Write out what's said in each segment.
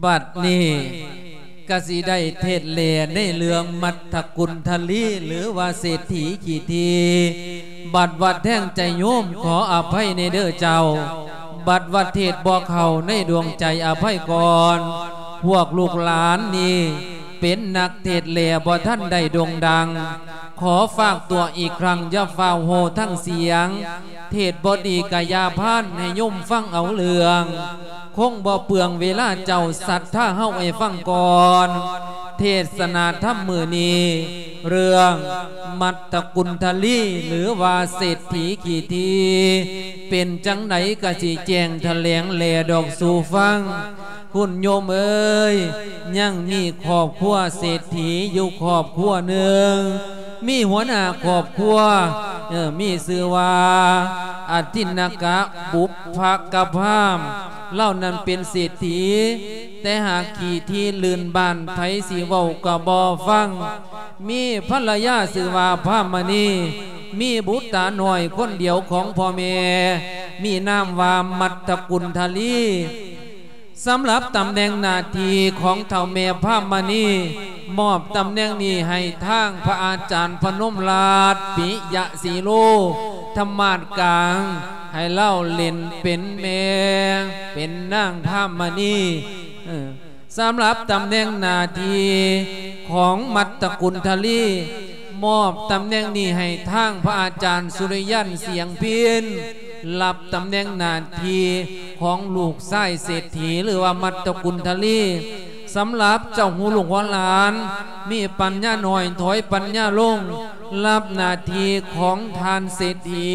ບັດນີ້ກະຊິໄດ້ເທດແຫຼໃນເລື່ອງມັດຕະກຸນທະລີ ຫຼືວ່າເສດຖີຂີ້ຖີ່. ບັດວ່າແທງໃຈໂຍມ ຂໍອະໄພແດ່ເດີເຈົ້າ. ບັດວ່າເທດບໍ່ເຂົ້າໃນດວງໃຈ ອະໄພກ່ອນ. ພວກລູກຫຼານນີ້ເປັນນັກເທດແຫຼ ບໍ່ທັນໄດ້ໂດ່ງດັງ. ຂໍຝາກຕົວອີກຄັ້ງ ຢ່າຟ້າວໂຫ່ທັງສຽງ. ເທດບໍ່ດີກະຢ່າພານ ໃຫ້ໂຍມຟັງເອົາເລື່ອງ. ຄົງບໍ່ເປືອງເວລາເຈົ້າ ສັດທາເຮົາໃຫ້ຟັງກ່ອນ. ເທດສະນາທຳມື້ນີ້ ເລື່ອງມັດຕະກຸນທະລີ ຫຼືວ່າເສດຖີຂີ້ຖີ່ ເປັນຈັ່ງໃດກະຊິແຈ້ງຖະແຫຼງແຫຼດອກສູ່ຟັງ. ຄຸນໂຍມເອີຍ, ຍັງມີຄອບຄົວເສດຖີຢູ່ຄອບຄົວໜຶ່ງ. ມີຫົວໜ້າຄອບຄົວ, ເອີ, ມີຊື່ວ່າ ອະທິນນະກະບຸບພະກະພາມ. ລາວນັ້ນເປັນເສດຖີ, ແຕ່ຫາກຂີ້ຖີ່ລື່ນບ້ານ, ໃຜຊິເວົ້າກະບໍ່ຟັງ. ມີພັນລະຍາຊື່ວ່າພາມະນີ, ມີບຸດຕານ້ອຍຄົນດຽວຂອງພໍ່ແມ່, ມີນາມວ່າມັດຕະກຸນທະລີ. ສຳລັບຕຳແໜ່ງໜ້າທີ່ຂອງເຖົ້າແມ່ພາມະນີ, ມອບຕຳແໜ່ງນີ້ໃຫ້ທາງພະອາຈານພະນົມລາດ ປິຍະສີໂລ ທຳມາດກາງ, ໃຫ້ລາວເລ່ນເປັນແມ່ ເປັນນາງພາມະນີ. ເອີ ສຳລັບຕຳແໜ່ງໜ້າທີ່ຂອງມັດຕະກຸນທະລີ, ມອບຕຳແໜ່ງນີ້ໃຫ້ທາງພະອາຈານສຸລິຍັນ ສຽງພິນ, ຮັບຕຳແໜ່ງໜ້າທີ່ຂອງລູກຊາຍເສດຖີ ຫຼືວ່າມັດຕະກຸນທະລີ. ສຳລັບເຈົ້າຮູ້ລູກຫົວຫຼານ, ມີປັນຍາໜ້ອຍ ຖອຍປັນຍາລົງ, ຮັບໜ້າທີ່ຂອງທ່ານເສດຖີ.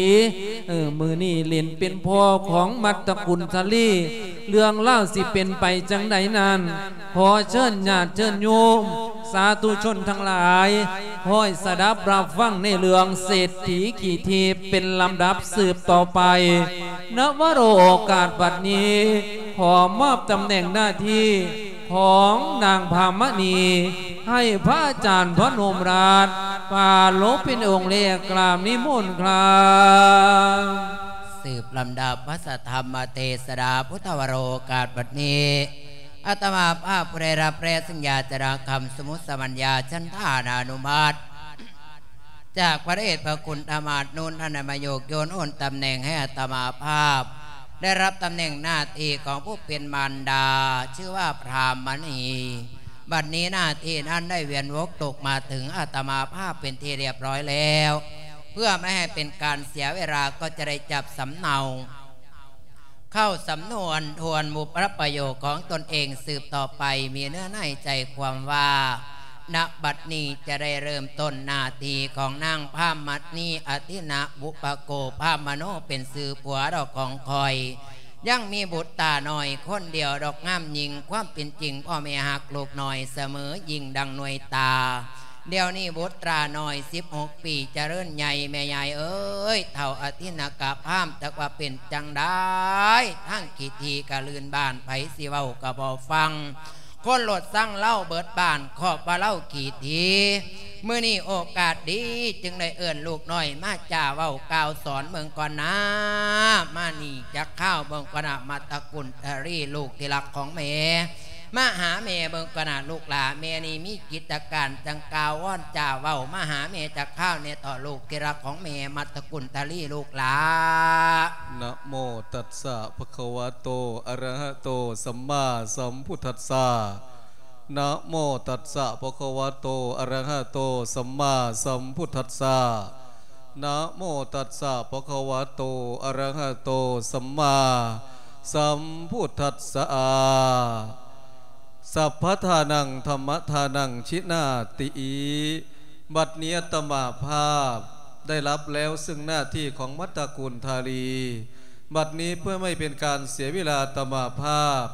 ເອີ ມື້ນີ້ເລ່ນເປັນພໍ່ຂອງມັດຕະກຸນທະລີ. ເລື່ອງລາວຊິເປັນໄປຈັ່ງໃດນັ້ນ, ຂໍເຊີນຍາດເຊີນໂຍມ ສາທຸຊົນທັງຫຼາຍ ຄອຍສະດັບຮັບຟັງໃນເລື່ອງເສດຖີຂີ້ຖີ່ເປັນລຳດັບສືບຕໍ່ໄປ. ນະວະໂລກາດບັດນີ້ ຂໍມອບຕຳແໜ່ງໜ້າທີ່ຂອງນາງພາມະນີ ໃຫ້ພະອາຈານພະນົມລາດ ປາລົບເປັນອົງແລກ ກາບນິມົນຄຣັບ. ສືບລຳດັບພະສະທຳມະເທດສະດາ ພຸດທະວະໂລກາດບັດນີ້ ອາດຕະມາພາບຜູ້ໄດ້ຮັບແລະສັນຍາຈາກຄຳສົມມຸດສະມັນຍາ ສັນທານານຸມັດ ຈາກພະເດດພະຄຸນທາມາດນຸນ ທ່ານໄດ້ມາໂຍກໂຍນໂອນຕຳແໜ່ງໃຫ້ອາດຕະມາພາບ ໄດ້ຮັບຕຳແໜ່ງໜ້າທີ່ຂອງຜູ້ເປັນມານດາ ຊື່ວ່າພາມະນີ. ບັດນີ້ໜ້າທີ່ນັ້ນໄດ້ວຽນວົກຕົກມາເຖິງອາດຕະມາພາບເປັນທີ່ລຽບຮ້ອຍແລ້ວ. ເພື່ອບໍ່ໃຫ້ເປັນການເສຍເວລາ ກໍຈະໄດ້ຈັບສຳເນົາ ເຂົ້າສຳນວນທວນບຸບພະປະໂຫຍກຂອງຕົນເອງສືບຕໍ່ໄປ ມີເນື້ອໃນໃຈຄວາມວ່າ ນະບັດນີ້ຈະໄດ້ເລີ່ມຕົ້ນໜ້າທີ່ຂອງນາງພາມະນີ ອະທິນະບຸບພະໂກ ພາມະໂນ ເປັນຊື່ຜົວດອກຂອງຂ້ອຍ. ຍັງມີບຸດຕານ້ອຍຄົນດຽວດອກງາມຍິ່ງ, ຄວາມເປັນຈິງພໍ່ແມ່ຮັກລູກນ້ອຍສະເໝີຍິ່ງດັ່ງໜ່ວຍຕາ. ດຽວນີ້ບຸດຕານ້ອຍສິບຫົກປີຈະເລີນໃຫຍ່ ແມ່ຍາຍເອີຍ ເຖົ້າອະທິນນະກະພາມ ຈັກວ່າເປັນຈັ່ງໃດ ທາງຂີ້ຖີ່ກະລື່ນບ້ານ ໃຜຊິເວົ້າກະບໍ່ຟັງ ຄົນໂລດຊັງລາວເບິດບ້ານ ຄອບວ່າລາວຂີ້ຖີ່. ມື້ນີ້ໂອກາດດີ ຈຶ່ງໄດ້ເອີ້ນລູກນ້ອຍມາຈາເວົ້າກ່າວສອນເບິ່ງກ່ອນນາ. ມານີ້ຈັກຄາວເບິ່ງກ່ອນນາ ມັດຕະກຸນທະລີ ລູກທີ່ຮັກຂອງແມ່. ມາຫາແມ່ເບິ່ງກ່ອນນາລູກຫຼ້າ ແມ່ນີ້ມີກິດຈະການ ຈັ່ງກ່າວວອນຈາເວົ້າ ມາຫາແມ່ຈັກຄາວແດ່ເຖາະ ລູກທີ່ຮັກຂອງແມ່ ມັດຕະກຸນທະລີລູກຫຼ້າ. ນະໂມຕັດສະ ພະຄະວະໂຕ ອະລະຫະໂຕ ສຳມາສຳພຸດທັດສະ. ນະໂມຕັດສະ ພະຄະວະໂຕ ອະລະຫະໂຕ ສຳມາສຳພຸດທັດສະ. ນະໂມຕັດສະ ພະຄະວະໂຕ ອະລະຫະໂຕ ສຳມາສຳພຸດທັດສະ. ສັບພະທານັງ ທຳມະທານັງ ຊິນາຕິ. ບັດນີ້ອາດຕະມາພາບໄດ້ຮັບແລ້ວເຊິ່ງໜ້າທີ່ຂອງມັດຕະກຸນທະລີ. ບັດນີ້ເພື່ອບໍ່ໃຫ້ເປັນການເສຍເວລາ ອາດຕະມາພາບ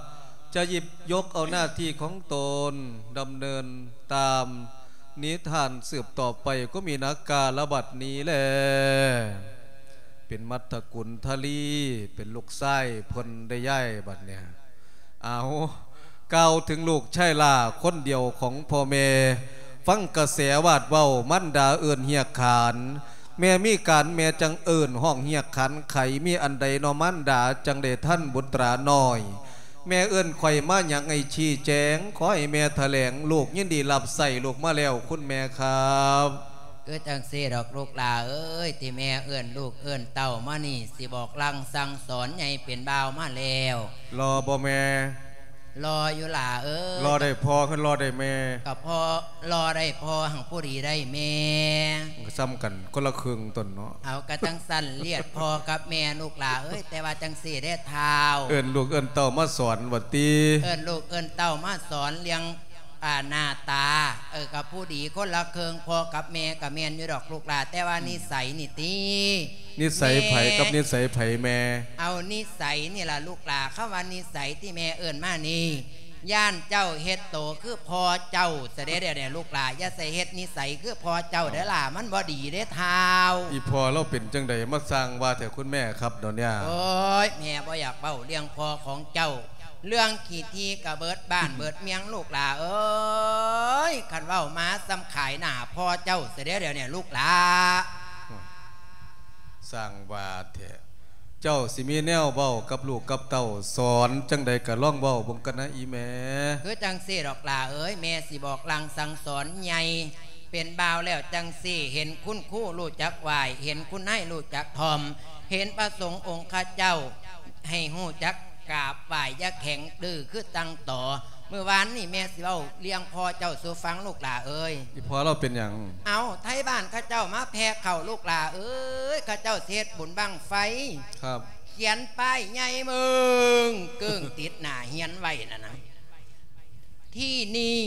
ຈະຫຍິບຍົກເອົາໜ້າທີ່ຂອງຕົນດຳເນີນຕາມນິທານສືບຕໍ່ໄປ ກໍມີນາກາລະບັດນີ້ແລ. ເປັນມັດຕະກຸນທະລີ ເປັນລູກຊາຍເພິ່ນໄດ້ ຍາຍ ບັດນີ້. ເອົາ ກ່າວເຖິງລູກຊາຍຫຼ້າຄົນດຽວຂອງພໍ່ແມ່ ຟັງກະແສວາດເວົ້າ ມານດາເອີ້ນຮຽກຂານ ແມ່ມີການແມ່ຈັ່ງເອີ້ນຮ້ອງຮຽກຂານໄຂ ມີອັນໃດນໍມານດາ ຈັ່ງໄດ້ທັນບຸດຕານ້ອຍ ແມ່ເອີ້ນຂ້ອຍມາຫຍັງ ໃຫ້ຊີ້ແຈງ ຂໍໃຫ້ແມ່ຖະແຫຼງ ລູກຍິນດີຮັບໃຊ້ລູກມາແລ້ວ ຄຸນແມ່ຄັບ. ຄືຈັ່ງຊີ້ດອກລູກຫຼ້າເອີຍ ທີ່ແມ່ເອີ້ນລູກເອີ້ນເຕົ້າມານີ້ ຊິບອກລາງສັ່ງສອນໃຫຍ່ເປັນບ່າວມາແລ້ວ. ຫຼໍ່ບໍ່ແມ່? ຫຼໍ່ຢູ່ຫຼ້າເອີຍ. ຫຼໍ່ໄດ້ພໍ່ ຄືຫຼໍ່ໄດ້ແມ່? ກໍພໍ່ ຫຼໍ່ໄດ້ພໍ່ ຫັ້ນຜູ້ດີໄດ້ແມ່. ມັນກໍສ່ຳກັນ ຄົນລະເຄິ່ງຕົນເນາະ. ເອົາ ກະຈັ່ງຊັ້ນລຽດພໍ່ກັບແມ່ລູກຫຼ້າເອີຍ. ແຕ່ວ່າຈັ່ງຊີ້ເດ້ທ້າວ ເອີ້ນລູກເອີ້ນເຕົ້າມາສອນວ່າຕິ? ເອີ້ນລູກເອີ້ນເຕົ້າມາສອນເລື່ອງ ອ່າ ໜ້າຕາ ເອີ ກັບຜູ້ດີຄົນລະເຄິ່ງ ພໍ່ກັບແມ່ກະແມ່ນຢູ່ດອກລູກຫຼ້າ ແຕ່ວ່າ ອືມ ນິໄສນີ້ຕິ? ນິໄສໃຜ ເອີ ກັບນິໄສໃຜແມ່? ເອົາ ນິໄສນີ້ລະລູກຫຼ້າ. ຄຳວ່ານິໄສທີ່ແມ່ເອີ້ນມານີ້ ຢ້ານເຈົ້າເຮັດໂຕຄືພໍ່ເຈົ້າຊະເດ້ ດຽວນີ້ລູກຫຼ້າ ຢ່າໃສ່ເຮັດນິໄສຄືພໍ່ເຈົ້າເດີຫຼ້າ ເອົ້າ ມັນບໍ່ດີເດ້ທ້າວ. ອີ່ພໍ່ລາວເປັນຈັ່ງໃດ ມາສ້າງວ່າແທ້ ຄຸນແມ່ຄັບ ດອນຍາ? ໂອ້ຍ ແມ່ບໍ່ຢາກເວົ້າເລື່ອງພໍ່ຂອງເຈົ້າ ເລື່ອງຂີ້ຖີ່ກະເບິດບ້ານເບິດເມືອງລູກຫຼ້າເອີຍ. ຄັນເວົ້າມາສ່ຳຂາຍໜ້າພໍ່ເຈົ້າຊະເດ້ ດຽວນີ້ລູກຫຼ້າ. ສ້າງວ່າແທ້ ເຈົ້າຊິມີແນວເວົ້າກັບລູກກັບເຕົ້າ ສອນຈັ່ງໃດກະລອງເວົ້າເບິ່ງກັນນະອີ່ແມ່. ຄືຈັ່ງຊີ້ດອກຫຼ້າເອີຍ ແມ່ຊິບອກລາງສັ່ງສອນໃຫຍ່ເປັນບ່າວແລ້ວຈັ່ງຊີ້ ເຫັນຄຸນຄູຮູ້ຈັກໄຫວ້ ເຫັນຄຸນນາຍຮູ້ຈັກຖ່ອມ ເຫັນພະສົງອົງຄະເຈົ້າ ໃຫ້ຮູ້ຈັກກາບໄຫວ້ ຢ່າແຂງດື້ຄືຕັງຕໍ. ມື້ວານນີ້ແມ່ຊິເວົ້າເລື່ອງພໍ່ເຈົ້າສູ່ຟັງລູກຫຼ້າເອີຍ. ອີ່ພໍ່ລາວເປັນຫຍັງ? ເອົ້າ ໄທບ້ານເຂົາເຈົ້າມາແຜ່ເຂົ້າລູກຫຼ້າເອີຍ ເຂົາເຈົ້າຊິເຮັດບຸນບັ້ງໄຟ ຄັບ ຂຽນປ້າຍໃຫຍ່ເບິ່ງເກີ້ງຕິດໜ້າເຮືອນໄວ້ນັ້ນນະ ທີ່ນີ້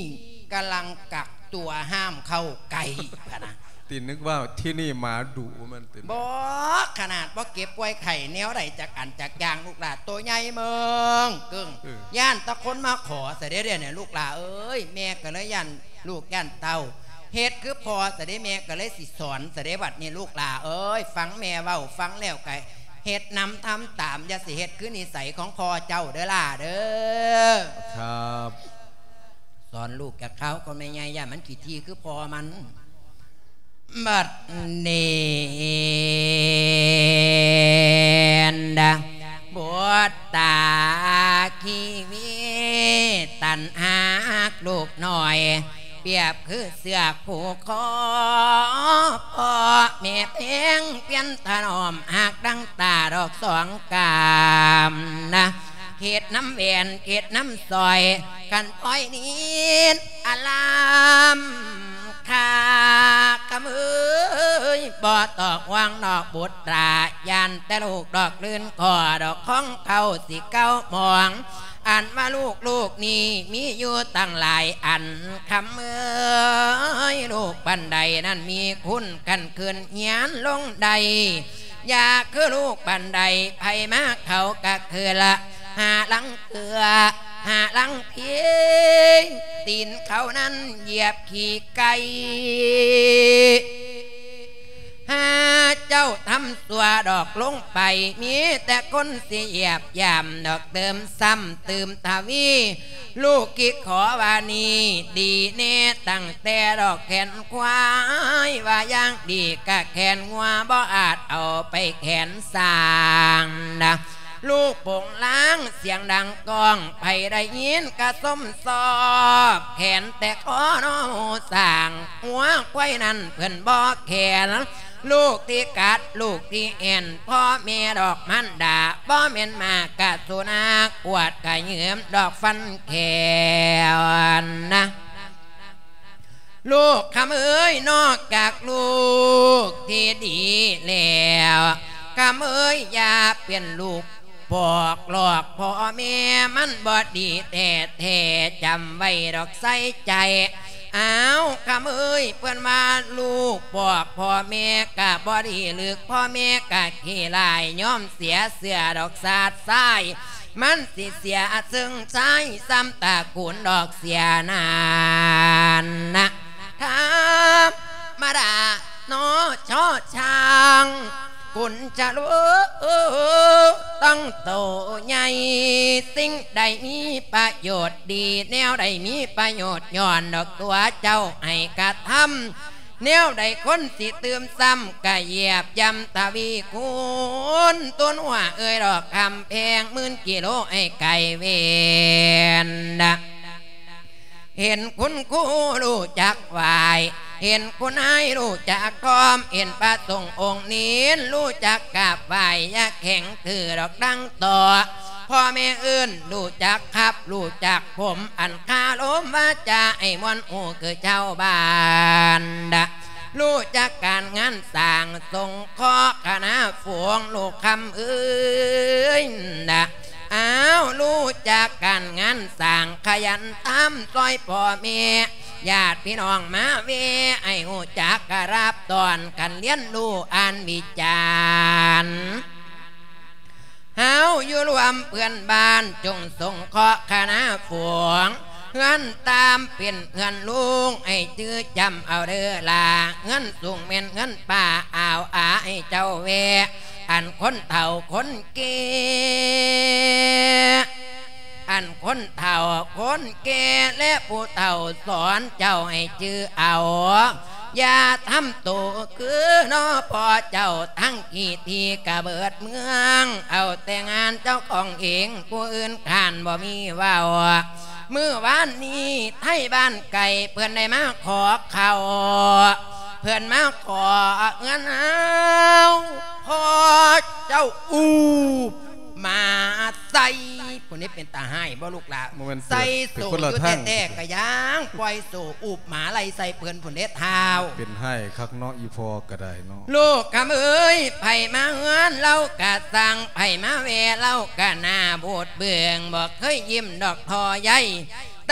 ກຳລັງກັກຕົວຫ້າມເຂົ້າໃກ້ ພະນະ. ຕິ ນຶກວ່າທີ່ນີ້ໝາດຸແມ່ນຕິ? ບໍ່ ຂະໜາດບໍ່ເຈັບປ່ວຍໄຂ້ແນວໃດຈັກອັນຈັກຢ່າງ ລູກຫຼ້າ ໂຕໃຫຍ່ເບິ່ງເກີ້ງ ເອີ ຢ້ານແຕ່ຄົນມາຂໍຊະເດ້ ດຽວນີ້ລູກຫຼ້າເອີຍ. ແມ່ກໍເລີຍຢ້ານລູກຢ້ານເຕົ້າ ເຮັດຄືພໍ່ຊະເດ້ ແມ່ກໍເລີຍຊິສອນຊະເດ້ ບັດນີ້ລູກຫຼ້າເອີຍ. ຟັງແມ່ເວົ້າ ຟັງແລ້ວກໍເຮັດນຳທຳຕາມ ຢ່າຊິເຮັດຄືນິໄສຂອງພໍ່ເຈົ້າເດີຫຼ້າເດີ. ຄັບ ສອນລູກຈັກຄາວກ່ອນແມ່ໃຫຍ່ ຢ້ານມັນຂີ້ຖີ່ຄືພໍ່ມັນ. ບັດນີ້ ບຸດຕາຄີວີຕັນຫາກລູກນ້ອຍ ປຽບຄືເຊືອກຜູກຄໍ ພໍ່ແມ່ແພງປ່ຽນຖະໜອມ ຫາກດັ່ງຕາດອກສອງກາມນະ ເຂດນຳແຫວນ ເຂດນຳສ້ອຍ ຄັນອ້ອຍນິນອາລາມ ຂ້າຄຳເອີຍ ບໍ່ຕ້ອງຫ່ວງດອກບຸດຕາ ຢ້ານແຕ່ລູກດອກລື່ນ ຂໍດອກຂອງເຂົາຊິເກົ້າໝອງ ອັນວ່າລູກ ລູກນີ້ມີຢູ່ຕັ້ງຫຼາຍອັນ ຄຳເອີຍ ລູກປານໃດນັ້ນມີຄຸນ ຄັນຂຶ້ນຮຽນລົງໄດ້ ຢ່າຄືລູກປານໃດ ໃຜມາເຂົາກະຄືລະ ຫາລັງເກືອ ຫາລັງພີ ຕີນເຂົານັ້ນຢຽບຂີ້ໄກ່ ຫາເຈົ້າທຳຊົ່ວດອກລົງໄປ ມີແຕ່ຄົນຊິຢຽບຢາມດອກ ຕື່ມຊ້ຳຕື່ມທະວີ ລູກກິດຂໍວ່ານີ້ດີແນ່ ຕັ້ງແຕ່ດອກແຂນຄວາຍ ວ່າຢ່າງດີກະແຂນງົວ ບໍ່ອາດເອົາໄປແຂນຊ້າງນະ ລູກໂປ່ງລາງສຽງດັງກ້ອງ ໃຜໄດ້ຍິນກະຊົມຊອບ ແຂນແຕ່ຂໍນອສ້າງ ງົວຄວາຍນັ້ນເພິ່ນບໍ່ແຂນ ລູກທີ່ກັດ ລູກທີ່ແອ່ນ ພໍ່ແມ່ດອກມານດາ ບໍ່ແມ່ນໝາກະສຸນັກ ກວດກະເຫຍື້ອມດອກຟັນແຂ້ວນະ ລູກຄຳເອີຍ ນອກຈາກລູກທີ່ດີແລ້ວ ຄຳເອີຍ ຢ່າເປັນລູກປອກຫຼອກພໍ່ແມ່ ມັນບໍ່ດີແທ້ໆ ຈຳໄວ້ດອກໃສ່ໃຈ ອ້າວ ຄຳເອີຍ ເພິ່ນວ່າລູກປອກພໍ່ແມ່ກະບໍ່ດີ ຫຼືພໍ່ແມ່ກະຂີ້ຮ້າຍ ຍອມເສຍເຊື່ອດອກຊາດຊາຍ ມັນຊິເສຍເຊິ່ງຊາຍ ຊ້ຳຕະກູນດອກເສຍນັ້ນນະ ທຳມະດາເນາະ ຊໍຊ້າງ ກຸນຈະໂລ ຕັ້ງໂຕໃຫຍ່ ສິ່ງໃດມີປະໂຫຍດດີ ແນວໃດມີປະໂຫຍດ ຍ້ອນດອກຕົວເຈົ້າໃຫ້ກະທຳ ແນວໃດຄົນຊິຕື່ມຊ້ຳ ກະຢຽບຢໍ່າທະວີຄູນ ຕົນຫົວເອີຍດອກຄຳແພງ ໝື່ນກິໂລໃຫ້ໄກເວນນະ. ເຫັນຄຸນຄູຮູ້ຈັກໄຫວ້ ເຫັນຄຸນນາຍຮູ້ຈັກຄອມ ເຫັນພະສົງອົງນີນຮູ້ຈັກກາບໄຫວ້ ຢ່າແຂງຖືດອກດັງຕໍ່ ພໍ່ແມ່ເອີ້ນຮູ້ຈັກຂັບ ຮູ້ຈັກຜົມ ອັນຄາລົມວາຈາໃຫ້ມ່ວນຫູຄືຊາວບ້ານ ຮູ້ຈັກການງານສ້າງ ສົງເຄາະຄະນະຝູງ ລູກຄຳເອີຍ ອ້າວ ຮູ້ຈັກການງານສ້າງ ຂະຫຍັນທຳຊ່ອຍພໍ່ແມ່ ຍາດພີ່ນ້ອງມາແວ່ ໃຫ້ຮູ້ຈັກກະລາບຕ້ອນ ການຮຽນຮູ້ອ່ານວິຈານ ເຮົາຢູ່ລວມເພື່ອນບ້ານ ຈົ່ງສົງເຄາະຄະນະຝູງ ເຮືອນຕາມເປັນເຮືອນລຸງ ໃຫ້ຈື່ຈຳເອົາເດີຫຼ້າ ເຮືອນສູງແມ່ນເຮືອນປ້າ ອາວອາໃຫ້ເຈົ້າແວ່ ອັນຄົນເຖົ້າຄົນແກ່ ອັນຄົນເຖົ້າຄົນແກ່ ແລະຜູ້ເຖົ້າສອນເຈົ້າໃຫ້ຈື່ເອົາ ຢ່າທຳໂຕຄືນໍພໍ່ເຈົ້າ ທັງກີ້ທີ່ກະເບີດເມືອງ ເອົາແຕ່ງານເຈົ້າຂອງເອງ ຜູ້ອື່ນຂ້ານບໍ່ມີເວົ້າ. ມື້ວານນີ້ໄທບ້ານໄກເພິ່ນໄດ້ມາຂໍເຂົ້າ ເພິ່ນມາຂໍເຮືອນເຮົາ ພໍ່ເຈົ້າອູບ ໝາໃສ່ ຜູ້ນີ້ເປັນຕາຮ້າຍບໍ່ລູກຫຼ້າ? ບໍ່ແມ່ນ ໃສ່ໂສ້ຢູ່ແທ້ໆ ກະຍັງປ່ອຍໂສ້ອູບໝາໄລ່ໃສ່ເພິ່ນພຸ້ນເດ້ທ້າວ. ເປັນຮ້າຍຄັກເນາະ ອີ່ພໍ່ກະໄດ້ເນາະ. ລູກຄຳເອີຍ ໃຜມາເຮືອນລາວກະຊ່າງ ໃຜມາແວ່ລາວກະໜ້າບູດເບືອງ ບໍ່ເຄີຍຍິ້ມດອກທໍ່ໃຍ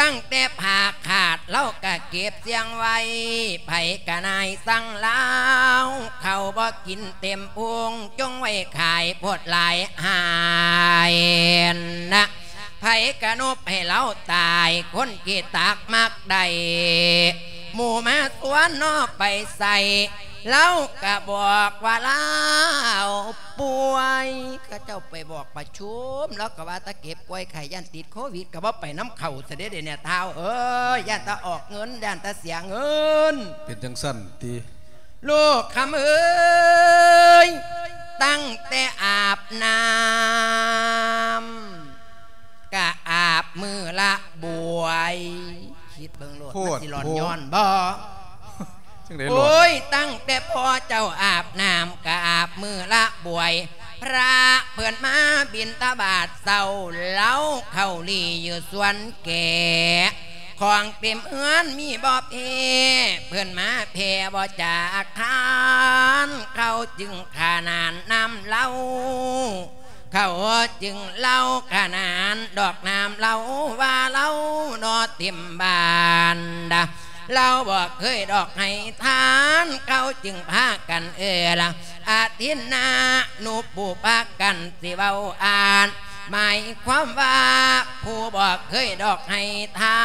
ຕັ້ງແຕ່ຜ້າຂາດລາວກະເກັບສຽງໄວ້ ໃຜກະນາຍສັ່ງລາວ ເຂົ້າບໍ່ກິນເຕັມພຸງ ຈົ່ງໄວ້ຂາຍໂພດຫຼາຍຫາຍນະ ໃຜກະນົບໃຫ້ລາວຕາຍ ຄົນຂີ້ຕາກມັກໄດ້ ໝູ່ມາຊວນນໍໄປໃສ ລາວກະບອກວ່າລາວປ່ວຍ ເຂົາເຈົ້າໄປບອກປະຊຸມ ລາວກະວ່າແຕ່ເຈັບປ່ວຍໄຂ້ ຢ້ານຕິດໂຄວິດ ກະບໍ່ໄປນຳເຂົາຊະເດ້ ດຽວນີ້ທ້າວເອີຍ ຢ້ານແຕ່ອອກເງິນ ຢ້ານແຕ່ເສຍເງິນ ເປັນຈັ່ງຊັ້ນຕິ. ລູກຄຳເອີຍ ຕັ້ງແຕ່ອາບນ້ຳ ກະອາບມື້ລະບວຍ ຄິດເບິ່ງໂລດ ໂພດ ມັນຊິຫຼອນ ໂພດ ຍ້ອນບໍ່? ຈັ່ງໃດຫຼອນ? ໂອ້ຍ ຕັ້ງແຕ່ພໍ່ເຈົ້າອາບນ້ຳ ກະອາບມື້ລະບວຍ ພະເພິ່ນມາບິນທະບາດເຊົ້າ ເລົາເຂົ້າຫຼີ່ຢູ່ສວນແກ ຂອງເຕັມເຮືອນມີບໍ່ແພ້ ເພິ່ນມາແຜ່ບໍ່ຈາກທານ ເຂົາຈຶ່ງຂະໜານນຳເລົາ ເຂົາຈຶ່ງເລົ່າຂະໜານດອກນ້ຳເລົາ ວ່າເລົາໜໍເຕັມບ້ານດາ ເຮົາບໍ່ເຄີຍດອກໃຫ້ທານ ເຂົາຈຶ່ງພາກັນເອີ້ນ ອາທິນນານຸພູປະກັນ ຊິເວົ້າອ່ານ ໝາຍຄວາມວ່າ ຜູ້ບໍ່ເຄີຍດອກໃຫ້ທາ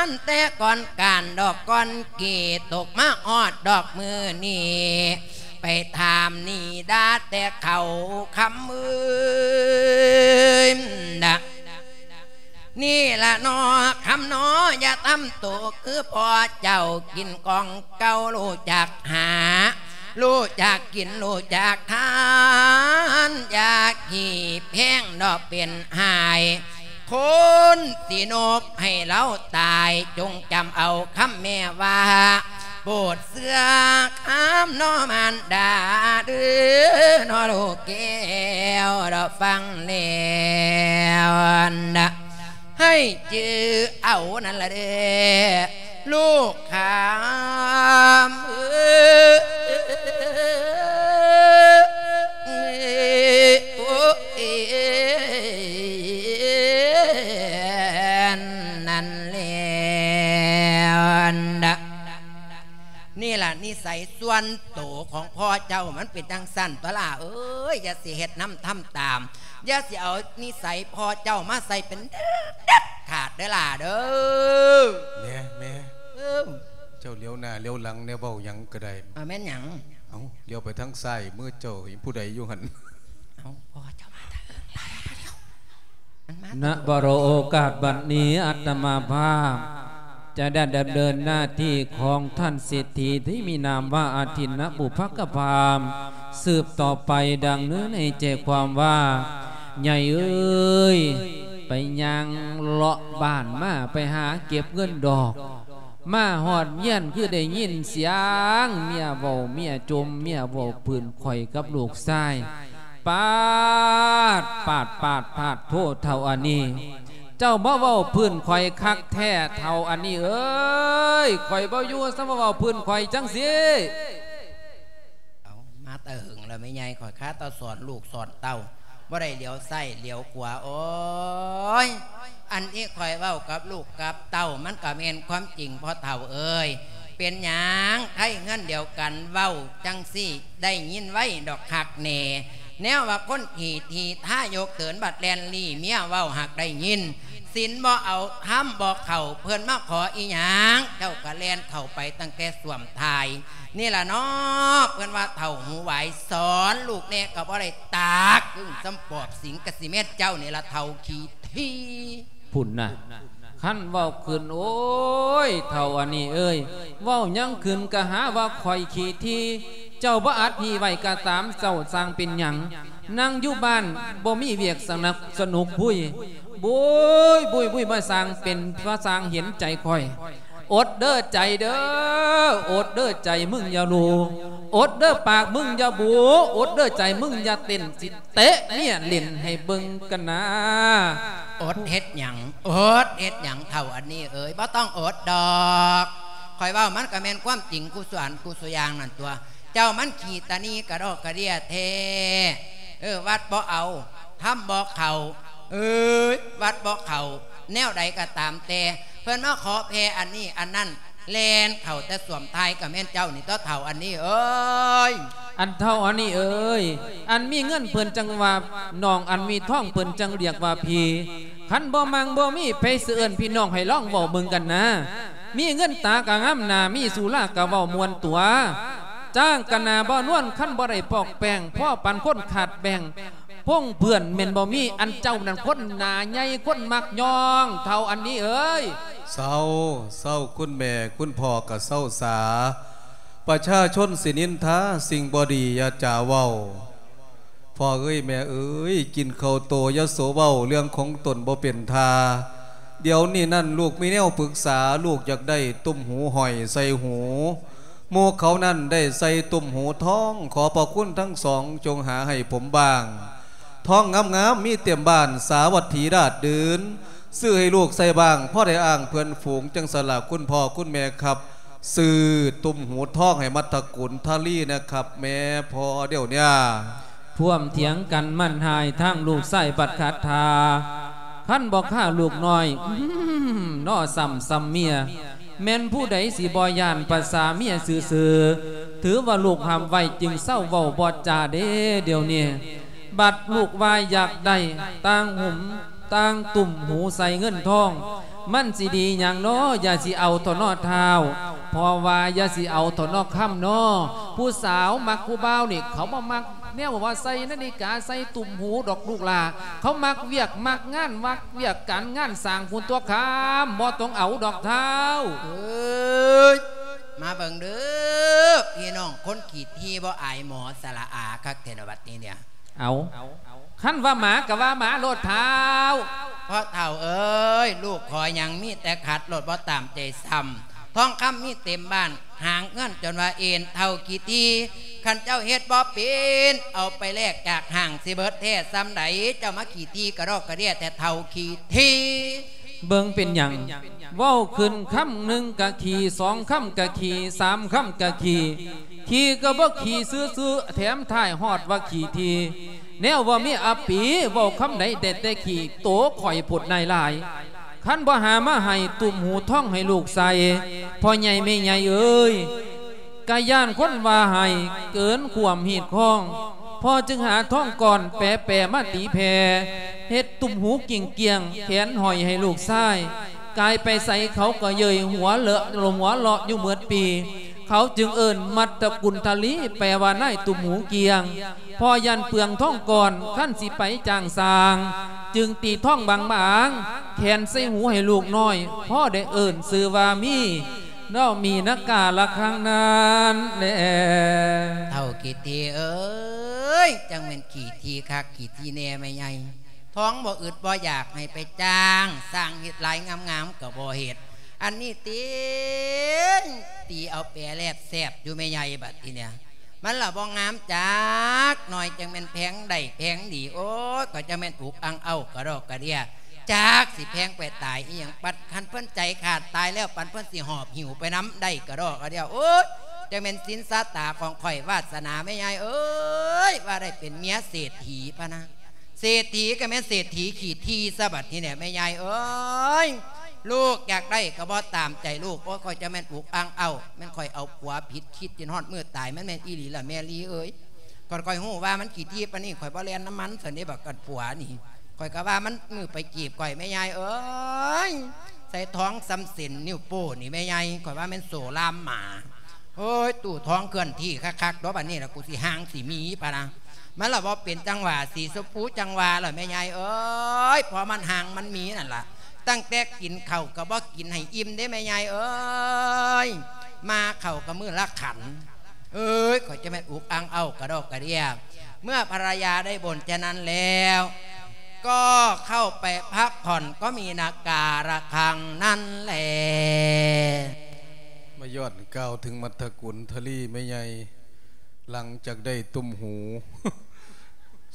ນ ແຕ່ກ່ອນການດອກກ່ອນກີ້ ຕົກມາຮອດດອກມື້ນີ້ ໄປຖາມໜີ່ດ່າແຕ່ເຂົາຄຳເອີຍນະ. ນີ້ລະໜໍຄຳໜໍ ຢ່າທຳໂຕຄືພໍ່ເຈົ້າ ກິນຂອງເກົ່າຮູ້ຈັກຫາ ຮູ້ຈັກກິນຮູ້ຈັກທານ ຢ່າຂີ້ແພງເນາະເປັນຫາຍ ຄົນຊິນົບໃຫ້ລາວຕາຍ ຈົ່ງຈຳເອົາຄຳແມ່ວ່າ ໂປດເຊື່ອຄຳເນາະມານດາເດີ ເນາະລູກແກ້ວ ເນາະ ຟັງແລ້ວນະ ໃຫ້ຈື່ເອົານັ້ນລະເດີ ລູກຄຳເອີຍ ໂອ້ຍ ນັ້ນແລ້ວນະ. ນີ້ລະນິໄສສ່ວນໂຕຂອງພໍ່ເຈົ້າ ມັນເປັນຈັ່ງຊັ້ນຕົວະຫຼ້າເອີຍ ຢ່າຊິເຮັດນຳທຳຕາມ ຢ່າຊິເອົານິໄສພໍ່ເຈົ້າມາໃສ່ເປັນເດັດຂາດເດີຫຼ້າເດີ. ແມ່ ແມ່ ເອີ ເຈົ້າຫຼຽວໜ້າຫຼຽວຫຼັງແດ່ ເວົ້າຫຍັງກະໄດ້ ເອີ ແມ່ນຫຍັງ? ເອົ້າ ຫຼຽວໄປທາງຊ້າຍມືເຈົ້າ ເຫັນຜູ້ໃດຢູ່ຫັ້ນ? ເອົ້າ ພໍ່ເຈົ້າມາທາງເອີ ລາວໄປດຽວ ມັນມາ ນະ ໂອກາດບັດນີ້ ອາດຕະມາພາບ ຈະໄດ້ດຳເນີນໜ້າທີ່ຂອງທ່ານເສດຖີທີ່ມີນາມວ່າອາທິນນະບຸບພະກະພາມ ສືບຕໍ່ໄປ ດັ່ງເນື້ອໃນໃຈຄວາມວ່າ ໃຫຍ່ເອີຍ ໄປຍ່າງເລາະບ້ານມາ ໄປຫາເກັບເງິນດອກ ມາຮອດເຮືອນຄືໄດ້ຍິນສຽງເມຍເວົ້າ ເມຍຈົ່ມ ເມຍເວົ້າພື້ນຂ້ອຍກັບລູກຊາຍ. ປາດ ປາດ ປາດ ປາດໂທ ເຖົ້າອັນນີ້ ເຈົ້າມາເວົ້າພື້ນຂ້ອຍຄັກແທ້ ເຖົ້າອັນນີ້ເອີຍ ຂ້ອຍບໍ່ຢູ່ ຊະມາເວົ້າພື້ນຂ້ອຍຈັ່ງຊີ້. ເອົາ ມາແຕ່ຫຶງແລ້ວແມ່ໃຫຍ່ ຂ້ອຍຄາແຕ່ສອນລູກສອນເຕົ້າ ບໍ່ໄດ້ຫຼຽວຊ້າຍຫຼຽວຂວາ. ໂອ້ຍ ອັນທີ່ຂ້ອຍເວົ້າກັບລູກກັບເຕົ້າ ມັນກໍແມ່ນຄວາມຈິງພໍ່ເຖົ້າເອີຍ. ເປັນຫຍັງໄທເຮືອນດຽວກັນເວົ້າຈັ່ງຊີ້ ໄດ້ຍິນໄວດອກຄັກແນ່. ແນວວ່າຄົນຂີ້ຖີ່ທາຍົກເຕີນ ບັດແລ່ນລີ້ເມຍເວົ້າຫາກໄດ້ຍິນ. ສິນບໍ່ເອົາ ທຳບໍ່ເຂົ້າ ເພິ່ນມາຂໍອີຫຍັງ ເຈົ້າກໍແລ່ນເຂົ້າໄປຕັ້ງແຕ່ສ້ວມຖ່າຍນີ້ລະເນາະ. ເພິ່ນວ່າເຖົ້າຫູຫວາຍ ສອນລູກແດ່ກໍບໍ່ໄດ້ຕາກ ຄືສ່ຳປອບສິງກະຊິແມ່ນເຈົ້ານີ້ລະ ເຖົ້າຂີ້ຖີ່. ພຸ້ນນະ ຄັນເວົ້າຂຶ້ນ ໂອ້ຍ ເຖົ້າອັນນີ້ເອີຍ ເວົ້າຫຍັງຂຶ້ນກະຫາວ່າຂ້ອຍຂີ້ຖີ່. ເຈົ້າບໍ່ອັດຫີໄວ້ກະຕາມ ເຈົ້າຊ່າງເປັນຫຍັງ ນັ່ງຢູ່ບ້ານບໍ່ມີວຽກສະໜັກສະໜຸກພຸ້ຍ ບຸ້ຍ ບຸ້ຍ ບຸ້ຍ ມາສ້າງເປັນ ມາສ້າງເຫັນໃຈຂ້ອຍ. ອົດເດີໃຈເດີ ອົດເດີໃຈມຶງຢ່າລູ ອົດເດີປາກມຶງຢ່າບູ ອົດເດີໃຈມຶງຢ່າເຕັ້ນ ຊິເຕະເມຍຫຼິ້ນໃຫ້ເບິ່ງກັນນາ. ອົດເຮັດຫຍັງ ອົດເຮັດຫຍັງ ເຖົ້າອັນນີ້ເອີຍ ບໍ່ຕ້ອງອົດດອກ. ຂ້ອຍເວົ້າມັນກໍແມ່ນຄວາມຈິງ ຄູ່ສ່ວນ ຄູ່ສ່ວນຢ່າງນັ້ນຕົວະ. ເຈົ້າມັນຂີ້ຕານີກະດອກກະເດຍແທ້. ເອີ ວັດບໍ່ເອົາ ທຳບໍ່ເຂົ້າ ເອີຍ ວັດບໍ່ເຂົ້າ. ແນວໃດກໍຕາມແຕ່ ເພິ່ນມາຂໍແຜ່ອັນນີ້ອັນນັ້ນ ແລ່ນເຂົ້າແຕ່ສ້ວມຖ່າຍ ກໍແມ່ນເຈົ້ານີ້ຕົວະ ເຖົ້າອັນນີ້ເອີຍ. ອັນເຖົ້າອັນນີ້ເອີຍ ອັນມີເງິນເພິ່ນຈັ່ງວ່ານ້ອງ ອັນມີທອງເພິ່ນຈັ່ງລຽກວ່າພີ່. ຄັນບໍ່ມັ່ງບໍ່ມີ ໃຜຊິເອີ້ນພີ່ນ້ອງ ໃຫ້ລອງເວົ້າເບິ່ງກັນນາ. ມີເງິນຕາກໍງາມໜ້າ ມີສຸລາກໍເວົ້າມ່ວນຕົວະ ຈ້າງກໍໜ້າບໍ່ນວນ. ຄັນບໍ່ໄດ້ປອກແປ້ງ ພໍປານຄົນຂາດແບ່ງ ພົງເພື່ອນແມ່ນບໍ່ມີ. ອັນເຈົ້ານັ້ນຄົນໜ້າໃຫຍ່ ຄົນມັກຍ່ອງ ເຖົ້າອັນນີ້ເອີຍ. ເຊົາ ເຊົາ ຄຸນແມ່ຄຸນພໍ່ກໍເຊົາສາ ປະຊາຊົນຊິນິນທາ ສິ່ງບໍ່ດີຢ່າຈາເວົ້າ. ພໍ່ເອີຍແມ່ເອີຍ ກິນເຂົ້າໂຕຢ່າໂສເວົ້າ ເລື່ອງຂອງຕົນບໍ່ເປັນທ່າ. ດຽວນີ້ນັ້ນລູກມີແນວປຶກສາ ລູກຢາກໄດ້ຕຸ້ມຫູຫ້ອຍໃສ່ຫູ. ໝູ່ເຂົານັ້ນໄດ້ໃສ່ຕຸ້ມຫູທອງ ຂໍພະຄຸນທັງສອງຈົ່ງຫາໃຫ້ຜົມບ້າງ. ທອງງາມໆມີເຕັມບ້ານ ສາວັດຖີລາດດື່ນ. ຊື້ໃຫ້ລູກໃສ່ບ້າງ ພໍໄດ້ອ້າງເພື່ອນຝູງ ຈັ່ງຊັ້ນລະຄຸນພໍ່ຄຸນແມ່ຄັບ. ຊື້ຕຸ້ມຫູທອງໃຫ້ມັດຕະກຸນທະລີນະຄັບ ແມ່ພໍ່ດຽວເນຍ. ພວມຖຽງກັນໝັ້ນຫາຍ ທາງລູກຊາຍບັດຂັດທ່າ ຄັນບໍ່ຂ້າລູກນ້ອຍ ອືມ ນໍ ຊ້ຳ ຊ້ຳເມຍ. ແມ່ນຜູ້ໃດຊິບໍ່ຢ້ານປະສາເມຍຊື່ໆ ຖືວ່າລູກຫ້າມໄວ້ ຈຶ່ງເຊົາເວົ້າບໍ່ຈາເດ້ດຽວນີ້. ບັດລູກວ່າຢາກໄດ້ຕ່າງຫຸມ ຕ່າງຕຸ້ມຫູໃສ່ເງິນທອງ ມັນຊິດີຫຍັງນໍ? ຢ່າຊິເອົາເຖາະນໍທ້າວ ພໍ່ວ່າຢ່າຊິເອົາເຖາະນໍຄຳນໍ. ຜູ້ສາວມັກຜູ້ບ່າວນີ້ ເຂົາບໍ່ມັກແນວວ່າໃສ່ນາລິກາ ໃສ່ຕຸ້ມຫູດອກລູກຫຼ້າ. ເຂົາມັກວຽກມັກງານ ມັກວຽກການງານສ້າງພຸ້ນຕົວະຄຳ ບໍ່ຕ້ອງເອົາດອກທ້າວ. ເອີຍ ມາເບິ່ງເດີ ພີ່ນ້ອງຄົນຂີ້ຖີ່ ບໍ່ອາຍໝໍສະຫຼະອາຄັກແທ້ນະບັດນີ້ເນຍ. ເອົາ ຄັນວ່າໝາກໍວ່າໝາໂລດທ້າວ. ພໍ່ເຖົ້າເອີຍ ລູກຂໍຫຍັງມີແຕ່ຂັດໂລດ ບໍ່ຕາມໃຈຊ້ຳ. ທອງຄຳມີເຕັມບ້ານ ຫາງເງິນຈົນວ່າເອັນ ເຖົ້າຂີ້ຖີ່. ຄັນເຈົ້າເຮັດບໍ່ເປັນ ເອົາໄປແລກຈາກຫ້າງຊິເບິດແທ້ສ່ຳໃດ. ເຈົ້າມາຂີ້ຖີ່ກະດອກກະເດຍແທ້ ເຖົ້າຂີ້ຖີ່. ເບິ່ງເປັນຫຍັງ ເວົ້າຂຶ້ນຄຳໜຶ່ງກະຂີ້ ສອງຄຳກະຂີ້ ສາມຄຳກະຂີ້. ຂີ້ກໍບໍ່ຂີ້ຊື່ໆ ແຖມທ້າຍຮອດວ່າຂີ້ຖີ່. ແນວວ່າມີອາປີ ເວົ້າຄຳໃດໄດ້ແຕ່ຂີ້ ໂຕຂ້ອຍໂພດນາຍຫຼາຍ. ຄັນບໍ່ຫາມາໃຫ້ ຕຸ້ມຫູທອງໃຫ້ລູກໃສ່ ພໍ່ໃຫຍ່ແມ່ໃຫຍ່ເອີຍ. ກະຢ້ານຄົນວ່າໃຫ້ເກີນຄວາມຮີດຄອງ ພໍ່ຈຶ່ງຫາທອງກ້ອນແປໆມາຕີແຜ່ ເຮັດຕຸ້ມຫູກິ້ງກ້ຽງ ແຂນຫ້ອຍໃຫ້ລູກຊາຍ. ກາຍໄປໃສເຂົາກໍເຍີ້ຍຫົວເລາະ ລົມຫົວເລາະຢູ່ໝົດປີ. ເຂົາຈຶ່ງເອີ້ນມັດຕະກຸນທະລີ ແປວ່ານາຍຕຸ້ມຫູກ້ຽງ. ພໍ່ຢ້ານເປືອງທອງກ້ອນ ຄັນຊິໄປຈ້າງສ້າງ ຈຶ່ງຕີທ້ອງບາງໆ ແຂນໃສ່ຫູໃຫ້ລູກນ້ອຍ ພໍໄດ້ເອີ້ນຊື່ວ່າມີ ເນາະ ມີນະກາລະຄັງນັ້ນແລ. ເຖົ້າຂີ້ຖີ່ເອີຍ ຈັ່ງແມ່ນຂີ້ຖີ່ຄັກຂີ້ຖີ່ແນ່ແມ່ໃຫຍ່. ທ້ອງບໍ່ອຶດບໍ່ຢາກໃຫ້ໄປຈ້າງຊ່າງເຮັດລາຍງາມໆກໍບໍ່ເຮັດ. ອັນນີ້ຕິ ຕີເອົາແປແລບແຊບຢູ່ແມ່ໃຫຍ່ ບັດທີເນີ້ຍ ມັນລະບໍ່ງາມຈັກໜ້ອຍ ຈັ່ງແມ່ນແພງໄດ້ແພງດີ. ໂອ້ຍ ຂ້ອຍຈັ່ງແມ່ນອຸກອັ່ງເອົ້າກະດອກກະເດຍ ຈັກຊິແພງໄປຕາຍອີ່ຫຍັງ. ປັດຄັນເພິ່ນໃຈຂາດຕາຍແລ້ວ ປັນເພິ່ນຊິຫອບຫິ້ວໄປນຳໄດ້ກະດອກກະເດຍ. ໂອ້ຍ ຈັ່ງແມ່ນສິນຊາຕາຂອງຂ້ອຍ ວາດສະໜາແມ່ຍາຍເອີຍ ວ່າໄດ້ເປັນເມຍເສດຖີພະນະ. ເສດຖີກໍແມ່ນເສດຖີຂີ້ຖີ່ຊະບັດທີເນີ້ຍແມ່ຍາຍເອີຍ. ລູກຢາກໄດ້ກໍບໍ່ຕາມໃຈລູກ. ໂອ້ຍ ຂ້ອຍຈະແມ່ນອຸກອັ່ງເອົ້າ ແມ່ນຂ້ອຍເອົາຜົວຜິດຄິດ ຈົນຮອດມື້ຕາຍ ມັນແມ່ນອີ່ຫຼີລະແມ່ລີເອີຍ. ຄັນຂ້ອຍຮູ້ວ່າມັນຂີ້ຖີ່ປານນີ້ ຂ້ອຍບໍ່ແລ່ນນຳມັນຊັ້ນເດ້ ບັກກັນຜົວນີ້. ຂ້ອຍກໍວ່າມັນມືໄປຈີບຂ້ອຍແມ່ຍາຍເອີຍ. ໃສ່ທ້ອງສ່ຳເສັ້ນນິ້ວໂປ້ນີ້ແມ່ຍາຍ ຂ້ອຍວ່າແມ່ນໂສລາມໝາ. ໂອ້ຍ ຕູ້ທ້ອງເຄື່ອນທີ່ຄັກໆ ດອກ ບັດນີ້ລະ ກູຊິຮ່າງຊິມີປະນະ. ມັນລະບໍ່ເປັນຈັງຫວະ ສີຊົມພູຈັ່ງຫວະລະແມ່ຍາຍເອີຍ. ພໍມັນຮ່າງມັນມີນັ້ນລະ ຕັ້ງແຕ່ກິນເຂົ້າກໍບໍ່ກິນໃຫ້ອີ່ມເດ້ແມ່ຍາຍເອີຍ. ມາເຂົ້າກໍມື້ລະຂັນ. ເອີຍ ຂ້ອຍຈະແມ່ນອຸກອັ່ງເອົ້າກະດອກກະເດຍ. ເມື່ອພະລະຍາໄດ້ບ່ນຈະນັ້ນແລ້ວ ກໍເຂົ້າໄປພັກຜ່ອນ ກໍມີນະກາລະຄັງນັ້ນແລ. ມາຍ້ອນກ່າວເຖິງມັດທະກຸນທະລີແມ່ໃຫຍ່ ຫຼັງຈາກໄດ້ຕຸ່ມຫູ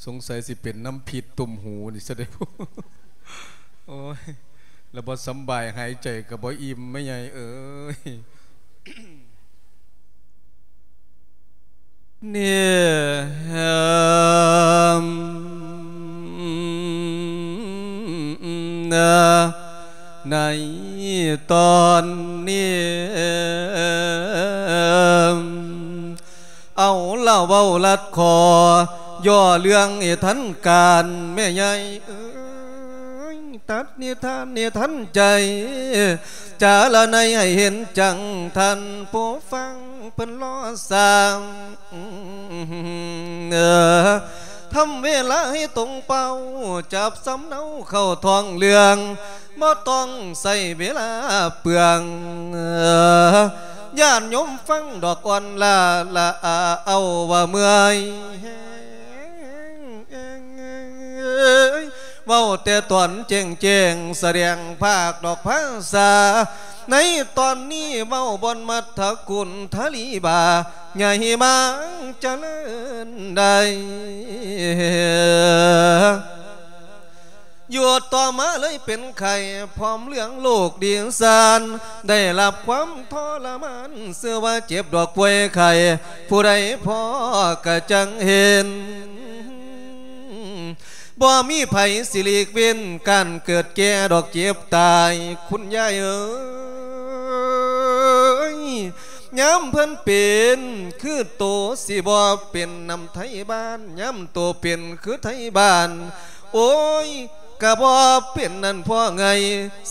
ສົງໄສຊິເປັນນຳພິດຕຸ່ມຫູນີ້ຊະເດ. ໂອ້ຍ ລະບໍ່ສຳບາຍ ຫາຍໃຈກໍບໍ່ອີ່ມແມ່ໃຫຍ່ເອີຍ. ເນ ໃນຕອນນີ້ ເອົາລະເວົ້າລັດຂໍ ຍໍເລື່ອງໃຫ້ທັນການ ແມ່ໃຫຍ່ເອີຍ ຕັດນິທານໃຫ້ທັນໃຈ ຈາລະໄນໃຫ້ເຫັນຈັງ ທ່ານຜູ້ຟັງເພິ່ນລໍສາງ ທຳເວລາໃຫ້ຕົງເປົ້າ ຈັບສຳເນົາເຂົ້າທ້ອງເລື່ອງ ບໍ່ຕ້ອງໃຊ້ເວລາເປືອງ ຍາດໂຍມຟັງດອກອ່ອນລາລາ ເອົາວ່າເມື່ອຍແຮງ ເວົ້າແຕ່ຕອນແຈ້ງໆ ສະແດງພາກດອກພາສາ ໃນຕອນນີ້ເວົ້າບ່ອນມັດທະກຸນທະລີບາ ໃຫຍ່ມາງຈະເລີນໄດ້ ຢູ່ຕໍ່ມາເລີຍເປັນໄຂ້ ພ້ອມເລື່ອງໂລກດີສານ ໄດ້ຮັບຄວາມທໍລະມານ ຊື່ວ່າເຈັບດອກປ່ວຍໄຂ້ ຜູ້ໃດພໍກະຈັ່ງເຫັນ ບໍ່ມີໃຜຊິຫຼີກເວັ້ນ ການເກີດແກ່ດອກເຈັບຕາຍ ຄຸນຍາຍເອີຍ ຍາມເພິ່ນເປັນ ຄືໂຕຊິບໍ່ເປັນນຳໄທບ້ານ ຍາມໂຕເປັນຄືໄທບ້ານ ໂອ້ຍ ກະບໍ່ເປັນນັ້ນພໍ່ໃຫຍ່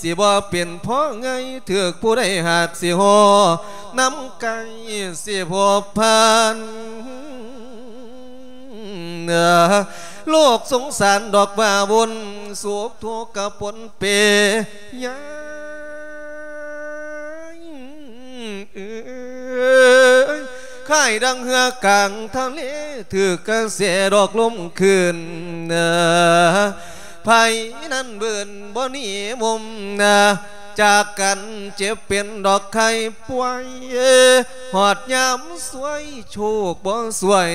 ຊິບໍ່ເປັນພໍ່ໃຫຍ່ ຖືກຜູ້ໃດຫາກຊິຫໍ່ ນຳໄກ່ຊິພົບຜ່ານ ໂລກສົງສານດອກວ່າວຸ່ນ ໂສກທຸກກະປົນເປ ຍາຍ ເອີຍ ຄ້າຍດັ່ງເຮືອກາງທະເລ ຖືກກະແສດອກລົມຄື້ນ ໃຜນັ້ນເບິ່ນບໍ່ໜີມຸມ ຈາກກັນເຈັບເປັນດອກໄຂ້ປ່ວຍ ຮອດຍາມສວຍ ໂຊກບໍ່ສວຍ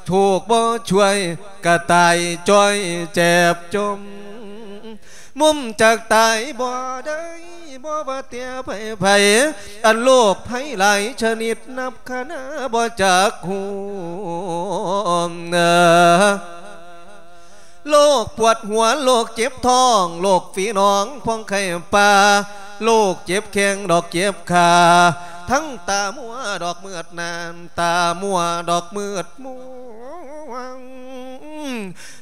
ໂຊກບໍ່ຊ່ວຍ ກະຕາຍຈ້ອຍແຈບຈົມ ມຸມຈາກຕາຍບໍ່ໄດ້ ບໍ່ວ່າແຕ່ໃຜໃຜ ອັນໂລກໄພຫຼາຍຊະນິດ ນັບຄະນາບໍ່ຈັກຫວມ ໂລກປວດຫົວ ໂລກເຈັບທ້ອງ ໂລກຝີໜອງ ພອງໄຂ້ປ່າ ໂລກເຈັບແຂ້ງ ດອກເຈັບຂາ ທັງຕາມົວ ດອກມືດໜານ ຕາມົວ ດອກມືດມ່ວງ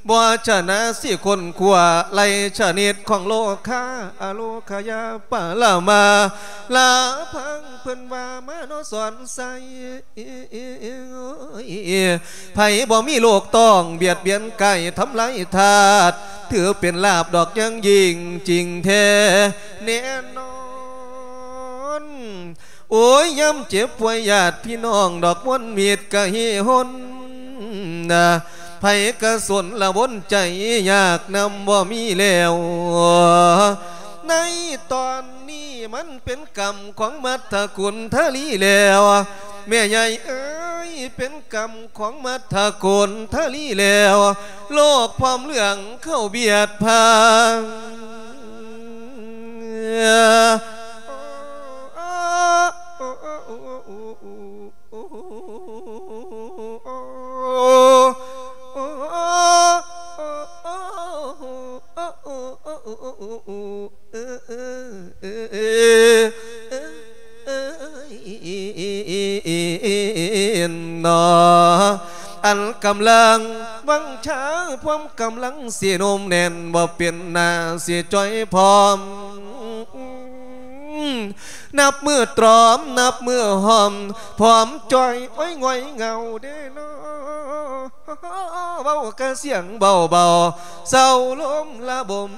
ບໍ່ຊະນະຊິຄົ້ນຄວ້າໄລ່ຊະນິດຂອງໂລຄາ ອະໂລຄະຍາປະລະມາລາພັງ ເພິ່ນວ່າມາເນາະສອນໄຊ ໃຜບໍ່ມີໂລກຕ້ອງບຽດບຽນກາຍທຳລາຍທາດ ຖືເປັນລາບດອກຍັງຍິ່ງຈິງແທ້ແນ່ນອນ. ໂອ້ຍ ຍາມເຈັບປ່ວຍຍາດພີ່ນ້ອງດອກມວນມິດກະເຮຫົນນະ ໃຜກະສົນລະວົນໃຈຍາກນຳບໍ່ມີແລ້ວ ໃນຕອນນີ້ມັນເປັນກຳຂອງມັດທະກຸນທະລີແລ້ວ ແມ່ໃຫຍ່ເອີຍ ເປັນກຳຂອງມັດທະກຸນທະລີແລ້ວ ໂລກພ້ອມເລື່ອງເຂົ້າບຽດພັງ. ອັນກຳລັງວັງຊາ ພວມກຳລັງຊິໜຸ່ມແໜ້ນ ບໍ່ເປັນໜ້າຊິຈ່ອຍພ້ອມ ນັບມື້ຕຣອມ ນັບມື້ຫອມ ພ້ອມຈ່ອຍ ໂອ້ຍ ຫງອຍເຫງົາເດ້ເນາະ ເວົ້າກະສຽງເບົາໆ ເຊົາລົມລະບົມ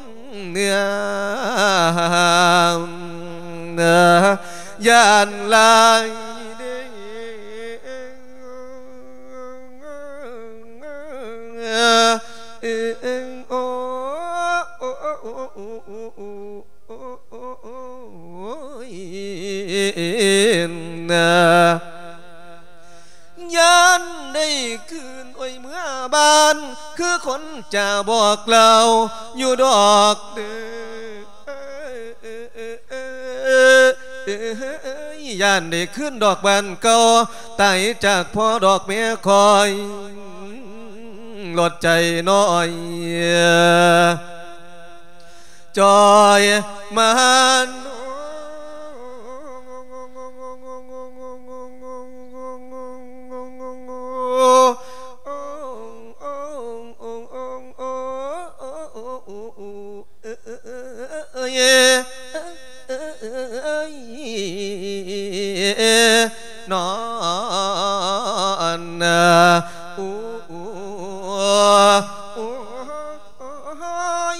ເໜືອ ຢ້ານຫຼາຍເດ້ ໂອ້ ຍ ຢ້ານໄດ້ຄືນ ໂອ້ຍ ເມືອບ້ານ ຄືຄົນຈະບອກເລົ່າຢູ່ດອກເດີ ຢ້ານໄດ້ຄືນດອກບ້ານເກົ່າ ຕາຍຈາກພໍ່ດອກແມ່ຄອຍ ລົດໃຈນ້ອຍ ຈ່ອຍມານ ນອນ ໂອ້ ໂອ້ຍ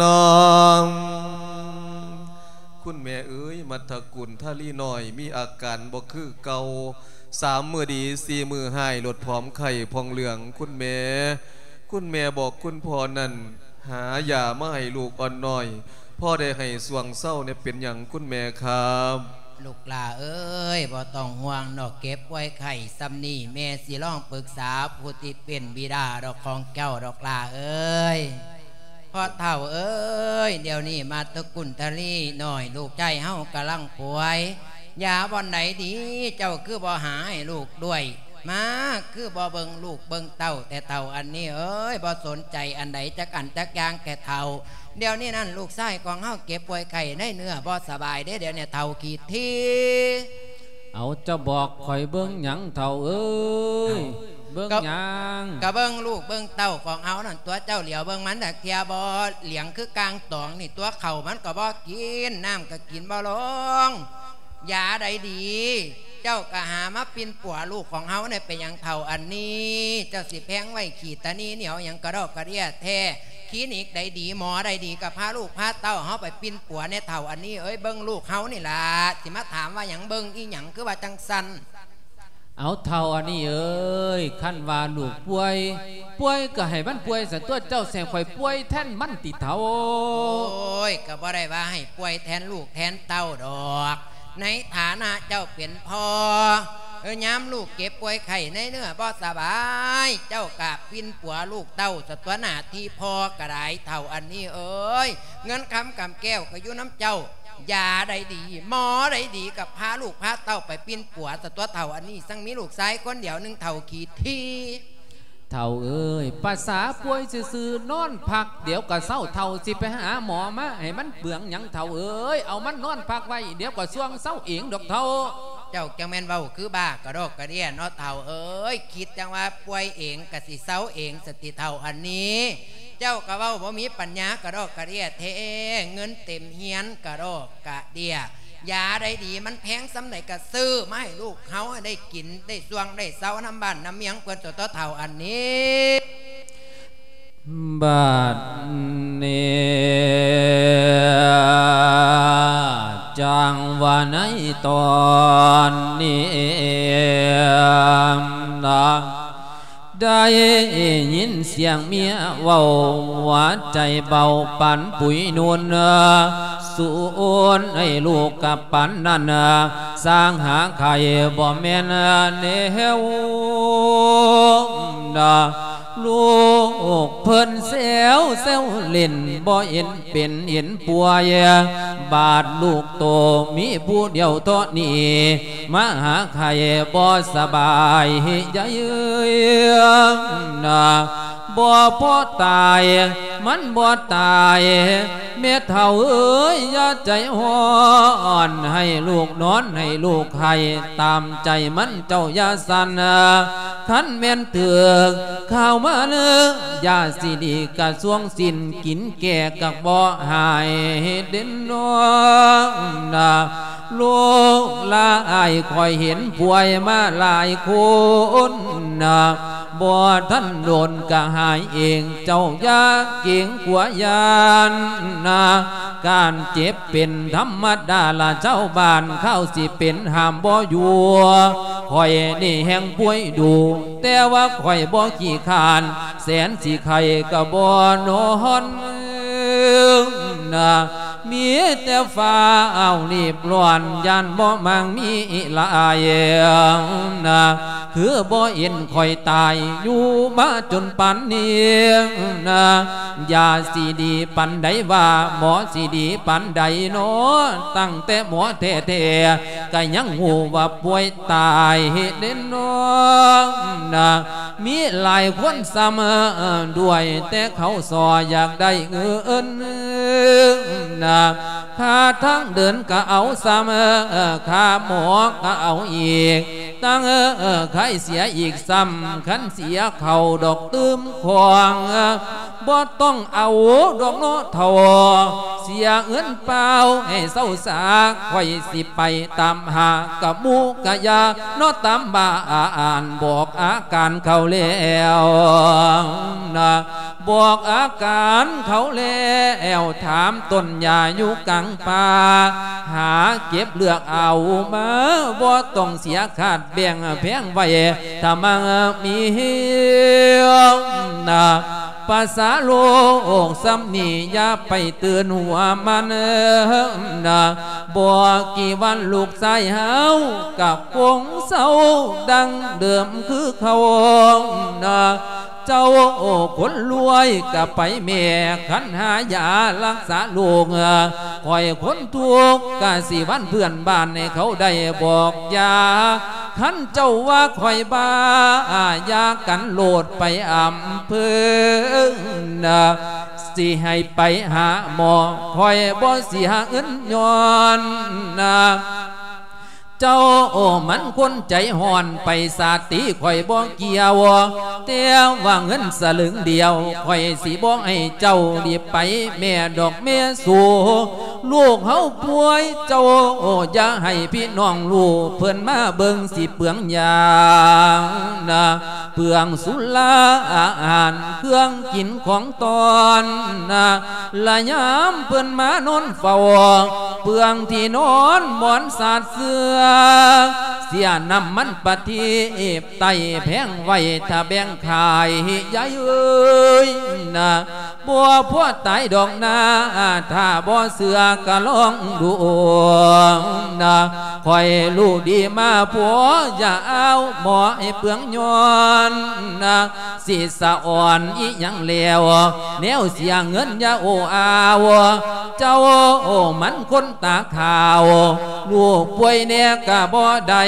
ນ້ອງ ຄຸນແມ່ເອີຍ ມັດທະກຸນທະລີນ້ອຍ ມີອາການບໍ່ຄືເກົ່າ ສາມມື້ດີ ສີ່ມື້ຮ້າຍ ລົດຜອມໄຂ້ຜ່ອງເຫຼືອງ ຄຸນແມ່ ຄຸນແມ່ບອກຄຸນພໍ່ນັ້ນ ຫາຢາມາໃຫ້ລູກອ່ອນນ້ອຍ ພໍໄດ້ໃຫ້ຊ່ວງເຊົາແດ່ ເປັນຫຍັງຄຸນແມ່ຄັບ? ລູກຫຼ້າເອີຍ ບໍ່ຕ້ອງຫ່ວງດອກ ເຈັບປ່ວຍໄຂ້ຊ່ຳນີ້ ແມ່ຊິລອງປຶກສາຜູ້ທີ່ເປັນບິດາດອກ ຂອງເຈົ້າດອກຫຼ້າເອີຍ. ພໍ່ເຖົ້າເອີຍ ດຽວນີ້ມາດຕະກຸນທະລີນ້ອຍ ລູກຊາຍເຮົາກຳລັງປ່ວຍ ຢາບ່ອນໃດດີ ເຈົ້າຄືບໍ່ຫາໃຫ້ລູກດ້ວຍ ມາ ຄືບໍ່ເບິ່ງລູກເບິ່ງເຕົ້າແທ້ເຖົ້າອັນນີ້ເອີຍ ບໍ່ສົນໃຈອັນໃດຈັກອັນຈັກຢ່າງແທ້ເຖົ້າ. ດຽວນີ້ນັ້ນ ລູກຊາຍຂອງເຮົາເຈັບປ່ວຍໄຂ້ໃນເນື້ອ ບໍ່ສະບາຍເດ້ ດຽວນີ້ເຖົ້າຂີ້ຖີ່. ເອົາ ເຈົ້າບອກຂ້ອຍເບິ່ງຫຍັງເຖົ້າເອີຍ? ເອົ້າ ເບິ່ງຫຍັງ? ກະເບິ່ງລູກເບິ່ງເຕົ້າຂອງເຮົານັ້ນຕົວະ ເຈົ້າຫຼຽວເບິ່ງມັນຈັກເທື່ອບໍ່? ຫຼຽງຄືກາງຕອງນີ້ຕົວະ ເຂົ້າມັນກໍບໍ່ກິນ ນ້ຳກໍກິນບໍ່ລົງ ຢາໃດດີ ເຈົ້າກໍຫາມາປິ່ນປົວລູກຂອງເຮົາແດ່. ເປັນຫຍັງເຖົ້າອັນນີ້ ເຈົ້າຊິແພງໄວ້ຂີ້ຕານີໜຽວຫຍັງກະດອກກະເດຍແທ້? ຄລີນິກໃດດີ ໝໍໃດດີ ກໍພາລູກພາເຕົ້າເຮົາໄປປິ່ນປົວແດ່ເຖົ້າອັນນີ້ເອີຍ ເບິ່ງລູກເຮົານີ້ລະ ຊິມາຖາມວ່າຫຍັງ ເບິ່ງອີ່ຫຍັງ ຄືວ່າຈັ່ງຊັ້ນ? ເອົາ ເຖົ້າອັນນີ້ເອີຍ ຄັນວ່າລູກປ່ວຍ ປ່ວຍກໍໃຫ້ມັນປ່ວຍຊະຕົວະ ເຈົ້າຊິໃຫ້ຂ້ອຍປ່ວຍແທນມັນຕິເຖົ້າ? ໂອ້ຍ ກໍບໍ່ໄດ້ວ່າໃຫ້ປ່ວຍແທນລູກແທນເຕົ້າດອກ ໃນຖານະເຈົ້າເປັນພໍ່ ເອີ ຍາມລູກເຈັບປ່ວຍໄຂ້ໃນເນື້ອບໍ່ສະບາຍ ເຈົ້າກະປິ່ນປົວລູກເຕົ້າຊະຕົວະ ໜ້າທີ່ພໍ່ກໍໄດ້ເຖົ້າອັນນີ້ເອີຍ ເງິນຄຳກຳແກ້ວກໍຢູ່ນຳເຈົ້າ ຢາໃດດີ ໝໍໃດດີ ກໍພາລູກພາເຕົ້າໄປປິ່ນປົວຊະຕົວະ ເຖົ້າອັນນີ້ ຊັງມີລູກຊາຍຄົນດຽວໜຶ່ງ ເຖົ້າຂີ້ຖີ່. ເຖົ້າເອີຍ ປະສາປ່ວຍຊື່ໆ ນອນພັກດຽວກໍເຊົາ ເຖົ້າຊິໄປຫາໝໍມາໃຫ້ມັນເປືອງຫຍັງເຖົ້າເອີຍ ເອົາມັນນອນພັກໄວ້ ດຽວກໍສ່ວງເຊົາເອງດອກເຖົ້າ. ເຈົ້າຈັ່ງແມ່ນເວົ້າຄືບ້າກະດອກກະເດຍເນາະເຖົ້າເອີຍ. ຄິດຈັ່ງວ່າປ່ວຍເອງກະຊິເຊົາເອງສະຕິເຖົ້າອັນນີ້. ເຈົ້າກະເວົ້າບໍ່ມີປັນຍາກະດອກກະເດຍແທ້. ເງິນເຕັມຮຽນກະດອກກະເດຍ. ຢາໃດດີມັນແພງສ່ຳໃດກະຊື້ມາໃຫ້ລູກເຮົາໃຫ້ໄດ້ກິນໄດ້ຊ່ວງໄດ້ເຊົານຳບ້ານນຳເມືອງເພິ່ນຕົວະເຖົ້າອັນນີ້. ບາດນີ້ຈັ່ງວ່າໃນຕອນນີ້ນະ ໄດ້ຍິນສຽງເມຍເວົ້າ ຫົວໃຈເບົາປານປຸຍນຸ່ນ ສູນໃຫ້ລູກກະປານນັ້ນ ສ້າງຫາໄຂ່ບໍ່ແມ່ນແນວນະ. ລູກເພິ່ນແຊວແຊວຫຼິ້ນ ບໍ່ເຫັນເປັນເຫັນປ່ວຍ ບາດລູກໂຕມີຜູ້ດຽວເທາະນີ້ ມາຫາໄຂ້ບໍ່ສະບາຍໃຫຍ່ເອີຍນະ. ບໍ່ພໍຕາຍ ມັນບໍ່ຕາຍ ແມ່ເຖົ້າເອີຍ ຢ່າໃຈຮ້ອນ ໃຫ້ລູກນອນ ໃຫ້ລູກໄຫ້ ຕາມໃຈມັນເຈົ້າຢ່າສັ່ນ. ຄັນແມ່ນຖືກຂ່າວມາເນີ ຢາຊິດີກະຊວງສິ້ນ ກິນແກ່ກະບໍ່ຫາຍເດັ່ນນ້ອງນະ. ລູກຫຼາຍຂ້ອຍເຫັນປ່ວຍມາຫຼາຍຄົນນະ ບໍ່ທັນໂດນກະຫາຍເອງ ເຈົ້າຢ່າເກງກົວຢ້ານນະ. ການເຈັບເປັນທຳມະດາລະຊາວບ້ານ ຄາວຊິເປັນຫ້າມບໍ່ຢູ່. ຂ້ອຍນີ້ແຮ່ງປ່ວຍດຸ ແຕ່ວ່າຂ້ອຍບໍ່ຂີ້ຄ້ານ ແສນຊິໄຂ້ກະບໍ່ນອນນະ. ມີແຕ່ຟ້າວຣີບຮ້ອນ ຢ້ານບໍ່ມັ່ງມີຫຼາຍນະ. ຄືບໍ່ເຫັນຂ້ອຍຕາຍຢູ່ມາຈົນປານນີ້ນະ. ຢາຊິດີປານໃດວ່າ ໝໍຊິດີປານໃດນໍ ຕັ້ງແຕ່ໝໍແທ້ໆ ກະຍັງຮູ້ວ່າປ່ວຍຕາຍເດ້ນ້ອງນະ. ມີຫຼາຍຄົນຊ້ຳດ້ວຍ ແຕ່ເຂົາຊໍຢາກໄດ້ເງິນນະ. ຄ່າທາງເດີນກະເອົາຊ້ຳ ຄ່າໝໍກະເອົາອີກ ຕັ້ງຂາຍເສຍອີກຊ້ຳ. ຄັນເສຍເຂົ້າດອກຕື່ມຂອງ ບໍ່ຕ້ອງເອົາດອກເນາະເຖົ້າ ເສຍເງິນເປົ່າໃຫ້ເຊົາສາ. ຂ້ອຍຊິໄປຕາມຫາກະໝູກະຢາເນາະ ຕາມບ້ານບອກອາການເຂົາແລ້ວນະ. ບອກອາການເຂົາແລ້ວ ຖາມຕົ້ນຫຍ້າຢູ່ກາງປ່າ ຫາເກັບເລືອກເອົາມາ ບໍ່ຕ້ອງເສຍຄາດແບ່ງແພງໄວ້ ຖ້າມັກມີນະ. ພາສາໂລກສ່ຳນີ້ ຢ່າໄປຕື່ນຫົວມັນນະ. ບໍ່ກີ່ວັນລູກຊາຍເຮົາ ກະຄົງເຊົາດັ່ງເດີມຄືເກົ່ານະ. ເຈົ້າຄົນລວຍກະໄປແມ່ ຄັນຫາຢາລັກສາໂລກ ຂ້ອຍຄົນທຸກກະຊິວັນເພື່ອນບ້ານໃຫ້ເຂົາໄດ້ບອກຢາ. ຄັນເຈົ້າວ່າຂ້ອຍບ້າ ຢ່າກັນໂລດໄປອຳເພີນະ ຊິໃຫ້ໄປຫາໝໍ ຂ້ອຍບໍ່ເສຍເງິນຍ້ອນນະ. ເຈົ້າມັນຄົນໃຈຮ້ອນ ໄປສາດຕີຂ້ອຍບໍ່ກ່ຽວ ແຕ່ວ່າເງິນສະລຶງດຽວ ຂ້ອຍຊິບໍ່ໃຫ້ເຈົ້າ ໄປແມ່ດອກແມ່ສູ. ລູກເຮົາປ່ວຍ ເຈົ້າຢ່າໃຫ້ພີ່ນ້ອງຮູ້ ເພິ່ນມາເບິ່ງຊິເປືອງຢານະ ເປືອງສຸລາອາຫານ ເຄື່ອງກິນຂອງຕອນນະ. ລະຍາມເພິ່ນມານອນເຝົ້າ ເປືອງທີ່ນອນໝອນສາດເສື່ອ ເສຍນ້ຳມັນປະທີບໃຕ້ແພງໄວ້ ຖ້າແບ່ງຂາຍໃຫຍ່ເອີຍນະ ບໍ່ພໍຕາຍດອກນາ ຖ້າບໍ່ເຊື່ອກະລອງດູນະ. ຂ້ອຍຮູ້ດີມາພໍ ຢ່າເອົາໝໍໃຫ້ເປືອງຍ້ອນນະ. ຊິສະອອນອີ່ຫຍັງແລ້ວ ແນວເສຍເງິນຢ່າໂອ້ອາວ ເຈົ້າມັນຄົນຕາຂາວ ລູກປ່ວຍແດ່ກະບໍ່ໄດ້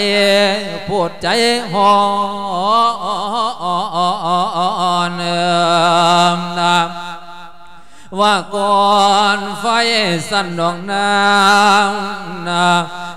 ໂພດໃຈຮ້ອນນະ. ວ່າກ່ອນໄຟສັ່ນດອກນາງນະ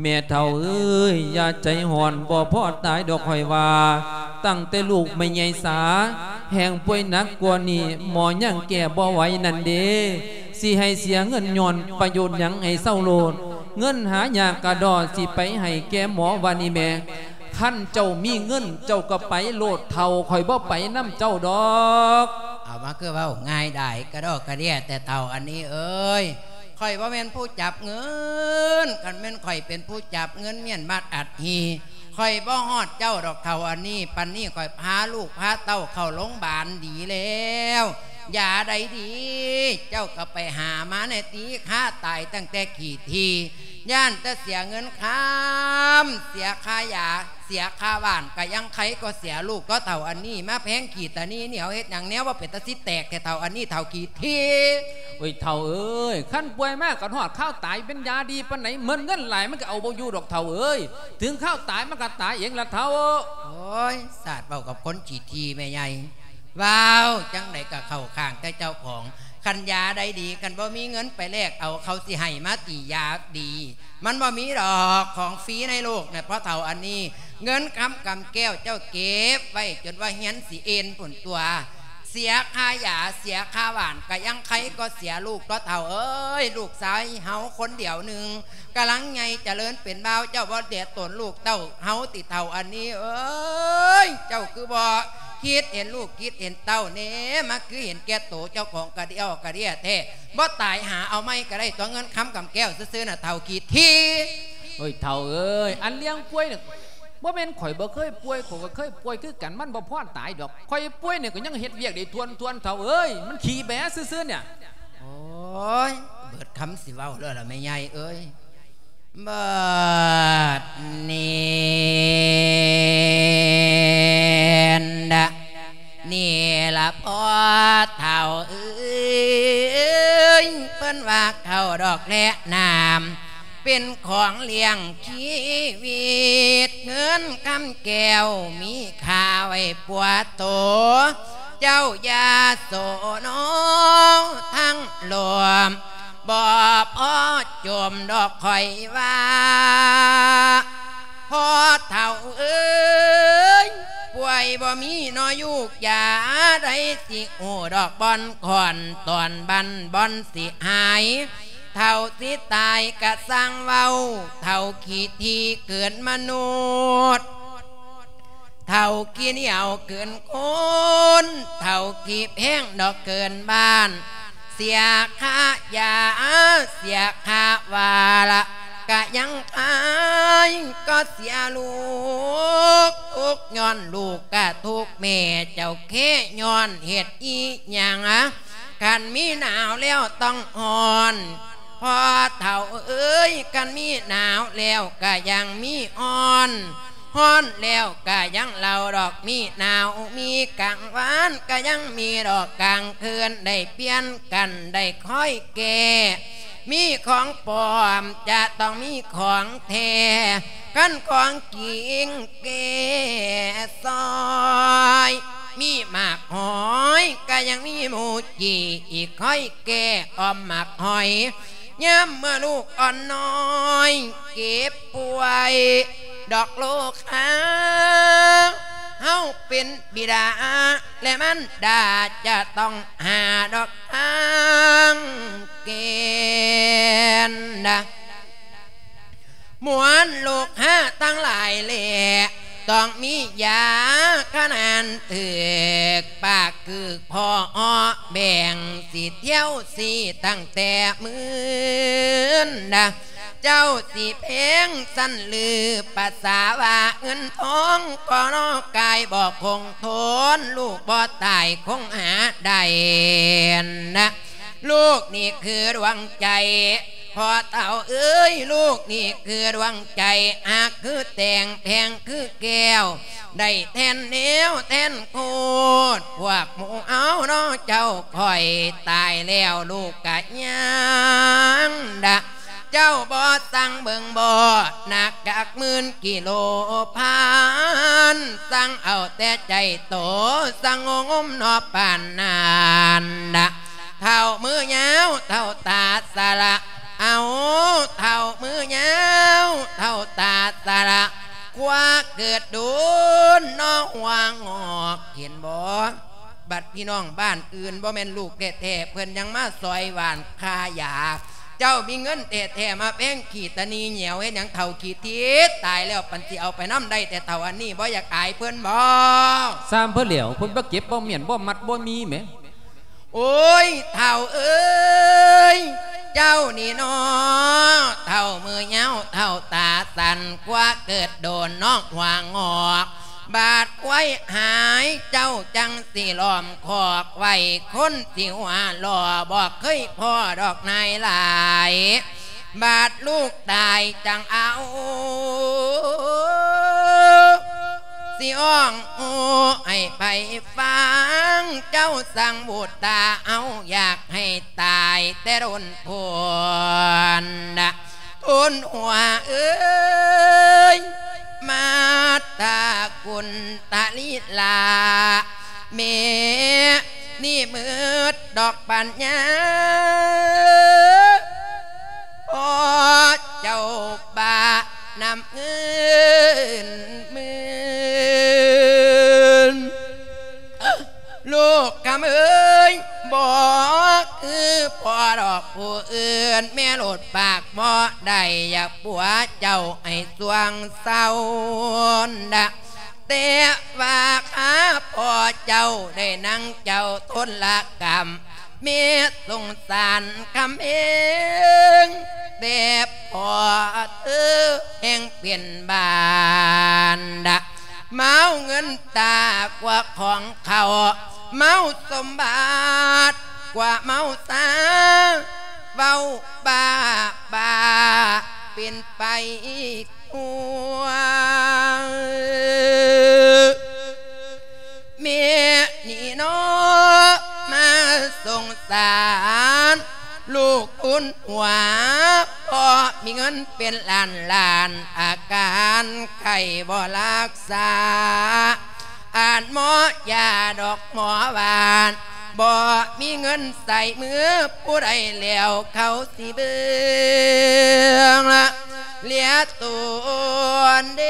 ແມ່ເຖົ້າເອີຍ ຢ່າໃຈຮ້ອນ ບໍ່ພໍຕາຍດອກຂ້ອຍວ່າ. ຕັ້ງແຕ່ລູກແມ່ໃຫຍ່ສາ ແຮ່ງປ່ວຍໜັກກວ່ານີ້ ໝໍຍັງແກ້ບໍ່ໄຫວນັ້ນເດ. ຊິໃຫ້ເສຍເງິນຍ້ອນປະໂຫຍດຫຍັງ ໃຫ້ເຊົາໂລດ. ເງິນຫາຍາກກະດໍ ຊິໄປໃຫ້ແກ່ໝໍວ່ານີ້ແໝ. ຄັນເຈົ້າມີເງິນ ເຈົ້າກໍໄປໂລດເຖົ້າ, ຂ້ອຍບໍ່ໄປນຳເຈົ້າດອກ. ເອົາມາຄືເວົ້າງ່າຍດາຍກະດໍກະເດຍແທ້ເຖົ້າອັນນີ້ເອີຍ. ຂ້ອຍບໍ່ແມ່ນຜູ້ຈັບເງິນ, ຄັນແມ່ນຂ້ອຍເປັນຜູ້ຈັບເງິນມ້ຽນບັດອັດຫີ ຂ້ອຍບໍ່ຮອດເຈົ້າດອກເຖົ້າອັນນີ້. ປານນີ້ຂ້ອຍພາລູກພາເຕົ້າເຂົ້າໂລງບານດີແລ້ວ ຢາໃດດີ ເຈົ້າກໍໄປຫາມາແດ່ຕິ. ຄາຕາຍຕັ້ງແຕ່ຂີ້ຖີ່ ຢ້ານແຕ່ເສຍເງິນຄຳ ເສຍຄ່າຢາ ເສຍຄ່າບ້ານ ກະຍັງໄຄກວ່າເສຍລູກ. ກໍເຖົ້າອັນນີ້ມາແພງຂີ້ຕານີໜຽວເຮັດຫຍັງ ແນວວ່າເປັນຕາຊິແຕກແທ້ເຖົ້າອັນນີ້ ເຖົ້າຂີ້ຖີ່. ໂອ້ຍ ເຖົ້າເອີຍ ຄັນປ່ວຍມາກໍຮອດຄາວຕາຍ ເປັນຢາດີປານໃດ ໝົດເງິນຫຼາຍມັນກໍເອົາບໍ່ຢູ່ດອກເຖົ້າເອີຍ. ເຖິງຄາວຕາຍມັນກໍຕາຍເອງລະເຖົ້າ. ໂອ້ຍ ສາດເວົ້າກັບຄົນຂີ້ຖີ່ແມ່ໃຫຍ່. ເວົ້າຈັ່ງໃດກໍເຂົ້າຂ້າງແຕ່ເຈົ້າຂອງ. ຄັນຢາໃດດີ ຄັນບໍ່ມີເງິນໄປແລກເອົາ ເຂົາຊິໃຫ້ມາຕິ ຢາດີ ມັນບໍ່ມີດອກຂອງຟຣີໃນໂລກນະພໍ່ເຖົ້າອັນນີ້. ເງິນຄຳກຳແກ້ວເຈົ້າເກັບໄວ້ຈົນວ່າຮຽນຊິເອັນພຸ້ນຕົວະ. ເສຍຄ່າຢາ ເສຍຄ່າບ້ານ ກະຍັງໄຄກວ່າເສຍລູກ. ພໍ່ເຖົ້າເອີຍ ລູກຊາຍເຮົາຄົນດຽວໜຶ່ງ ກຳລັງໃຫຍ່ຈະເລີນເປັນບ່າວ ເຈົ້າບໍ່ເດດຕົນລູກເຕົ້າເຮົາຕິເຖົ້າອັນນີ້ເອີຍ. ເຈົ້າຄືບໍ່ຄິດເຫັນລູກຄິດເຫັນເຕົ້າແດ່ ມາຄືເຫັນແກ່ໂຕເຈົ້າຂອງກະດຽວກະເດຍແທ້. ບໍ່ຕາຍຫາເອົາໃໝ່ກໍໄດ້ຕົວະ ເງິນຄຳກຳແກ້ວຊື່ໆນະ ເຖົ້າຂີ້ຖີ່. ໂອ້ຍ ເຖົ້າເອີຍ ອັນລຽງປ່ວຍນີ້ ບໍ່ແມ່ນຂ້ອຍບໍ່ເຄີຍປ່ວຍ, ຂ້ອຍກໍເຄີຍປ່ວຍຄືກັນ, ມັນບໍ່ພໍຕາຍດອກ. ຂ້ອຍປ່ວຍນີ້ກໍຍັງເຮັດວຽກໄດ້ທວນໆ ເຖົ້າເອີຍ, ມັນຂີ້ແບຊື່ໆນີ້. ໂອ້ຍ ເບິດຄຳຊິເວົ້າແລ້ວລະແມ່ໃຫຍ່ເອີຍ. ບັດນີ້ນະ ນີ້ລະພໍ່ເຖົ້າເອີຍ ເພິ່ນວ່າເຂົ້າດອກແລະນ້ຳ ເປັນຂອງລ້ຽງຊີວິດ ເງິນຄຳແກ້ວມີຄ່າໄວ້ປົວໂຕ ເຈົ້າຢ່າໂສນອທັງລວມ ບໍ່ພໍຈົມດອກຂ້ອຍວ່າ ພໍ່ເຖົ້າເອີຍ ປ່ວຍບໍ່ມີນໍຢູ່ຢາໃດ ຊິຮູ້ດອກບ່ອນຂອນຕອນບັ້ນບ່ອນຊິຫາຍ ເຖົ້າຊິຕາຍກະຊ່າງເວົ້າ ເຖົ້າຂີ້ຖີ່ເກີນມະນຸດ ເຖົ້າຂີ້ໜຽວເກີນຄົນ ເຖົ້າຂີ້ແພງດອກເກີນບ້ານ ເສຍຄ່າຢາ ເສຍຄ່າວ່າລະ ກະຍັງອາຍ ກໍເສຍລູກ ທຸກຍ້ອນລູກກະທຸກແມ່ ເຈົ້າແຄ້ຍ້ອນເຮັດອີ່ຫຍັງ ຄັນມີໜາວແລ້ວຕ້ອງຮ້ອນ ພໍ່ເຖົ້າເອີຍ ຄັນມີໜາວແລ້ວກະຍັງມີຮ້ອນ ຮ້ອນແລ້ວກະຍັງເລົ່າດອກ ມີໜາວມີກາງວານ ກະຍັງມີດອກກາງຄືນ ໄດ້ປ່ຽນກັນໄດ້ຄອຍແກ້ ມີຂອງປອມຈະຕ້ອງມີຂອງແທ້ ຄັນຂອງຈິງແກ້ຊອຍ ມີໝາກຫອຍກະຍັງມີໝູຈີ່ ອີກຄອຍແກ້ອ້ອມໝາກຫອຍ ຍາມເມື່ອລູກອ່ອນນ້ອຍເຈັບປ່ວຍດອກໂລຄາ ເຮົາເປັນບິດາ ແລະ ມານດາຈະຕ້ອງຫາດອກທາງແກ້ນນະ ມວນໂລຄາທັງຫຼາຍແລ ຕ້ອງມີຢາຂະໜານຖືກ ປາກຄືພໍ່ເອາະແບ່ງ ຊິທ່ຽວຊີ້ຕັ້ງແຕ່ມື້ນນະ ເຈົ້າຊິແພງຊັ້ນຫຼື ປະສາວ່າເງິນທອງ ກໍນອກາຍບໍ່ຄົງທົນ ລູກບໍ່ຕາຍຄົງຫາໄດ້ນະ ລູກນີ້ຄືດວງໃຈ ພໍ່ເຖົ້າເອີຍ ລູກນີ້ຄືດວງໃຈ ຮັກຄືແຕ່ງ ແພງຄືແກ້ວ ໄດ້ແທນແນວແທນໂຄດ ພວກໝູ່ເຮົາເນາະ ເຈົ້າຂ້ອຍຕາຍແລ້ວ ລູກກະຍັງດະ ເຈົ້າບໍ່ສັ່ງເບິ່ງບໍ່ ໜັກຈັກໝື່ນກິໂລພັນ ສັ່ງເອົາແຕ່ໃຈໂຕ ສັ່ງງົມເນາະປານນັ້ນດະ ເຖົ້າມືຍາວ ເຖົ້າຕາສະຫຼະ ເອົາ ເຖົ້າມືຍາວ ເຖົ້າຕາສະຫຼະ ຄວ້າເກີດໂດນເນາະຫົວງອກ ເຫັນບໍ່? ບັດພີ່ນ້ອງບ້ານອື່ນ ບໍ່ແມ່ນລູກແທ້ໆ ເພິ່ນຍັງມາຊ່ອຍຫວ່ານຄ່າຢາ ເຈົ້າມີເງິນແທ້ໆ ມາແພງຂີ້ຕາໜີ່ແຫຍວເຮັດຫຍັງ ເຖົ້າຂີ້ທິດ ຕາຍແລ້ວ ປັນຊິເອົາໄປນຳໄດ້ແຕ່ເຖົ້າອັນນີ້ ບໍ່ຢາກອາຍເພິ່ນບໍ? ຊ່າງເພິ່ນແຫຼ້ວ ເພິ່ນບໍ່ເກັບ ບໍ່ມ້ຽນ ບໍ່ມັດ ບໍ່ມີແໝ. ໂອ້ຍ ເຖົ້າເອີຍ ເຈົ້ານີ້ເນາະ ເຖົ້າມືຍາວ ເຖົ້າຕາສັ້ນ ຄວ້າເກີດໂດນເນາະຫົວງອກ ບາດຄວາຍຫາຍ ເຈົ້າຈັ່ງຊິລ້ອມຄອກໄວ້ ຄົນຊິຫົວລໍ້ ບໍ່ເຄີຍພໍ້ດອກນາຍຫຼາຍ ບາດລູກຕາຍຈັ່ງເອົາ ຊິຮ້ອງໂອ້ໃຫ້ໃຜຟັງ ເຈົ້າສັ່ງບຸດຕາເອົາ ຢາກໃຫ້ຕາຍແຕ່ດົນໂພນນະ ທຸນຫົວເອີຍ ມາດຕາກຸນຕະລິລາ ແມ່ນີ້ມືດດອກປັນຍາ ພໍ່ເຈົ້າບ້ານຳເງິນໝື່ນ ລູກຄຳເອີຍ ບໍ່ຄືພໍ່ດອກຜູ້ອື່ນ ແມ່ໂລດປາກບໍ່ໄດ້ ຢາກປົວເຈົ້າໃຫ້ຊ່ວງເຊົານະ ແຕ່ວ່າຂ້າພໍ່ເຈົ້າໄດ້ນັ່ງເຈົ້າທົນລະກຳ ແມ່ສົງສານຄຳເອງ ແຕ່ພໍ່ເທີແຮ່ງເປັນບ້ານດະ ເມົາເງິນຕາກວ່າຂອງເຂົາ ເມົາສົມບັດກວ່າເມົາຊາ ເວົ້າບ້າບ້າເປັນໄປ ຫົວ ແມ່ນີ້ເນາະ ມາສົງສານລູກທຸນຫົວ ເພາະມີເງິນເປັນລ້ານລ້ານ ອາການໄຂ້ບໍ່ຮັກສາ ອາດໝໍຢາດອກໝໍຫວານ ບໍ່ມີເງິນໃສ່ມື ຜູ້ໃດແລ້ວເຂົາຊິເບິ່ງລະ ເລຍໂຕນເດ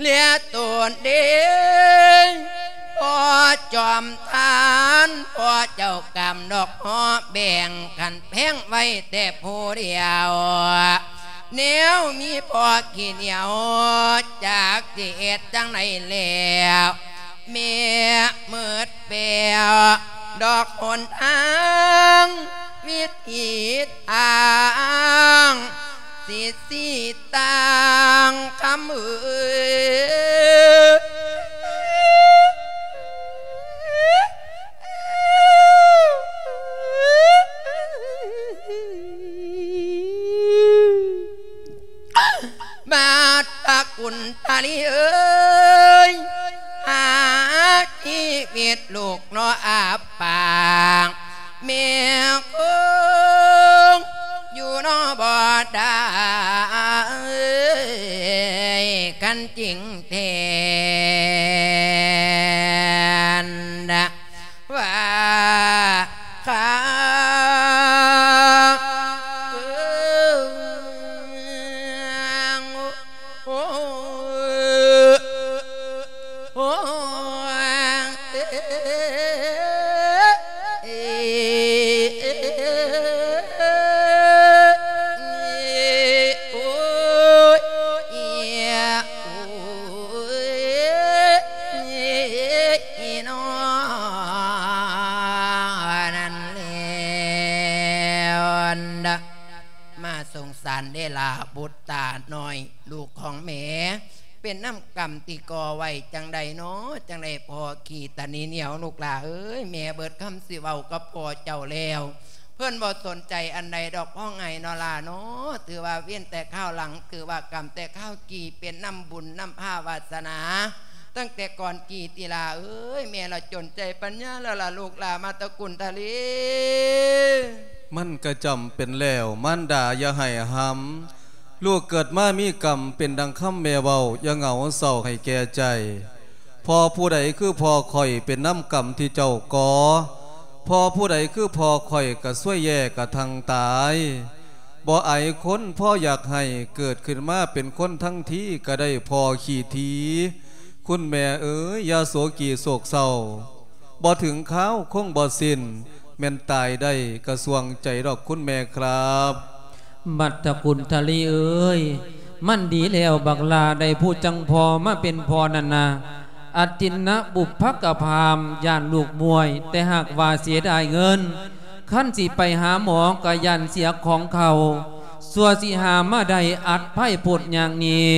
ເລຍໂຕນເດ ພໍ່ຈອມທານ ພໍ່ເຈົ້າກຳດອກຫໍແບ່ງ ຄັນແພງໄວ້ແຕ່ຜູ້ດຽວ ແນວມີພໍ່ຂີ້ໜຽວ ຈັກຊິເຮັດຈັ່ງໃດແລ້ວ ແມ່ມືດແປວ ດອກຫົນທາງ ວິຖີທາງ ຊິຊີ້ຕ່າງຄຳເອີຍ ບາດພະຄຸນທະລີເອີຍ ຫາຊີວິດລູກເນາະອາບປາງ ແມ່ຄົງຢູ່ເນາະບໍ່ໄດ້ ຄັນຈິງແທນ ວ່າຂ້າ ໂອ້ ໂອ້ ໂອ້ ສງສານເດ້ລະບຸດຕານ້ອຍ ລູກຂອງແມ່ ເປັນນຳກຳທີ່ກໍ່ໄວ້ຈັ່ງໃດນໍ ຈັ່ງໄດ້ພໍ້ຂີ້ຕາໜີໜຽວ ລູກຫຼ້າເອີຍ ແມ່ເບີດຄຳຊິເວົ້າກັບພໍ່ເຈົ້າແລ້ວ ເພິ່ນບໍ່ສົນໃຈອັນໃດດອກ ຮ້ອງໄຫ້ນໍຫຼ້ານໍ ຖືວ່າເວນແຕ່ຄາວຫຼັງ ຖືວ່າກຳແຕ່ຄາວກີ້ ເປັນນຳບຸນນຳພາວາສະໜາ ຕັ້ງແຕ່ກ່ອນກີ້ຕິຫຼ້າເອີຍ ແມ່ລະຈົນໃຈປັນຍາແລ້ວລະລູກຫຼ້າ ມາຕະກຸນທະລີ. ມັນກະຈຳເປັນແລ້ວ ມານດາຢ່າໃຫ້ຫ້ຳ ລູກເກີດມາມີກຳ ເປັນດັ່ງຄຳແມ່ເວົ້າ ຢ່າເຫງົາເສົ້າໃຫ້ແກ່ໃຈ ພໍ່ຜູ້ໃດຄືພໍ່ຂ້ອຍ ເປັນນຳກຳທີ່ເຈົ້າກໍ່ ພໍ່ຜູ້ໃດຄືພໍ່ຂ້ອຍ ກະຊວຍແຍ່ກະທັງຕາຍ ບໍ່ອາຍຄົນ ພໍ່ຢາກໃຫ້ ເກີດຂຶ້ນມາເປັນຄົນທັງທີ ກະໄດ້ພໍ່ຂີ້ຖີ ຄຸນແມ່ເອີຍ ຢ່າໂສກີໂສກເສົ້າ ບໍ່ເຖິງຄາວຄົງບໍ່ສິ້ນ ແມ່ນຕາຍໄດ້ກະສ່ວງໃຈດອກຄຸນແມ່ຄັບ. ມັດຕະກຸນທະລີເອີຍ ມັນດີແລ້ວບັກຫຼ້າ ໄດ້ຜູ້ຈັ່ງພໍ່ມາເປັນພໍ່ນັ້ນນະ ອະຕິນນະບຸບພະກະພາມ ຢ້ານລູກມ້ວຍ ແຕ່ຫາກວ່າເສຍດາຍເງິນ ຄັນຊິໄປຫາໝໍກະຢ້ານເສຍຂອງເຂົາ ຊົ່ວຊິຫາມາໄດ້ອັດໄພໂພດຍາກນີ້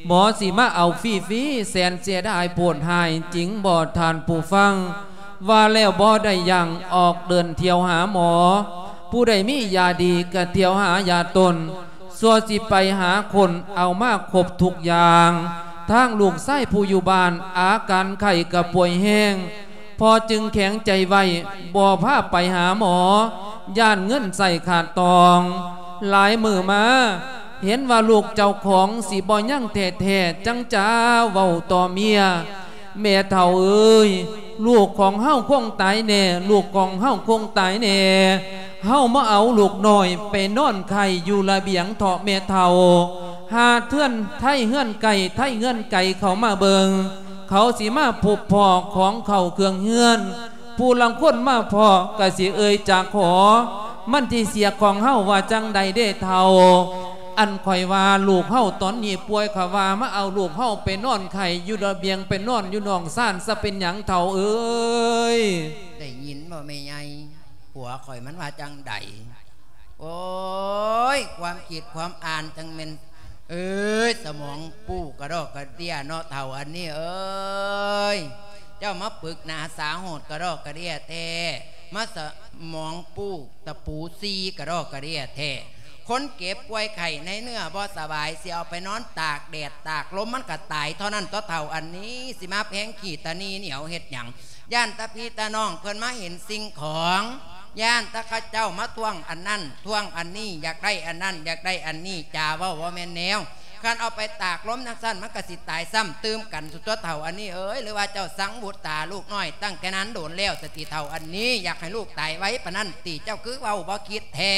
ໝໍຊິມາເອົາຟຣີໆ ແສນເສຍດາຍໂພດຮ້າຍຈິງບໍ່ທ່ານຜູ້ຟັງ ວ່າແລ້ວບໍ່ໄດ້ຢັ້ງ ອອກເດີນທ່ຽວຫາໝໍ ຜູ້ໃດມີຢາດີກະທ່ຽວຫາຢາຕົນ ຊົ່ວຊິໄປຫາຄົ້ນເອົາມາຄົບທຸກຢ່າງ ທາງລູກຊາຍຜູ້ຢູ່ບ້ານ ອາການໄຂ້ກະປ່ວຍແຮງ ພໍ່ຈຶ່ງແຂງໃຈໄວ້ ບໍ່ພາໄປຫາໝໍ ຢ້ານເງິນໃຊ້ຂາດຕອງ ຫຼາຍມື້ມາ ເຫັນວ່າລູກເຈົ້າຂອງຊິບໍ່ຍັງແທ້ໆ ຈັ່ງຈະເວົ້າຕໍ່ເມຍ ແມ່ເຖົ້າເອີຍ ລູກຂອງເຮົາຄົງຕາຍແນ່ ລູກຂອງເຮົາຄົງຕາຍແນ່ ເຮົາມາເອົາລູກນ້ອຍໄປນອນໄຂ້ຢູ່ລະບຽງເຖາະແມ່ເຖົ້າ ຫາເຮືອນໄທເຮືອນໄກ ໄທເຮືອນໄກເຂົ້າມາເບິ່ງ ເຂົາຊິມາພົບພໍ້ຂອງເຂົ້າເຄື່ອງເຮືອນ ຜູ້ລາງຄົນມາພໍ້ກະຊິເອີ່ຍຈາກຂໍ ມັນທີ່ເສຍຂອງເຮົາວ່າຈັ່ງໃດເດ້ເຖົ້າ ອັນຂ້ອຍວ່າລູກເຮົາຕອນນີ້ປ່ວຍ ຂ້ອຍວ່າມາເອົາລູກເຮົາໄປນອນໄຂ້ຢູ່ລະບຽງ ໄປນອນຢູ່ນອກຊານ ສະເປັນຫຍັງເຖົ້າເອີຍ? ໄດ້ຍິນບໍ່ແມ່ໃຫຍ່? ຜົວຂ້ອຍມັນວ່າຈັ່ງໃດ? ໂອ້ຍ ຄວາມຄິດຄວາມອ່ານຈັ່ງແມ່ນ ເອີຍ ສະໝອງປູກະດອກກະເດຍເນາະ ເຖົ້າອັນນີ້ເອີຍ ເຈົ້າມາປຶກໜາສາໂຫດກະດອກກະເດຍແທ້ ມາສະໝອງປູຕະປູຊີກະດອກກະເດຍແທ້ ຄົນເຈັບປ່ວຍໄຂ້ໃນເນື້ອບໍ່ສະບາຍ ຊິເອົາໄປນອນຕາກແດດຕາກລົມ ມັນກະຕາຍເທົ່ານັ້ນຕົວະ ເຖົ້າອັນນີ້ ຊິມາແພງຂີ້ຕາໜີໜຽວເຮັດຫຍັງ? ຢ້ານແຕ່ພີ່ແຕ່ນ້ອງເພິ່ນມາເຫັນສິ່ງຂອງ ຢ້ານແຕ່ເຂົາເຈົ້າມາທວງອັນນັ້ນ ທວງອັນນີ້ ຢາກໄດ້ອັນນັ້ນ ຢາກໄດ້ອັນນີ້ ຈາເວົ້າບໍ່ແມ່ນແນວ ຄັນເອົາໄປຕາກລົມຈັ່ງຊັ້ນ ມັນກະຊິຕາຍຊ້ຳຕື່ມກັນ ສຸດຕົວະເຖົ້າອັນນີ້ເອີຍ ຫຼືວ່າເຈົ້າສັງບຸດຕາລູກນ້ອຍຕັ້ງແຕ່ນານໂດນແລ້ວ ສະຕິເຖົ້າອັນນີ້ ຢາກໃຫ້ລູກຕາຍໄວປານນັ້ນຕິ ເຈົ້າຄືເວົ້າບໍ່ຄິດແທ້?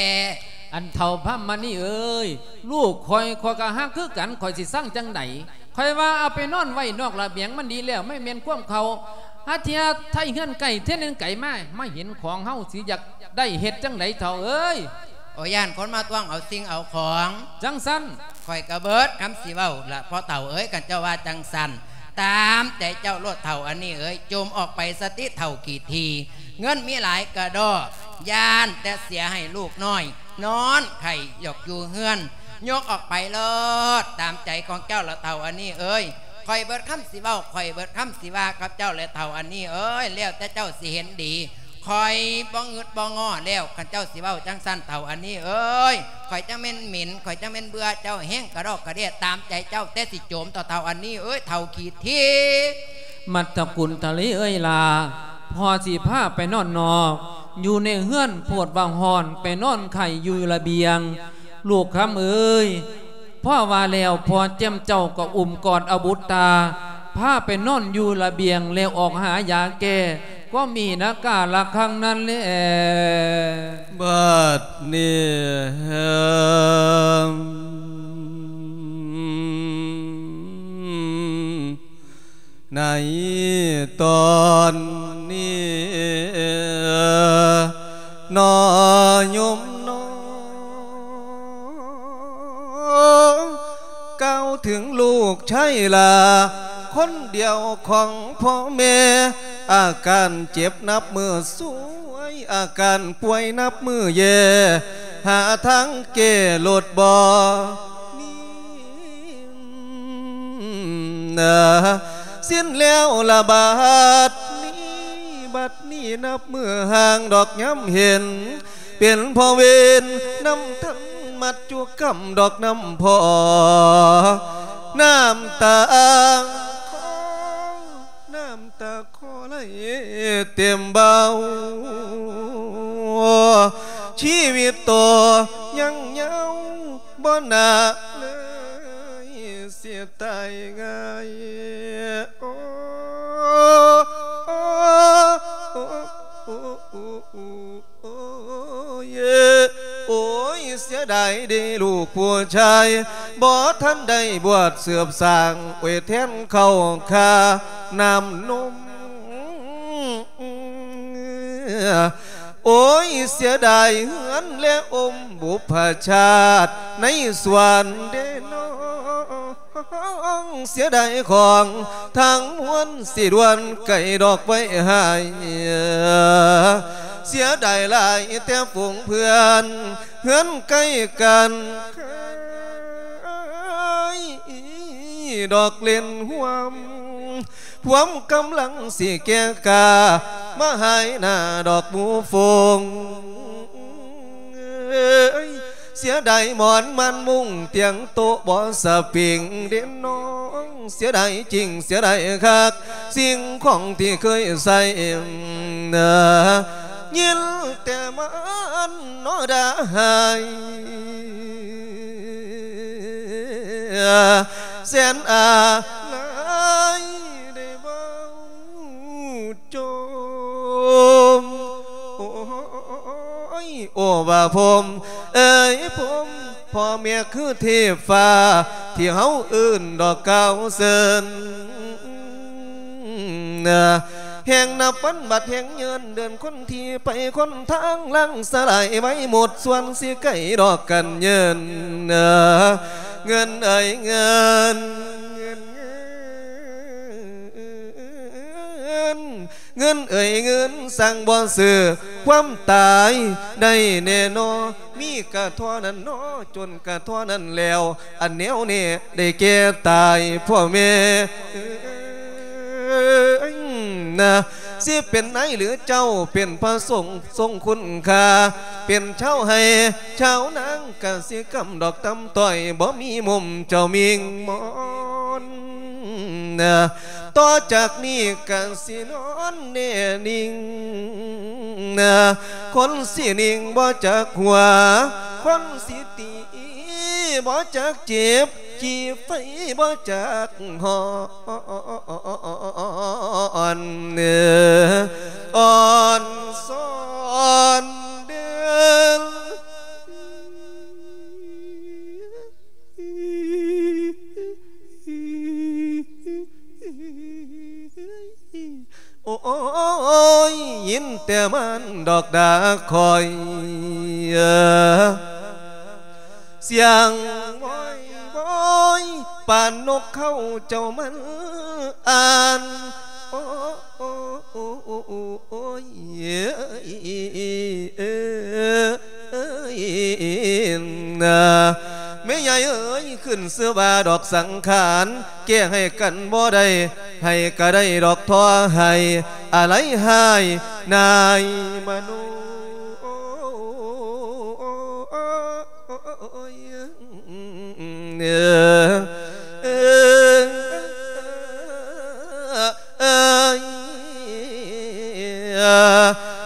ອັນເຖົ້າພຳມະນີເອີຍ ລູກຂ້ອຍ ຂ້ອຍກະຮັກຄືກັນ ຂ້ອຍຊິຊັງຈັ່ງໃດ? ຂ້ອຍວ່າເອົາໄປນອນໄວ້ນອກລະບຽງມັນດີແລ້ວ ມັນແມ່ນຄວາມເຂົາ ຫາເທື່ອໄທເຮືອນໃກ້ ເທື່ອໜຶ່ງໄກມາ ມາເຫັນຂອງເຮົາ ຊິຢາກໄດ້ເຮັດຈັ່ງໃດເຖົ້າເອີຍ? ໂອ ຢ້ານຄົນມາທວງເອົາສິ່ງເອົາຂອງ ຈັ່ງຊັ້ນ ຂ້ອຍກະເບີດຄຳຊິເວົ້າລະພໍ່ເຖົ້າເອີຍ ຄັນເຈົ້າວ່າຈັ່ງຊັ້ນ ຕາມໃຈເຈົ້າໂລດເຖົ້າອັນນີ້ເອີຍ ຈົ່ມອອກໄປສະຕິເຖົ້າຂີ້ຖີ ເງິນມີຫຼາຍກະດໍ້ ຢ້ານແຕ່ເສຍໃຫ້ລູກນ້ອຍ ນອນໄຂ້ຢອກຢູ່ເຮືອນ ຍົກອອກໄປໂລດ ຕາມໃຈຂອງເຈົ້າລະເຖົ້າອັນນີ້ເອີຍ ຂ້ອຍເບີດຄຳຊິເວົ້າ ຂ້ອຍເບີດຄຳຊິວ່າກັບເຈົ້າແລະເຖົ້າອັນນີ້ເອີຍ ແລ້ວແຕ່ເຈົ້າຊິເຫັນດີ ຂ້ອຍບໍ່ງຶດບໍ່ງໍ້ແລ້ວ ຄັນເຈົ້າຊິເວົ້າຈັ່ງຊັ້ນເຖົ້າອັນນີ້ເອີຍ ຂ້ອຍຈັ່ງແມ່ນເໝັນ ຂ້ອຍຈັ່ງແມ່ນເບື່ອເຈົ້າແຮງກະດອກກະເດຍ ຕາມໃຈເຈົ້າແຕ່ຊິໂຈມເຖົ້າອັນນີ້ເອີຍ ເຖົ້າຂີ້ຖີ. ມັດຕະກຸນທະລີເອີຍຫຼ້າ ພໍ່ຊິພາໄປນອນນອກ ຢູ່ໃນເຮືອນໂພດວ່າຮ້ອນ ໄປນອນໄຂ້ຢູ່ລະບຽງ ລູກຄຳເອີຍ ພໍວ່າແລ້ວ ພໍ່ແຈ່ມເຈົ້າກໍອຸ້ມກອດເອົາບຸດຕາ ພາໄປນອນຢູ່ລະບຽງ ແລ້ວອອກຫາຢາແກ້ ກໍມີນາກາລະຄັງນັ້ນແຫຼະ ບາດນີ້ ໃນຕອນນີ້ນໍໂຍມນໍ ກ່າວເຖິງລູກຊາຍຫຼ້າ ຄົນດຽວຂອງພໍ່ແມ່ ອາການເຈັບນັບມື້ຊວຍ ອາການປ່ວຍນັບມື້ແຍ່ ຫາທາງແກ້ໂລດບໍ່ນີ້ ສິ້ນແລ້ວລະບາດນີ້ ບັດນີ້ນັບມື້ຫ່າງດອກຍາມເຫັນ ເປັນເພາະເວນນຳທັນ ມັດຈຸກຳດອກນຳພໍ່ ນ້ຳຕາ ນ້ຳຕາ ຂໍໄຫຼເຕັມເບົາ ຊີວິດຕໍ່ຍັງຍາວ ບໍ່ໜ້າເລີຍຊິຕາຍງ່າຍ ໂອ້ ໂອ້ ໂອ້ ໂອ້ຍ ໂອ້ຍ ເສຍດາຍເດລູກຜູ້ຊາຍ ບໍ່ທັນໄດ້ບວດເສີບສ້າງ ໂອ້ຍ ແທນເຂົ້າຄ່ານ້ຳນົມ ໂອ້ຍ ເສຍດາຍເຮືອນ ແລະ ອົມບຸບພະຊາດ ໃນສວນເດນ້ອງ ເສຍດາຍຂອງທັງມວນ ຊິດ່ວນໄກດອກໄວ້ໃຫ້ ເສຍດາຍຫຼາຍແຕ່ຝູງເພື່ອນ ເຮືອນໃກ້ກັນ ດອກເຫຼັ້ນຮ່ວມ ພວມກຳລັງຊິແກ່ກ້າ ມາຫາຍໜ້າດອກໝູ່ຝູງ ເອີຍ ເສຍດາຍໝອນມ່ານມຸ້ງຕຽງໂຕະບໍ່ສະປິງເດນ້ອງ ເສຍດາຍຈິງເສຍດາຍຄັກ ສິ່ງຂອງທີ່ເຄີຍໃຊ້ ຍິນແຕ່ມັນນໍດ່າຮ້າຍ ແສນອາໄລໄດ້ເວົ້າ ຈົມ ໂອ້ຍ ໂອ້ ວ່າພົມເອີຍ ພົມ ພໍ່ແມ່ຄືເທບຟ້າ ທີ່ເຮົາເອີ້ນດອກກ່າວເຊີນ ແຫ່ງນັບວັນບັດແຫ່ງເຍີນ ເດືອນຄົນທີ່ໄປຄົນທາງ ລ້າງສະຫຼາຍໄວ້ໝົດ ສ່ວນຊິໄກດອກກັນເຍີນ ເງິນເອີຍເງິນ ເງິນ ເງິນເອີຍເງິນ ສັ່ງບໍ່ຊື້ຄວາມຕາຍໄດ້ແນ່ນອ ມີກະທໍ່ນັ້ນນອ ຈົນກະທໍ່ນັ້ນແລ້ວ ອັນແນວແນ່ໄດ້ແກ່ຕາຍ ພໍ່ແມ່ເອີຍນະ ຊິເປັນນາຍຫຼືເຈົ້າ ເປັນພະສົງ ຊົງຄຸນຄ່າ ເປັນຊາວໄຮ່ຊາວນາ ກະສິກຳດອກຕ່ຳຕ້ອຍ ບໍ່ມີມຸມເຈົ້າມິ່ງມອນ ຕໍ່ຈາກນີ້ກະຊິນອນແນ່ນິ່ງ ຄົນຊິນິ່ງບໍ່ຈັກຫົວ ຄົນຊິຕີບໍ່ຈັກເຈັບ ຈີບໄຟບໍ່ຈັກຮ້ອນ ອ່ອນຊອນເດີນ ໂອ້ຍ ຍິນແຕ່ມັນດອກດາຄອຍ ສຽງວອຍວອຍ ປານນົກເຂົາເຈົ້າມັນອ່ານ ໂອ້ ໂອ້ ໂອ້ ໂອ້ ໂອ້ຍ ເອີຍ ເອີຍ ເອີຍ ນາ ແມ່ໃຫຍ່ເອີຍ ຂຶ້ນຊື່ວ່າດອກສັງຂານ ແກ້ໃຫ້ກັນບໍ່ໄດ້ ໃຫ້ກະໄດ້ດອກທໍໃຫ້ ອາໄລຫາຍນາຍມະໂນ ໂອ້ຍ ເອີ ເອີ ເອີ ເອີ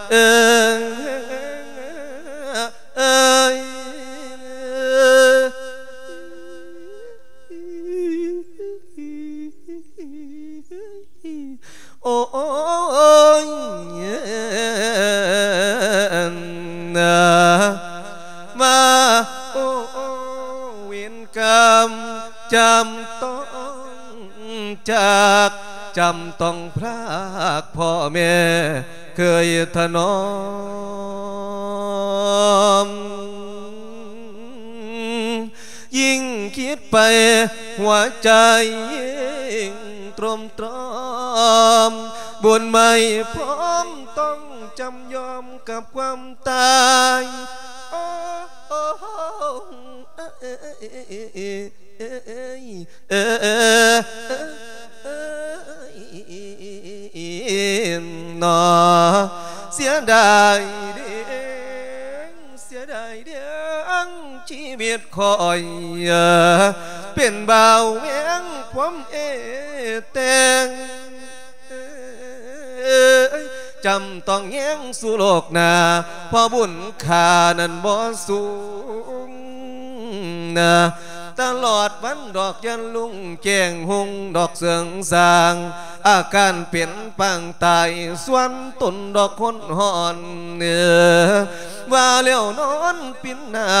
ເອີ ເອີ ເອີ ໂອ້ຍ ນາ ມາ ໂອ້ ເວນກຳ ຈຳຕ້ອງຈາກ ຈຳຕ້ອງພຣາກພໍ່ແມ່ເຄີຍຖະໜອມ ຍິ່ງຄິດໄປຫົວໃຈຍິ່ງໂຕຣມຕຣອມ ບຸນໄມ້ພ້ອມຕ້ອງຈຳຍອມກັບຄວາມຕາຍ ໂອ້ ເອີຍ ເອີຍ ເອີຍ ເອີຍ ເອີຍ ເອີຍ ເນາະ ເສຍດາຍເດ້ ເສຍດາຍເດ້ ຊີວິດຂ້ອຍ ເປັນບ່າວແວງຄວາມເອແຕງ ຈຳຕ້ອງແຍງສູ່ໂລກໜ້າ ເພາະບຸນຄ່ານັ້ນບໍ່ສູງ ຕະຫຼອດວັນດອກຍັນລຸງແຈ້ງຮຸ່ງດອກເສີງສ້າງ ອາການເປັນປາງຕາຍ ສ່ວນຕົນດອກຄົນຮ້ອນ ວ່າແລ້ວນອນປິ່ນໜ້າ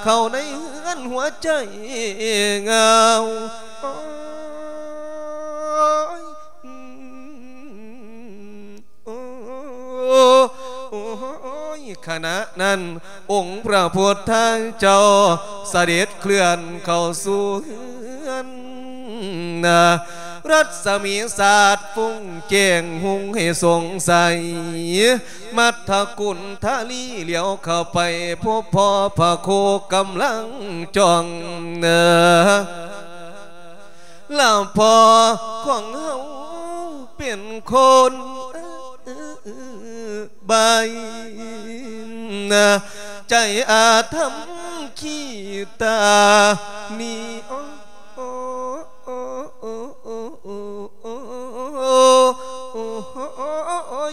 ເຂົ້າໃນເຮືອນຫົວໃຈເຫງົາ ໂອ້ຍ ໂອ້ຍ ຂະນະນັ້ນ ອົງພະພຸດທະເຈົ້າສະເດັດເຄື່ອນເຂົ້າສູ່ເຮືອນ ນະ ລັດສະໝີສາດຟຸ້ງແຈ້ງຮຸ່ງໃຫ້ສົງໄສ ມັດທະກຸນທະລີຫຼຽວເຂົ້າໄປ ພົບພໍ້ພະໂຄກຳລັງຈ້ອງ ນະ ລະພໍ່ຂອງເຮົາເປັນຄົນບາຍ ໃຈອາທຳຂີ້ຕາໜີ ໂອ້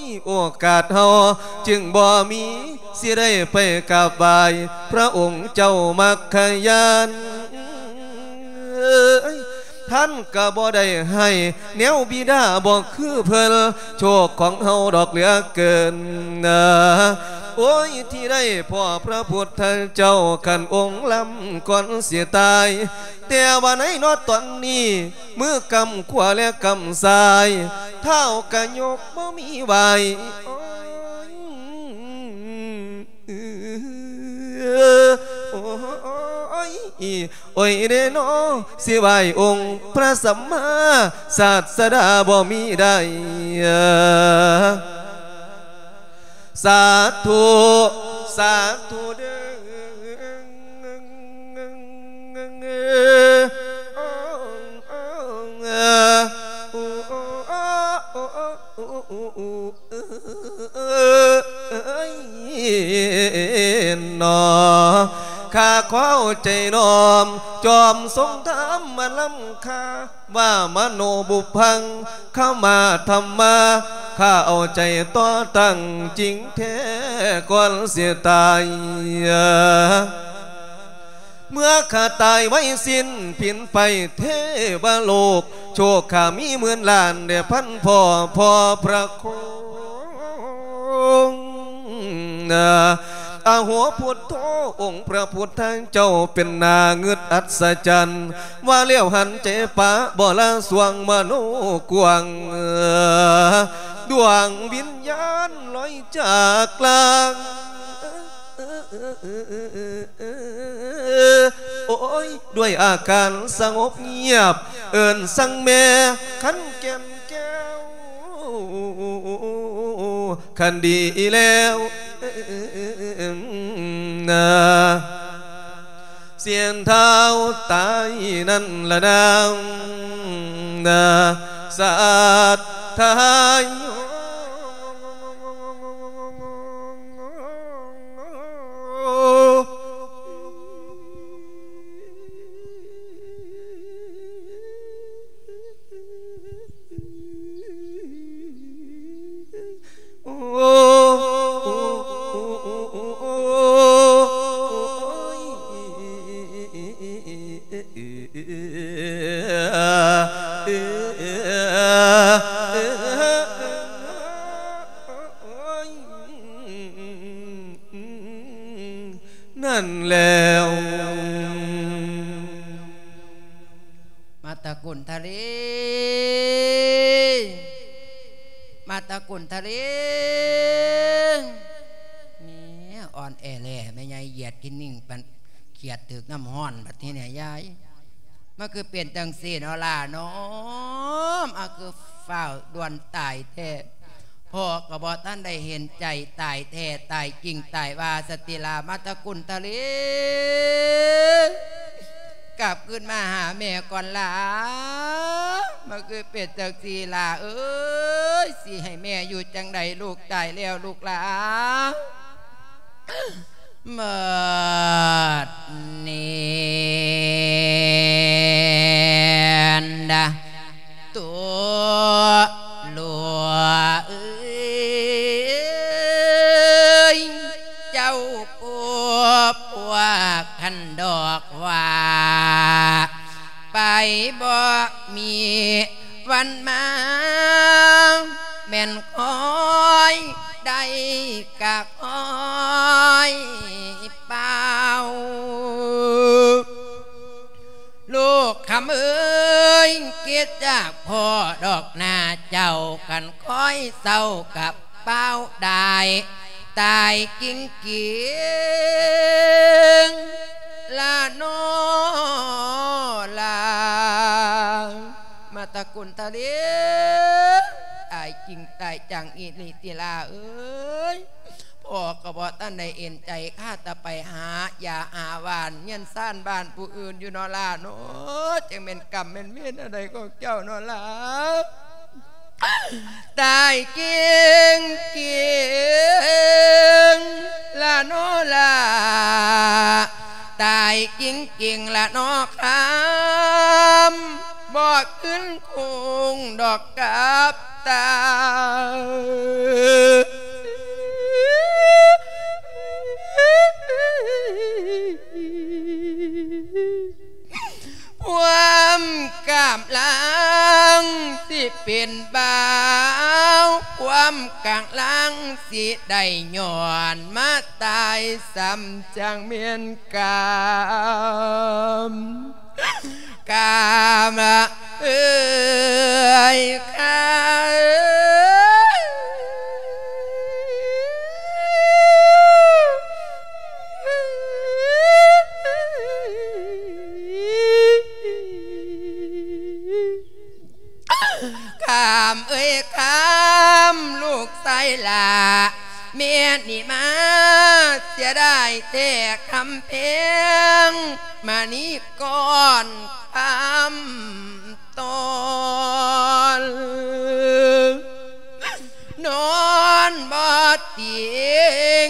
ຍ ໂອກາດເຮົາຈຶ່ງບໍ່ມີ ຊິໄດ້ໄປກາບໄຫວ້ພະອົງເຈົ້າມັກຄະຍານ ທ່ານກະບໍ່ໄດ້ໃຫ້ແນວບິດາບໍ່ຄືເພິ່ນ ໂຊກຂອງເຮົາດອກເຫຼືອເກີນ ໂອ້ຍ ທີ່ໄດ້ພໍ້ພະພຸດທະເຈົ້າ ຄັນອົງລຳກ່ອນຊິຕາຍ ແຕ່ວ່າໃນນອດຕອນນີ້ ມືກຳຂວາແລະກຳຊ້າຍ ເທົ້າກະຍົກບໍ່ມີໄຫວ້ ໂອ້ຍ ໂອ້ຍ ໂອ້ຍເດ້ນໍ ຊິໄຫວ້ອົງພະສຳມາສາດສະດາບໍ່ມີໄດ້ ສາທຸ ສາທຸເດີ້ ເອີຍ ເນາະ ຂ້າຂໍເອົາໃຈນ້ອມ ຈອມຊົງທຳມາລຳຄາ ວ່າມະໂນບຸບພັງ ຄະມາທຳມາ ຂ້າເອົາໃຈຕໍ່ຕັ້ງຈິງແທ້ກ່ອນຊິຕາຍ ເມື່ອຂ້າຕາຍໄວສິ້ນຜິນໄປເທວະໂລກ ໂຊກຂ້າມີໝື່ນລ້ານແດ່ພັນພໍ່ ພໍ່ພະໂຄງ ອະໂຫພຸດໂທ ອົງພະພຸດທະເຈົ້າເປັນໜ້າງຶດອັດສະຈັນ ວ່າແລ້ວຫັນໃຈປະບໍ່ລະສວງມະໂນກວ້າງ ດວງວິນຍານລອຍຈາກລ່າງ ໂອ້ຍ ດ້ວຍອາການສະຫງົບງຽບ ເອີ້ນສັງແມ່ຂັນແກ່ນແກ້ວ ຄັນດີແລ້ວ ນາ ສຽງທ້າວຕາຍນັ້ນລະນາງ ນາ ສາດທາຍ ນັ້ນແລ້ວ ມາຕະກຸນທະເລ ມາຕະກຸນທະເລ ແມ່ອ່ອນແອແລ ແມ່ໃຫຍ່ຢຽດກິນໜິ່ງ ປານຂຽດຖືກນ້ຳຮ້ອນ ບັດນີ້ແຫຼະຍາຍ ມາຄືເປັນຈັ່ງຊີ້ເນາະຫຼ້າເນາະ ມາຄືຟ້າວດ່ວນຕາຍແທ້ ພໍ່ກໍບໍ່ທັນໄດ້ເຫັນໃຈ ຕາຍແທ້ຕາຍຈິງຕາຍວ່າ ສະຕິລາ ມາຕະກຸນທະເລ. ກັບຄືນມາຫາແມ່ກ່ອນຫຼ້າ. ມັນຄືເປັນຈັ່ງຊີ້ຫຼ້າເອີຍ ຊິໃຫ້ແມ່ຢູ່ຈັ່ງໃດ ລູກຕາຍແລ້ວລູກຫຼ້າ. ບັດນີ້ນະ ຕົວຫຼວງເອີຍ ເຈົ້າຜູ້ພວກຄັນດອກວ່າ ໄປບໍ່ມີວັນມາ ແມ່ນຄອຍໄດ້ກະຄອຍເປົ່າ. ລູກຄຳເອີຍ ຄິດຈາກພໍ່ດອກໜ້າເຈົ້າ ຄັນຄອຍເສົ້າກັບ ປາວດາຍຕາຍກິງກິງລະນໍລາ. ມາຕະກຸນທະເລ ຕາຍກິງຕາຍຈັງອີ່ຫຼີຕິລາເອີຍ. ພໍ່ກໍບໍ່ທັນໄດ້ເອັນໃຈ ຄາແຕ່ໄປຫາຢາຫາຫວ່ານ ເຮືອນຊານບ້ານຜູ້ອື່ນຢູ່ນໍລານໍ. ຈັ່ງແມ່ນກຳແມ່ນເວນອັນໃດຂອງເຈົ້ານໍລາ. ຕາຍກິງກິງລະນໍລາ ຕາຍກິງກິງລະນໍຄຳ ບໍ່ຄືນຄຸງດອກກັບຕາ. ຄວາມກຳລັງຊິເປັນບ່າວ ຄວາມກຳລັງຊິໄດ້ຍ້ອນມາຕາຍ ສ່ຳຈັ່ງແມ່ນກຳ ກຳເອີຍ ຄຳເອີຍ. ຄຳເອີຍຄຳ ລູກຊາຍຫຼ້າ ແມ່ນີ້ມາເສຍດາຍແທ້ຄຳແພງ ມະນີກ່ອນຄຳ ຕອນ ນອນບໍ່ຕິງ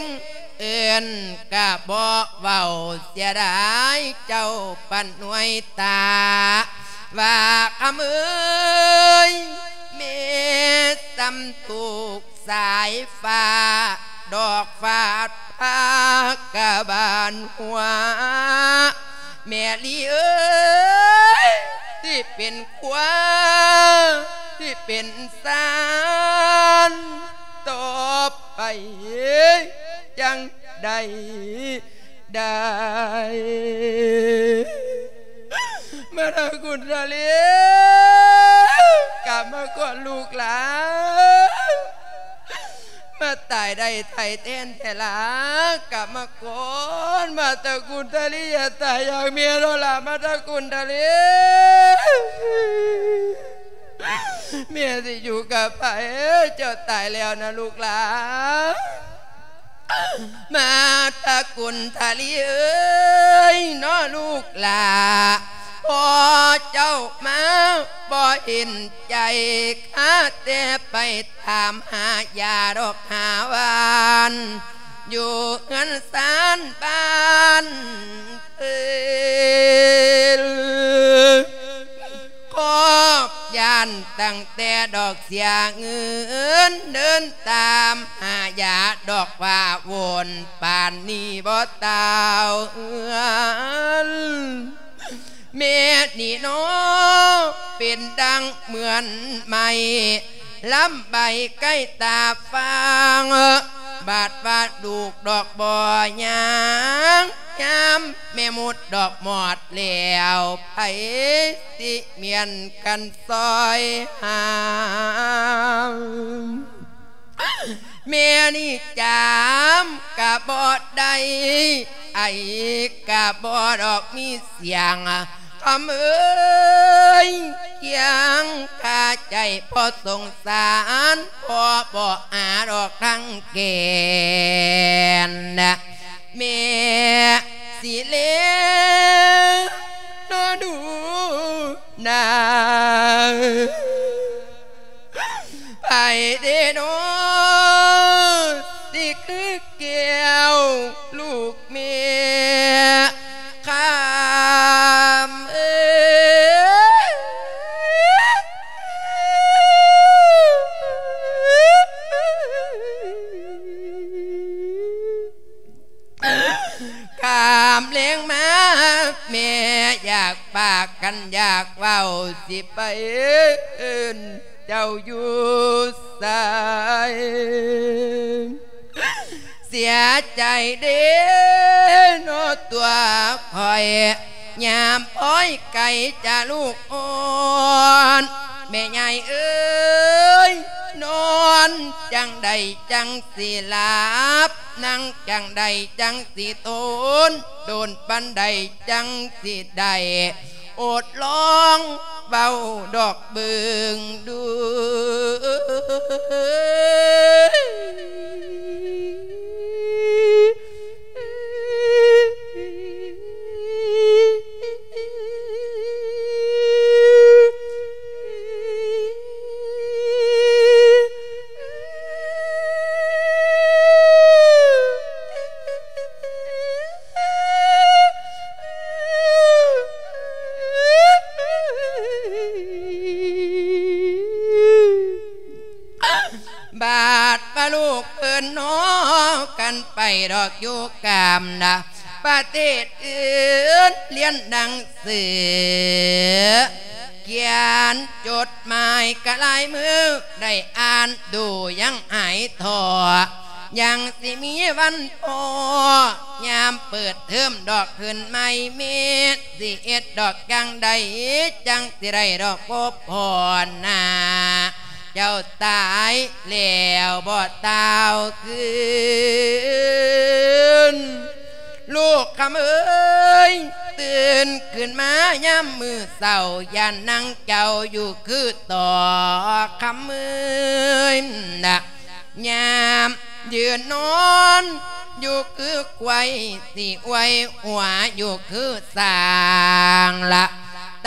ເອີ້ນກະບໍ່ເວົ້າ ເສຍດາຍເຈົ້າປານໜ່ວຍຕາ ວ່າຄຳເອີຍ ແມ່ສ່ຳທຸກ ສາຍຟ້າດອກຟາດພາກະບານຫົວ ແມ່ລີເອີຍ ຊິເປັນຄວາ ຊິເປັນຊານຕໍ່ໄປຈັ່ງໃດ ໄດ້ ມາທາກຸນທະລີ ກັບມາກ່ອນລູກຫຼານ ມາຕາຍໄດ້ໄຖ່ແທນແທ້ລະ ກັບມາກ່ອນ ມາທາກຸນທະລີ ຢ່າຕາຍຢ່າງເມໂລລາ ມາທາກຸນທະລີ ແມ່ຊິຢູ່ກັບໃຜ ເຈົ້າຕາຍແລ້ວນະລູກຫຼານ. ມາຕະກຸນທະລີເອີຍ ເນາະລູກຫຼ້າ ພໍ່ເຈົ້າມາບໍ່ເຫັນໃຈ ຄາແຕ່ໄປຖາມຫາຢາດອກຫາຫວ່ານ ຢູ່ເຮືອນຊານບ້ານເພິ່ນ ຄອບຢ້ານຕັ້ງແຕ່ດອກເສຍເງິນ ເດີນຕາມຫາຢາດອກວ່າວົນ ປານນີ້ບໍ່ຕ່າວເຮືອນ ແມ່ນີ້ເນາະ ເປັນດັ່ງເໝືອນໄມ້ ລຳໃບໃກ້ຕາຟັງ ບາດວ່າລູກດອກບໍ່ຍ່າງ ຍາມແມ່ມຸດດອກມອດແລ້ວ ໃຜຊິມ້ຽນກັນຊ່ອຍຫາມ ແມ່ນີ້ຈາມກະບໍ່ໄດ້ ໄອກະບໍ່ດອກມີສຽງ ຄຳເອີຍ ຄຽງຄາໃຈພໍສົງສານ ພໍບໍ່ຫາດອກທາງແກ່ນ ແມ່ຊິເລ ມແລງມາ ແມ່ຢາກປາກກັນຢາກເວົ້າ ຊິໄປເອີ້ນເຈົ້າຢູ່ໃສ. ເສຍໃຈເດ້ເນາະຕົວຂ້ອຍ ຍາມພອຍໄກຈາລູກອ່ອນ. ແມ່ໃຫຍ່ເອີຍ ນອນຈັ່ງໃດຈັ່ງຊິຫຼັບ ນັ່ງຈັ່ງໃດຈັ່ງຊິທົນ ໂດນປານໃດຈັ່ງຊິໄດ້ ໂອດລອງເວົ້າດອກເບິ່ງດູ. ບາດວ່າລູກເພິ່ນເນາະ ກັນໄປດອກຢູ່ກາມນະ ປະເທດອື່ນລຽນໜັງສື ຂຽນຈົດໝາຍກະຫຼາຍມື້ ໄດ້ອ່ານດູຍັງຫາຍທໍ້ ຍັງຊິມີວັນພໍ ຍາມເປີດເທີມດອກຂຶ້ນໃໝ່ ແມ່ຊິເຮັດດອກຈັ່ງໃດ ຈັ່ງຊິໄດ້ດອກພົບພໍ້ໜ້າ ເຈົ້າຕາຍແລ້ວບໍ່ຕ່າວຄືນ. ລູກຄຳເອີຍ ຕື່ນຂຶ້ນມາຍາມມື້ເຊົ້າ ຢ້ານນາງເຈົ້າຢູ່ຄືຕໍ່ຄຳເອີຍນະ ຍາມຢືນນອນຢູ່ຄືຄວາຍ ຊິອວຍຫົວຢູ່ຄືຊ້າງລະ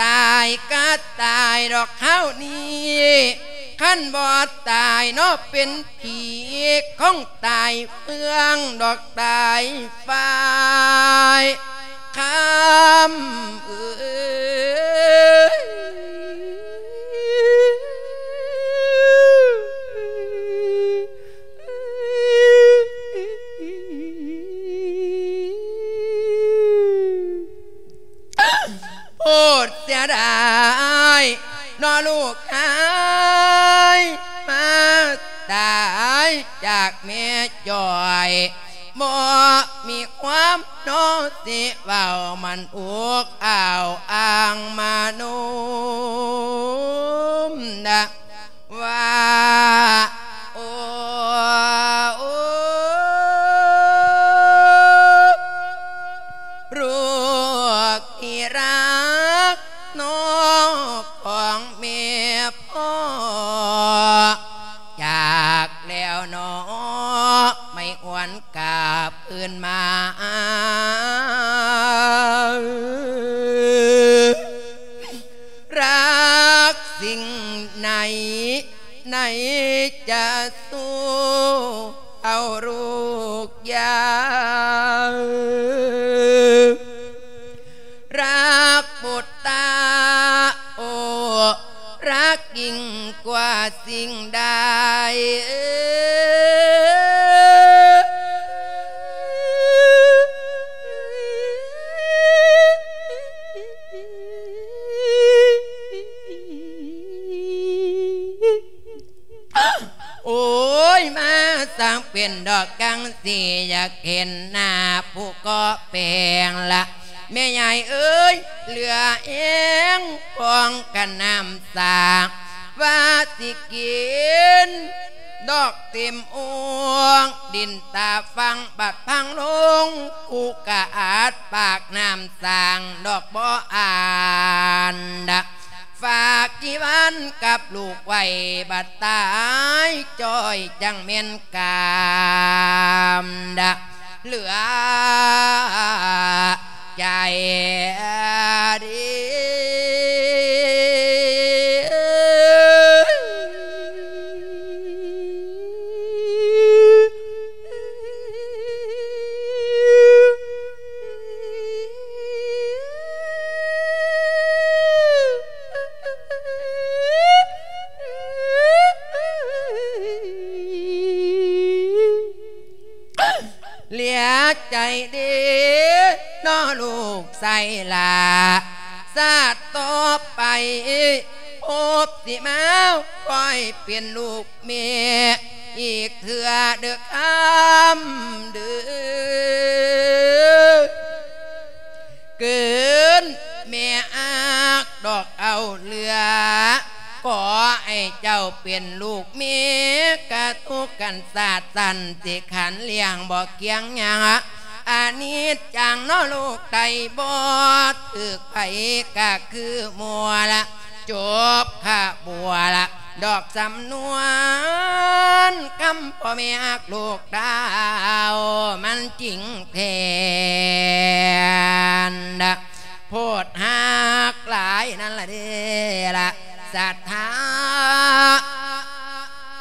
ຕາຍກະຕາຍດອກຄາວນີ້ ຄັນບໍ່ຕາຍເນາະເປັນຜີຂອງຕາຍເຟືອງດອກຕາຍຝ້າຍຄຳເອີຍ. ໂພດເສຍດາຍເນາະລູກເອີຍ ມາຕາຍຈາກແມ່ຈ້ອຍ ບໍ່ມີຄວາມເນາະຊິເວົ້າ ມັນອຸກອ້າວອ້າງມາໂນມນະ ວ່າ ໂອ້ ໂອ້ ລູກທີ່ຮັກເນາະຂອງແມ່ພໍ່ ຈາກແລ້ວເນາະ ໄມ່ຫວນກັບຄືນມາ ລັກສິ່ງໃນ ໃນຈະສູ້ເອົາລູກຢາ ລັກບຸດຕາ ໂອ້ ລັກຍິ່ງກວ່າສິ່ງໃດ. ໂອ້ຍ ມາສ້າງເປັນດອກກັງສີ ຢາກເຫັນໜ້າຜູ້ເກາະແປງລະ ແມ່ຍາຍເອີຍ ເຫຼືອແຮງຂອງກັນນ້ຳສ້າງ ວ່າຊິກິນດອກເຕັມໂອ່ງ ດິນຕາຝັ່ງບັດພັງລົງ ຄູກະອາດປາກນ້ຳສ້າງດອກບໍ່ອ່ານ ຝາກທີ່ບ້ານກັບລູກໄວ້ ບັດຕາຍຈ້ອຍຈັ່ງແມ່ນກາມດະ ເຫຼືອໃຈດີ. ເຫຼືອໃຈເດ້. ເນາະລູກຊາຍຫຼ້າ ຊາດຕໍ່ໄປ ພົບຊິມາຄ່ອຍເປັນລູກແມ່ອີກເທື່ອເດີ້ຄຳເດີ້. ເກີນແມ່ອາກດອກເອົາເຫຼືອ ຂໍໃຫ້ເຈົ້າເປັນລູກແມ່ກະຕຸກກັນຊາດຊັ້ນ ຊິຂັນລ້ຽງບໍ່ກຽງຫຍັງ ອານິດຈັງເນາະລູກໄຕ ບໍ່ຖືກໃຜກະຄືໝູ່ລະ ຈົບຂະບົວລະ ດອກສຳນວນຄຳພໍ່ແມ່ຮັກລູກດາວ ມັນຈິງແທ້ນະ ໂພດຮັກຫຼາຍນັ້ນລະເດ້ລະ ສັດທາ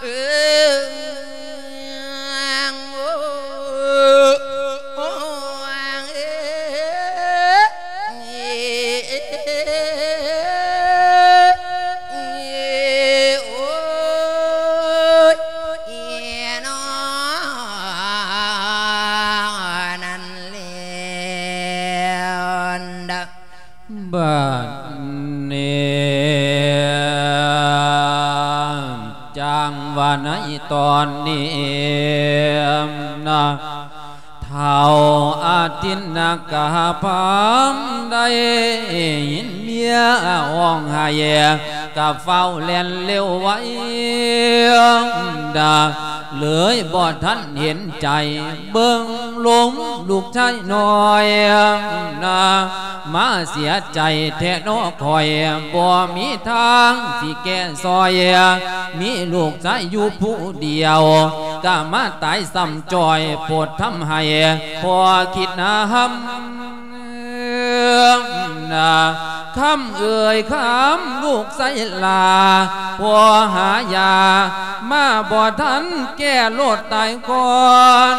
ເອີ ໂອ້ ໂອ້ ເອີ ໂອ້ຍ ເນາະ ນັ້ນແຫຼະ ບາດນີ້ ຈັ່ງວ່າໃນຕອນນີ້ນະ ທ້າວອາທິນນາກະພາມໄດ້ຍິນເມຍຮ້ອງໄຫ້ ກະຟ້າວແລ່ນເລັວໄວ ດາ ເລີຍບໍ່ທັນເຫັນໃຈ ເບິ່ງລົງລູກຊາຍນ້ອຍນະ ມາເສຍໃຈແທ້ເນາະຂ້ອຍ ບໍ່ມີທາງຊິແກ້ຊ່ອຍ ມີລູກຊາຍຢູ່ຜູ້ດຽວ ກະມາຕາຍຊ້ຳຈ້ອຍ ໂປດທຳໃຫ້ພໍ່ຄິດນຳ ນະ ຄຳເອີຍຄຳ ລູກຊາຍຫຼ້າ ພໍ່ຫາຢາມາບໍ່ທັນ ແກ່ໂລດຕາຍກ່ອນ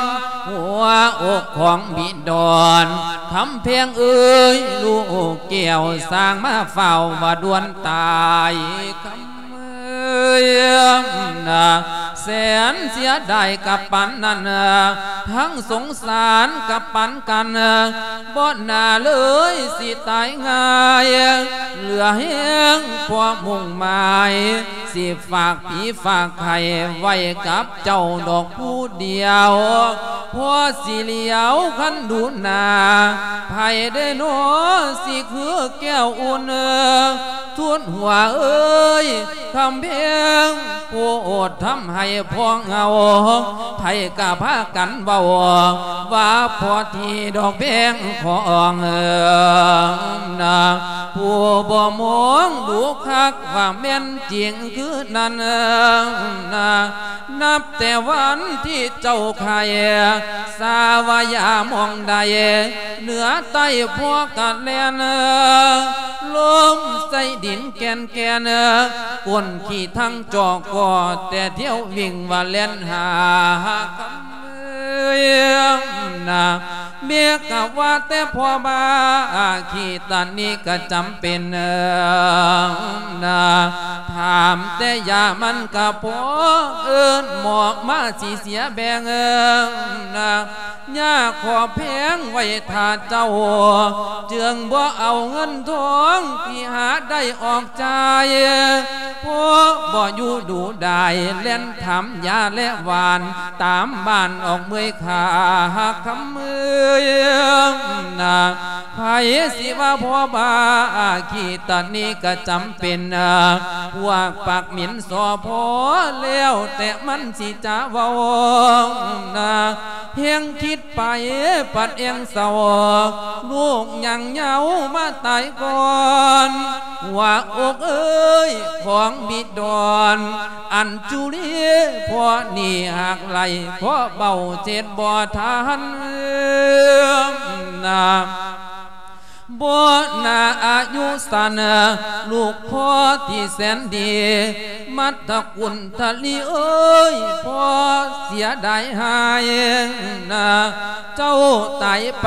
ຫົວອົກຂອງບິດອນ ຄຳແພງເອີຍ ລູກແກ້ວ ສ້າງມາຟ້າວວ່າດ່ວນຕາຍ ຄຳເອີຍນະ ແສນເສຍດາຍກັບປານນັ້ນ ທັງສົງສານກັບປານກັນ ບໍ່ໜ້າເລີຍຊິຕາຍງ່າຍ ເຫຼືອແຮງພໍມຸ່ງໝາຍ ຊິຝາກຜີຝາກໄຂ້ໄວ້ກັບເຈົ້າດອກຜູ້ດຽວ ພໍຊິຫຼຽວຄັນດູໜ້າ ໃຜເດນໍ ຊິຄືແກ້ວອຸ່ນ ທູນຫົວເອີຍ ຄຳແພງ ໂພດທຳໃຫ້ພວກເຮົາ ໃຜກະພາກັນເວົ້າ ວ່າພໍທີ່ດອກແພງຂອງນາ ຜູ້ບໍ່ມອງດູຄັກວ່າແມ່ນຈິງຄືນັ້ນນາ ນັບແຕ່ວັນທີ່ເຈົ້າໄຂ້ ສາວະຢາມອງໃດ ເໜືອໃຕ້ພວກກະແລ່ນ ລົມໃສ່ດິນແກ່ນໆ ກົ້ນຂີ້ທັງຈອກກໍແຕ່ທ່ຽວວິ່ງວ່າແລ່ນຫາ ນາ ເມກະວ່າແຕ່ພໍ່ບ້າ ອາຄີຕານີກະຈຳເປັນ ນາ ຖາມແຕ່ຢາມັນກະພໍ ເອີ້ນໝໍມາຊິເສຍແບ່ງ ນາ ຍາຂໍແພງໄວ້ຖ້າເຈົ້າ ຈຶ່ງບໍ່ເອົາເງິນທອງທີ່ຫາໄດ້ອອກຈ່າຍ ເພາະບໍ່ຢູ່ດູດາຍ ແລ່ນຖາມຢາແລະຫວານ ຕາມບ້ານອອກເມືອຍຂ້າ ຄຳເອີຍນາ ໃຜຊິວ່າພໍ່ບ້າ ອາຄີຕານີກະຈຳເປັນ ພວກປາກໝິ່ນສໍ້ພໍ ແລ້ວແຕ່ມັນຊິຈະເວົ້ານາ ແຮງຄິດໄປປັດແອງເສົ້າ ລູກຍັງເຍົາມາຕາຍກ່ອນ ຫົວອົກເອີຍ ຂອງບິດອນ ອັນຈຸລີ ເພາະໜີຫາກໄລ່ ເພາະເບົາເຈັດບໍ່ທັນນາ ບໍ່ໜ້າອາຍຸສັ້ນ ລູກພໍ່ທີ່ແສນດີ ມັດຕະກຸນທະລີເອີຍ ພໍ່ເສຍດາຍຫາຍນາ ເຈົ້າຕາຍໄປ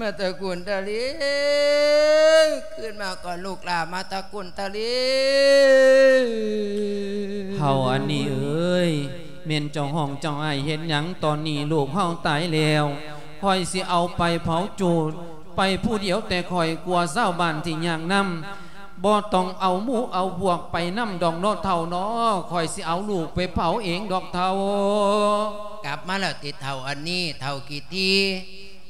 ມາຕະກຸນຕະລິງ ຄືນມາກ່ອນລູກຫຼ້າ ມາຕະກຸນຕະລິງ. ເຖົ້າອັນນີ້ເອີຍ ແມ່ນເຈົ້າຮ້ອງເຈົ້າໄຫ້ເຮັດຫຍັງ? ຕອນນີ້ລູກເຮົາຕາຍແລ້ວ ຂ້ອຍຊິເອົາໄປເຜົາຈູດ ໄປຜູ້ດຽວແຕ່ຂ້ອຍ ກົວຊາວບ້ານທີ່ຍາກນຳ ບໍ່ຕ້ອງເອົາໝູ່ເອົາພວກໄປນຳດອກເນາະເຖົ້າເນາະ ຂ້ອຍຊິເອົາລູກໄປເຜົາເອງດອກເຖົ້າ. ກັບມາແລ້ວຕິເຖົ້າອັນນີ້ ເຖົ້າກີດຖີ່?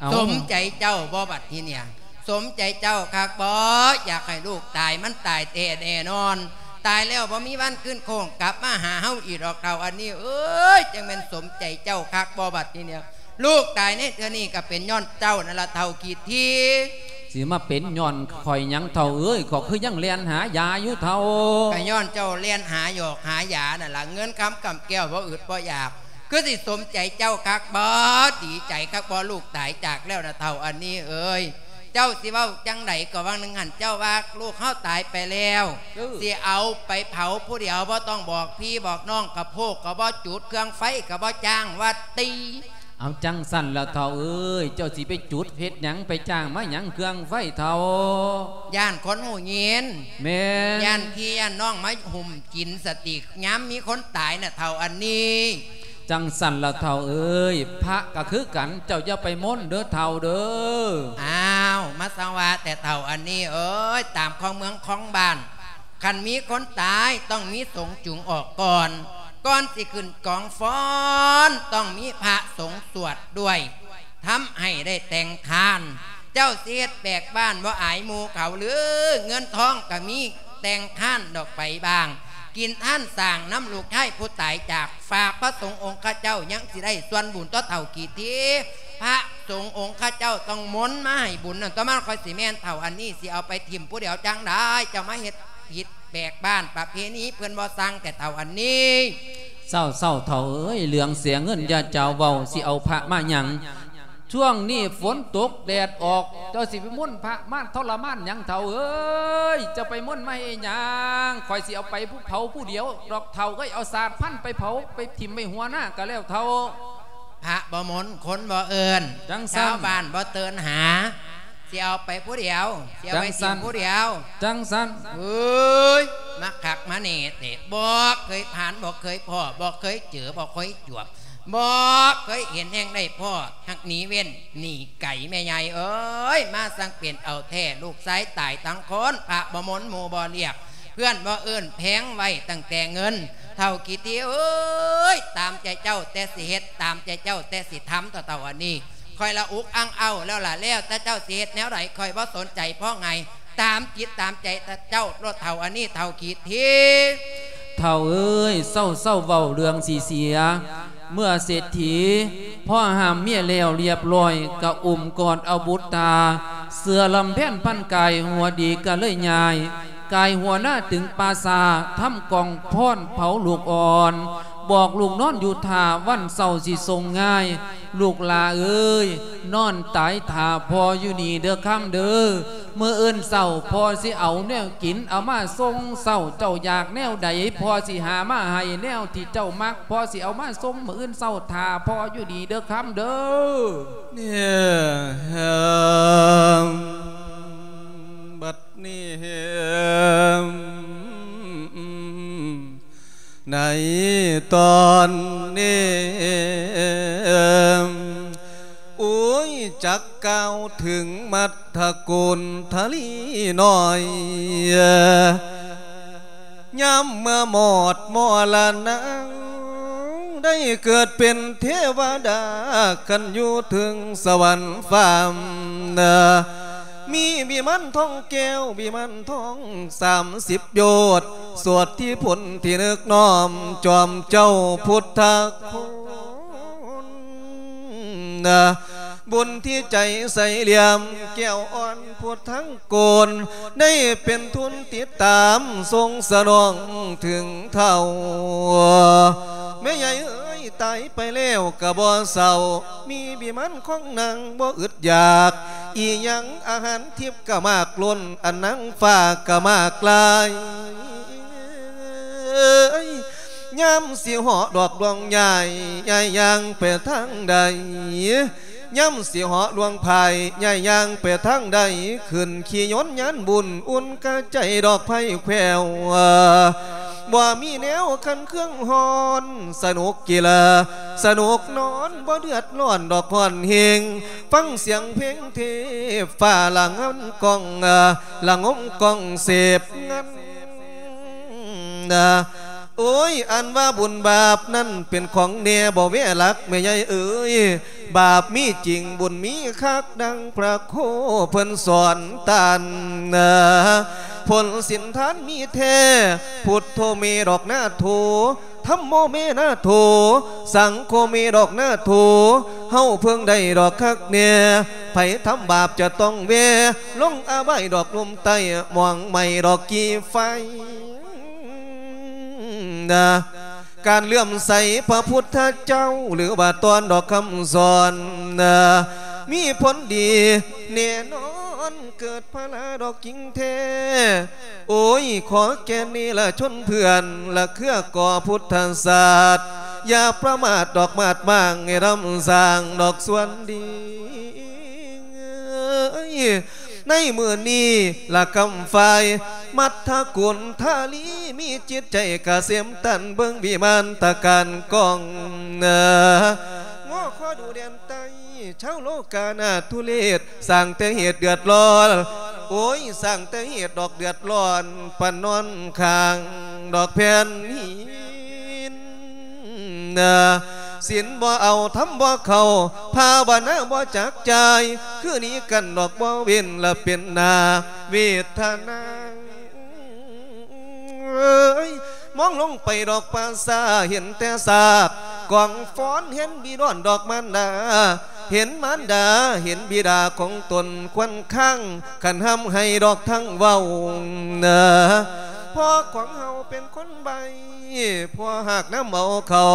ເອົ້າ ສົມໃຈເຈົ້າບໍ່ບັດທີເນີ້ຍ? ສົມໃຈເຈົ້າຄັກບໍ່? ຢາກໃຫ້ລູກຕາຍ ມັນຕາຍແທ້ແນ່ນອນ ຕາຍແລ້ວບໍ່ມີວັນຄືນໂຄ້ງກັບມາຫາເຮົາອີກດອກ ເຖົ້າອັນນີ້ເອີຍ. ຈັ່ງແມ່ນສົມໃຈເຈົ້າຄັກບໍ່ບັດທີເນີ້ຍ? ລູກຕາຍໃນເທື່ອນີ້ກໍເປັນຍ້ອນເຈົ້ານັ້ນລະ ເຖົ້າກີດຖີ່. ຊິມາເປັນຍ້ອນຂ້ອຍຫຍັງເຖົ້າເອີຍ? ຂ້ອຍຄືຍັງແລ່ນຫາຢາຢູ່ເຖົ້າ. ກໍຍ້ອນເຈົ້າແລ່ນຫາຢອກຫາຢານັ້ນລະ ເງິນຄຳກຳແກ້ວບໍ່ອຶດບໍ່ຢາກ. ຄືຊິສົມໃຈເຈົ້າຄັກບໍ່? ດີໃຈຄັກບໍ່? ລູກຕາຍຈາກແລ້ວນະ ເຖົ້າອັນນີ້ເອີຍ. ເຈົ້າຊິເວົ້າຈັ່ງໃດ? ກໍຫວ່າງໜຶ່ງຫັ້ນເຈົ້າວ່າລູກເຮົາຕາຍໄປແລ້ວ ເອີ ຊິເອົາໄປເຜົາຜູ້ດຽວ ບໍ່ຕ້ອງບອກພີ່ບອກນ້ອງ ກະໂພກກໍບໍ່ຈູດ ເຄື່ອງໄຟກໍບໍ່ຈ້າງ ວ່າຕິ. ເອົາ ຈັ່ງຊັ້ນລະເຖົ້າເອີຍ ເຈົ້າຊິໄປຈູດເຮັດຫຍັງ? ໄປຈ້າງມາຫຍັງເຄື່ອງໄຟເຖົ້າ? ຢ້ານຄົນຮູ້ຍິນ. ແມ່ນ. ຢ້ານພີ່ຢ້ານນ້ອງມາຫຸ້ມກິນສະຕິ ຍາມມີຄົນຕາຍນະ ເຖົ້າອັນນີ້. ຈັ່ງຊັ້ນລະເຖົ້າເອີຍ ພະກໍຄືກັນ ເຈົ້າຢ່າໄປມົນເດີເຖົ້າເດີ. ອ້າວ ມາສັງວາແຕ່ເຖົ້າອັນນີ້ເອີຍ ຕາມຄອງເມືອງຄອງບ້ານ ຄັນມີຄົນຕາຍຕ້ອງມີສົງຈູງອອກກ່ອນ ກ່ອນຊິຂຶ້ນກອງຟ້ອນ ຕ້ອງມີພະສົງສວດດ້ວຍ ທຳໃຫ້ໄດ້ແຕ່ງທານ. ເຈົ້າຊິເຮັດແບກບ້ານບໍ່ອາຍໝູ່ເຂົາຫຼື? ເງິນທອງກໍມີແຕ່ງທານດອກໄປບ້າງ ກິນທານສ້າງນຳລູກຊາຍຜູ້ຕາຍຈາກ ຝາກພະສົງອົງຄະເຈົ້າ ຍັງຊິໄດ້ສ່ວນບຸນຕໍ່ເຖົ້າກີດຖີ່. ພະສົງອົງຄະເຈົ້າຕ້ອງມົນມາໃຫ້ບຸນນັ້ນ ຕໍ່ມາຂ້ອຍຊິແມ່ນເຖົ້າອັນນີ້ ຊິເອົາໄປຖິ້ມຜູ້ດຽວຈັ່ງໃດ? ເຈົ້າມາເຮັດຜິດແບກບ້ານ ປະເພນີເພິ່ນບໍ່ສັ່ງແຕ່ເຖົ້າອັນນີ້. ເຊົາໆ ເຖົ້າເອີຍ ເລື່ອງເສຍເງິນຢ່າເຈົ້າເວົ້າ ຊິເອົາພະມາຫຍັງ? ຊ່ວງນີ້ຝົນຕົກແດດອອກ ເຈົ້າຊິໄປມົນພະມາທໍລະມານຫຍັງເຖົ້າເອີຍ? ເຈົ້າໄປມົນມາເຮັດຫຍັງ? ຂ້ອຍຊິເອົາໄປຜູ້ເຜົາຜູ້ດຽວດອກເຖົ້າເອີຍ ເອົາສາດພັນໄປເຜົາ ໄປຖິ້ມໄວ້ຫົວນາກໍແລ້ວເຖົ້າ. ພະບໍ່ມົນ ຄົນບໍ່ເອີ້ນ ຈັ່ງຊັ້ນ ຊາວບ້ານບໍ່ເຕີນຫາ ຊິເອົາໄປຜູ້ດຽວ ຊິເອົາໄປຖິ້ມຜູ້ດຽວ ຈັ່ງຊັ້ນ ເອີຍ ມາຄັກມາແນ່ແທ້ ບໍ່ເຄີຍຜ່ານ ບໍ່ເຄີຍພໍ້ ບໍ່ເຄີຍເຈີ ບໍ່ເຄີຍຈວບ ບໍ່ເຄີຍເຫັນແຮ່ງໃດພໍ້ ຮັກໜີເວັ້ນໜີໄກ ແມ່ໃຫຍ່ເອີຍ ມາສັງເປັນເອົາແທ້ ລູກຊາຍຕາຍທັງຄົນ ພະບໍ່ມົນ ໝູ່ບໍ່ລຽກ ເພື່ອນບໍ່ເອີ້ນ ແພງໄວ້ຕັ້ງແຕ່ເງິນ ເຖົ້າກີ່ທີເອີຍ ຕາມໃຈເຈົ້າແຕ່ຊິເຮັດ ຕາມໃຈເຈົ້າແຕ່ຊິທຳ ເຖົ້າໆ ອັນນີ້ ຂ້ອຍລະອຸກອັ່ງເອົ້າແລ້ວລະ ແລ້ວແຕ່ເຈົ້າຊິເຮັດແນວໃດ ຂ້ອຍບໍ່ສົນໃຈ ເພາະໄງ ຕາມຈິດຕາມໃຈເຈົ້າໂລດ ເຖົ້າອັນນີ້ ເຖົ້າກີ່ທີ. ເຖົ້າເອີຍ ເຊົາໆ ເວົ້າເລື່ອງຊິເສຍ ເມື່ອເສດຖີພໍ່ຫ້າມເມຍແລ້ວລຽບລ້ອຍ ກະອຸ້ມກອດເອົາບຸດຕາ ເສືອລຳແພນພັນກາຍ ຫົວດີກະເລີຍຍ້າຍ ກາຍຫົວໜ້າຕຶງປ່າຊ້າ ທຳກອງພອນເຜົາລູກອ່ອນ ບອກລູກນອນຢູ່ທ່າ ວັນເຊົ້າຊິສົ່ງງ່າຍ ລູກຫຼ້າເອີຍ ນອນຕາຍຖ້າພໍ່ຢູ່ນີ້ເດີຄຳເດີ ມື້ອື່ນເຊົ້າພໍ່ຊິເອົາແນວກິນເອົາມາສົ່ງເຊົ້າ ເຈົ້າຢາກແນວໃດ ພໍ່ຊິຫາມາໃຫ້ ແນວທີ່ເຈົ້າມັກ ພໍ່ຊິເອົາມາສົ່ງມື້ອື່ນເຊົ້າ ຖ້າພໍ່ຢູ່ນີ້ເດີຄຳເດີ. ບັດນີ້ ໃນຕອນນີ້ ໂອ້ຍ ຈັກກ່າວເຖິງມັດທະໂກນທະລີນ້ອຍ ຍາມເມື່ອມອດມໍລະນາງ ໄດ້ເກີດເປັນເທວະດາ ຄັນຢູ່ເທິງສະຫວັນຟ້າ ມີວິມານທອງແກ້ວ ວິມານທອງສາມສິບໂຍດ ໂສດທິພົນທີ່ນຶກນ້ອມ ຈອມເຈົ້າພຸດທະຄຸນ ບຸນທີ່ໃຈໃສຫຼ່ຽມ ແກ້ວອ່ອນພຸດທັງໂກນ ໄດ້ເປັນທຶນຕິດຕາມ ສົ່ງສະໜອງເຖິງເຖົ້າ ແມ່ໃຫຍ່ເອີຍ ຕາຍໄປແລ້ວກະບໍ່ເສົ້າ ມີວິມານຂອງນາງບໍ່ອຶດຢາກ ອີ່ຫຍັງອາຫານທິບກະມາກລົ້ນ ອັນນາງຟ້າກະມາກຫຼາຍ ຍາມຊິເຫາະດອກດວງໃຫຍ່ ຍ້າຍຍ່າງໄປທາງໃດ ຍາມຊິເຫາະດວງພາຍ ຍ້າຍຍ່າງໄປທາງໃດ ຂຶ້ນຂີ່ຍົນຍານບຸນ ອຸ່ນກະໃຈດອກໄພແຂວວ ບໍ່ມີແນວຄັນເຄື່ອງຮ້ອນ ສະໜຸກກິລາ ສະໜຸກນອນ ບໍ່ເດືອດຮ້ອນດອກຮ້ອນເຮງ ຟັງສຽງເພງເທບຟ້າລະງຳກ້ອງ ລະງົມກ້ອງເສບງັນ ໂອ້ຍ ອັນວ່າບຸນບາບນັ້ນ ເປັນຂອງແນ່ບໍ່ແວລັກ ແມ່ໃຫຍ່ເອີຍ ບາບມີຈິງ ບຸນມີຄັກ ດັ່ງພະໂຄເພິ່ນສອນຕານ ຜົນສິນທານມີແທ້ ພຸດໂທເມດອກນາໂທ ທຳໂມເມນາໂທ ສັງໂຄເມດອກນາໂທ ເຮົາເພິ່ງໄດ້ດອກຄັກແນ່ ໃຜທຳບາບຈະຕ້ອງແວ່ ລົງອະບາຍດອກລຸ່ມໃຕ້ ໝອງໄໝ້ດອກກີ່ໄຟ ການເຫຼື້ອມໃສພະພຸດທະເຈົ້າ ຫຼືວ່າຕ້ອນດອກຄຳສອນ ມີຜົນດີແນ່ນອນ ເກີດພະລາດອກຈິງແທ້ ໂອ້ຍ ຂໍແກ່ເນລະຊົນເພື່ອນ ລະເຄືອກໍພຸດທະສາດ ຢ່າປະໝາດດອກມາດມ້າງ ໃຫ້ດຳສ້າງດອກສ່ວນດີ ໃນມື້ນີ້ລະຄຳຝ່າຍ ມັດທະກຸນທາລີ ມີຈິດໃຈກະເສມຕັນ ເບິ່ງວິມານຕະການກ້ອງ ງໍ້ຂໍດູແດນໃຕ້ ຊາວໂລກາໜ້າທຸເລດ ສ້າງແຕ່ເຫດເດືອດຮ້ອນ ໂອ້ຍ ສ້າງແຕ່ເຫດດອກເດືອດຮ້ອນ ປະນອນຂ້າງດອກແຜ່ນຫີນ ສິນບໍ່ເອົາ ທຳບໍ່ເຂົ້າ ພາວະນາບໍ່ຈັກຈ່າຍ ຄືໜີກັນດອກບໍ່ເວັ້ນ ລະເປັນໜ້າເວດທະນາ ເອີຍ ມອງລົງໄປດອກປ່າຊ້າ ເຫັນແຕ່ຊາກກອງຟອນ ເຫັນບີດອນດອກມານດາ ເຫັນມານດາ ເຫັນບິດາຂອງຕົນຄວັນຄັງ ຄັນຮ່ຳໄຫ້ດອກທັງເວົ້າ ພໍ່ຂອງເຮົາເປັນຄົນໃບ້ ພໍ່ຫາກນຳເອົາເຂົ້າ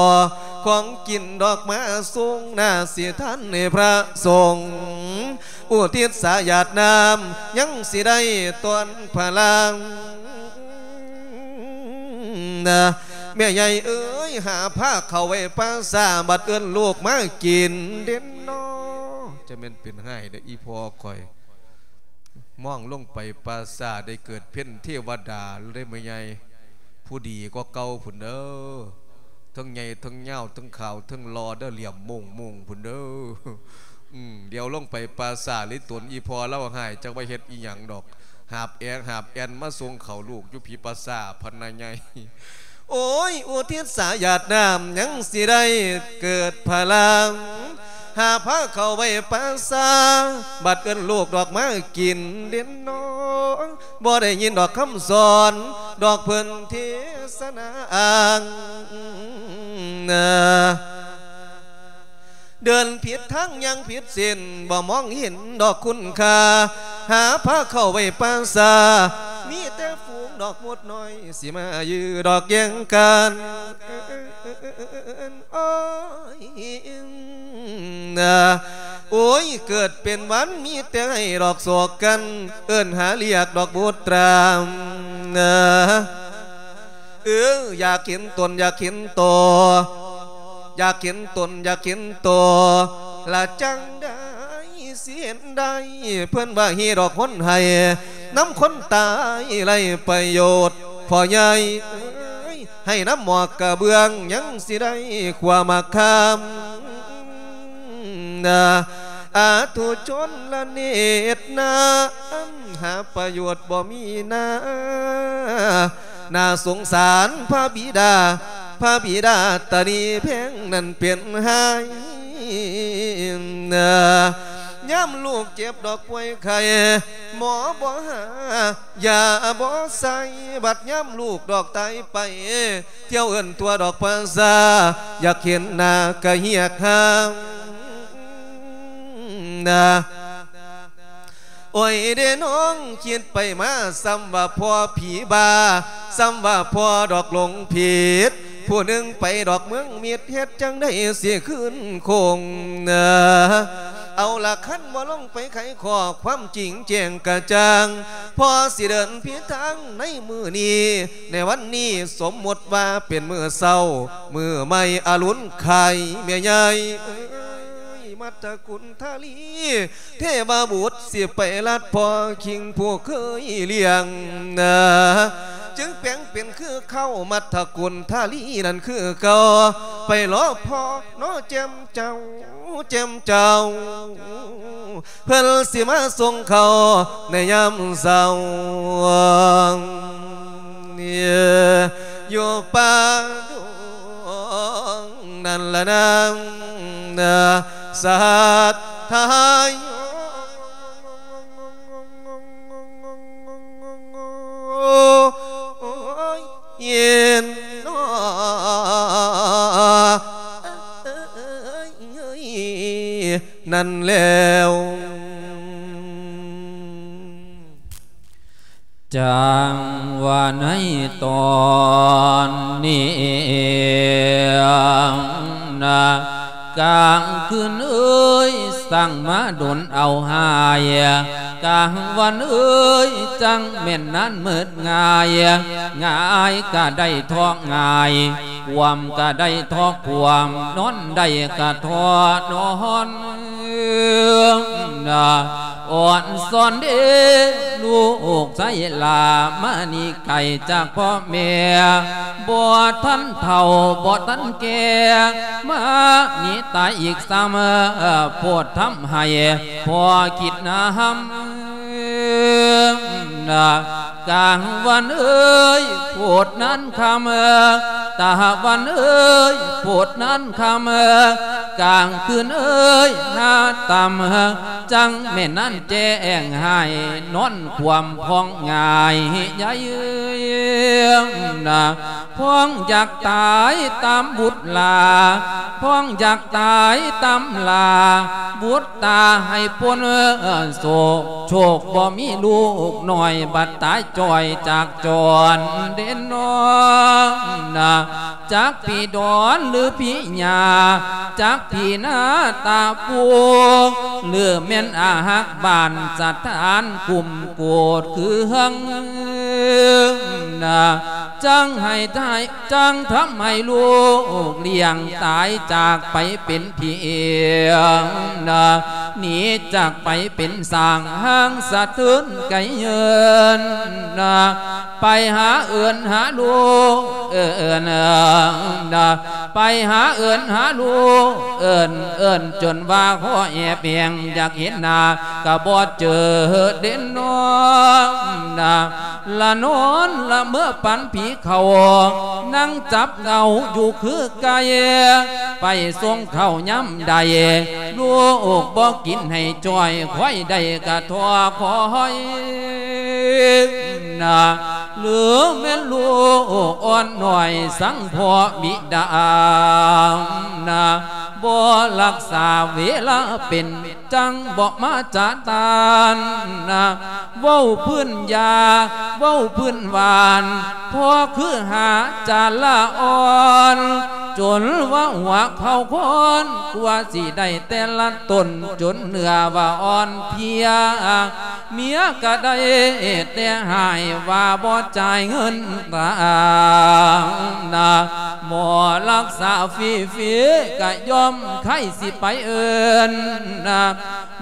ຂອງກິນດອກມາສົ່ງ ໜ້າສິທັນໃຫ້ພະສົງ ອຸທິດສາຢາດນ້ຳ ຍັງຊິໄດ້ຕ້ອນພະລາ ແມ່ໃຫຍ່ເອີຍ ຍ ຫາພາເຂົ້າໄວ້ປ່າຊ້າ ບັດເອີ້ນລູກມາກິນເດ້ເນາະ. ຈະແມ່ນເປັນຮ້າຍເດ້ອີ່ພໍ່ຂ້ອຍ ມອງລົງໄປປ່າຊ້າ ໄດ້ເກີດເປັນເທວະດາເລີຍແມ່ໃຫຍ່ ຜູ້ດີກວ່າເກົ່າພຸ້ນເດີ. ທັງໃຫຍ່ທັງຍາວທັງຂາວທັງຫຼໍ່ເດີ ຫຼ້ຽມໂມງໆ ພຸ້ນເດີ. ອືມ ດຽວລົງໄປປ່າຊ້າ ລິຕົນອີ່ພໍ່ລາວຮ້າຍ ຈັກວ່າເຮັດອີ່ຫຍັງດອກ ຫາບແອກຫາບແອ່ນມາສົ່ງເຂົ້າລູກຢູ່ພີ້ປ່າຊ້າ ພັນນາໃຫຍ່. ໂອ້ຍ ອຸທິດສາຢາດນ້ຳ ຍັງຊິໄດ້ເກີດພະລັງ ຫາພາເຂົ້າໄວ້ປ່າຊ້າ ບັດເອີ້ນລູກດອກມາກິນເດ້ເນາະ. ບໍ່ໄດ້ຍິນດອກຄຳສອນ ດອກເພິ່ນເທສະນາອ້າງ ເດີນຜິດທາງຍ່າງຜິດເສັ້ນ ບໍ່ມອງເຫັນດອກຄຸນຄ່າ ຫາພາເຂົ້າໄວ້ປ່າຊ້າ ມີແຕ່ຝູງດອກມົດນ້ອຍ ຊິມາຢື້ດອກແຍ່ງກັນ. ໂອ້ຍ ເກີດເປັນວັນ ມີແຕ່ໃຫ້ດອກສອກກັນ ເອີ້ນຫາລຽກດອກບຸດຕາມ. ເອີ ຢາກເຫັນຕົນ ຢາກເຫັນໂຕ ຢາກເຫັນຕົນ ຢາກເຫັນໂຕ ລະຈັ່ງໃດຊິເຫັນໄດ້ ເພິ່ນວ່າຮີດອກຄົນໃຫ້ ນຳຄົນຕາຍໄຮ້ປະໂຫຍດ. ພໍ່ໃຫຍ່ເອີຍ ໃຫ້ນຳໝອກກະເບື້ອງ ຍັງຊິໄດ້ຂົວໝາກຄາມ. ອາທຸຊົນລະເນດນາ ຫາປະໂຫຍດບໍ່ມີນາ ໜ້າສົງສານພະບິດາ ພະບິດາຕະໜີແພງນັ້ນເປັນໄຫ້. ຍາມລູກເຈັບດອກປ່ວຍໄຂ້ ໝໍບໍ່ຫາ ຢາບໍ່ໃສ່ ບັດຍາມລູກດອກຕາຍໄປ ທ່ຽວເອີ້ນຕົວດອກພາສາ ຢາກເຫັນໜ້າກະຮຽກຫາ. ໂອ້ຍເດ້ນ້ອງ ຄິດໄປມາ ສ່ຳວ່າພໍ່ຜີບ້າ ສ່ຳວ່າພໍ່ດອກຫຼົງຜິດ ຜູ້ໜຶ່ງໄປດອກເມືອງມິດ ເຮັດຈັ່ງໃດຊິຄືນຄົງ. ເອົາລະ ຄັນບໍ່ລົງໄປໄຂຂໍ້ ຄວາມຈິງແຈ້ງກະຈ່າງ ພໍ່ຊິເດີນຜິດທາງໃນມື້ນີ້ ໃນວັນນີ້ ສົມມຸດວ່າເປັນມື້ເຊົ້າ ມື້ໃໝ່ອະລຸນໄຂ່ ແມ່ໃຫຍ່ເອີຍ ມັດຕະກຸນທາລີ ເທວະບຸດຊິໄປລັດພໍ່ຄິງຜູ້ເຄີຍລ້ຽງ ຈຶ່ງແປງເປັນຄືເຄົ້າ ມັດຕະກຸນທາລີນັ້ນຄືເກົ່າ ໄປລໍພໍ່ ນອແຈ່ມເຈົ້າ ແຈ່ມເຈົ້າ ເພິ່ນຊິມາສົ່ງເຂົ້າໃນຍາມເຊົ້າ ຢູ່ປ່າດົງນັ້ນລະນາ ສັດທາໂຍ ໂອ້ຍ ເຢັນນອ ນັ້ນແລ້ວ ຈັ່ງວ່າໃນຕອນນີ້ນະ ກາງຄືນເອີຍ ຊ່າງມາດົນເອົາຫາຍ ກາງວັນເອີຍ ຈັ່ງແມ່ນນານມືດງ່າຍ ງ່າຍກະໄດ້ເທາະງ່າຍ ກວມກະໄດ້ເທາະກວມ ນອນໄດ້ກະເທາະນອນ ນະ ອ່ອນຊອນເດ ລູກຊາຍຫຼ້າ ມານີ້ໄກຈາກພໍ່ແມ່ ບໍ່ທັນເຖົ້າ ບໍ່ທັນແກ່ ມານີ້ຕາຍອີກຊ້ຳ ໂພດທຳໃຫ້ພໍ່ຄິດນຳ ນະ ກາງວັນເອີຍ ໂພດນານຄ່ຳ ຕາວັນເອີຍ ໂພດນານຄ່ຳ ກາງຄືນເອີຍ ຫາຕ່ຳ ຈັ່ງແມ່ນນານແຈ້ງໃຫ້ ນອນຄວ່ຳພ້ອງງ່າຍໃຫຍ່ນະ ພ້ອງຢາກຕາຍຕາມບຸດຫຼ້າ ພ້ອງຢາກຕາຍຕາມຫຼ້າ ບຸດຕາໃຫ້ພົ້ນໂສກ ໂຊກບໍ່ມີລູກນ້ອຍ ບັດຕາຍຈ່ອຍຈາກຈອນເດນອນນະ ຈັກຜີດອນຫຼືຜີຍ່າ ຈັກຜີນາຕາປູ ຫຼືແມ່ນອາຮັກບ້ານສະຖານຄຸ້ມໂກດເຄືອງນະ ຈັ່ງໃຫ້ຕາຍ ຈັ່ງທຳໃຫ້ລູກລ້ຽງຕາຍຈາກໄປເປັນຜີນະ ໜີຈາກໄປເປັນຊ້າງ ຫ່າງສະເທີນໄກເຫີນນະ ໄປຫາເອີ້ນຫາລູກ ເອີ້ນນະ ໄປຫາເອີ້ນຫາລູກ ເອີ້ນ ເອີ້ນຈົນວ່າຂໍແອບແຫງ ຢາກເຫັນໜ້າກະບໍ່ເຈີເດນນອນນະ ລະນອນລະເມີອປັນຜີເຂົ້າ ນັ່ງຈັບເງົາຢູ່ຄືໄກ່ ໄປສົ່ງເຂົ້າຍາມໃດ ລູກບໍ່ກິນໃຫ້ຈ່ອຍ ຂ້ອຍໄດ້ກະທໍ້ຄອຍນະ ຫຼືແມ່ນລູກອ່ອນນ້ອຍ ສັງເພາະບິດານະ ບໍ່ຮັກສາເວລາເປັນ ຈັ່ງບໍ່ມາຈະຕ້ານນະ ເວົ້າພື້ນຢາ ເວົ້າພື້ນຫວານ ພໍຄືຫາຈານລະອ່ອນ ຈົນວ່າຫົວເຂົ່າຄອນ ກວ່າຊິໄດ້ແຕ່ລະຕົນ ຈົນເນື້ອວ່າອ່ອນເພຍ ເມຍກະໄດ້ແຕ່ຮ້າຍ ວ່າບໍ່ຈ່າຍເງິນຕານະ ໝໍຮັກສາຟຣີໆ ກະຍອມໃຄ່ຊິໄປເອີ້ນນະ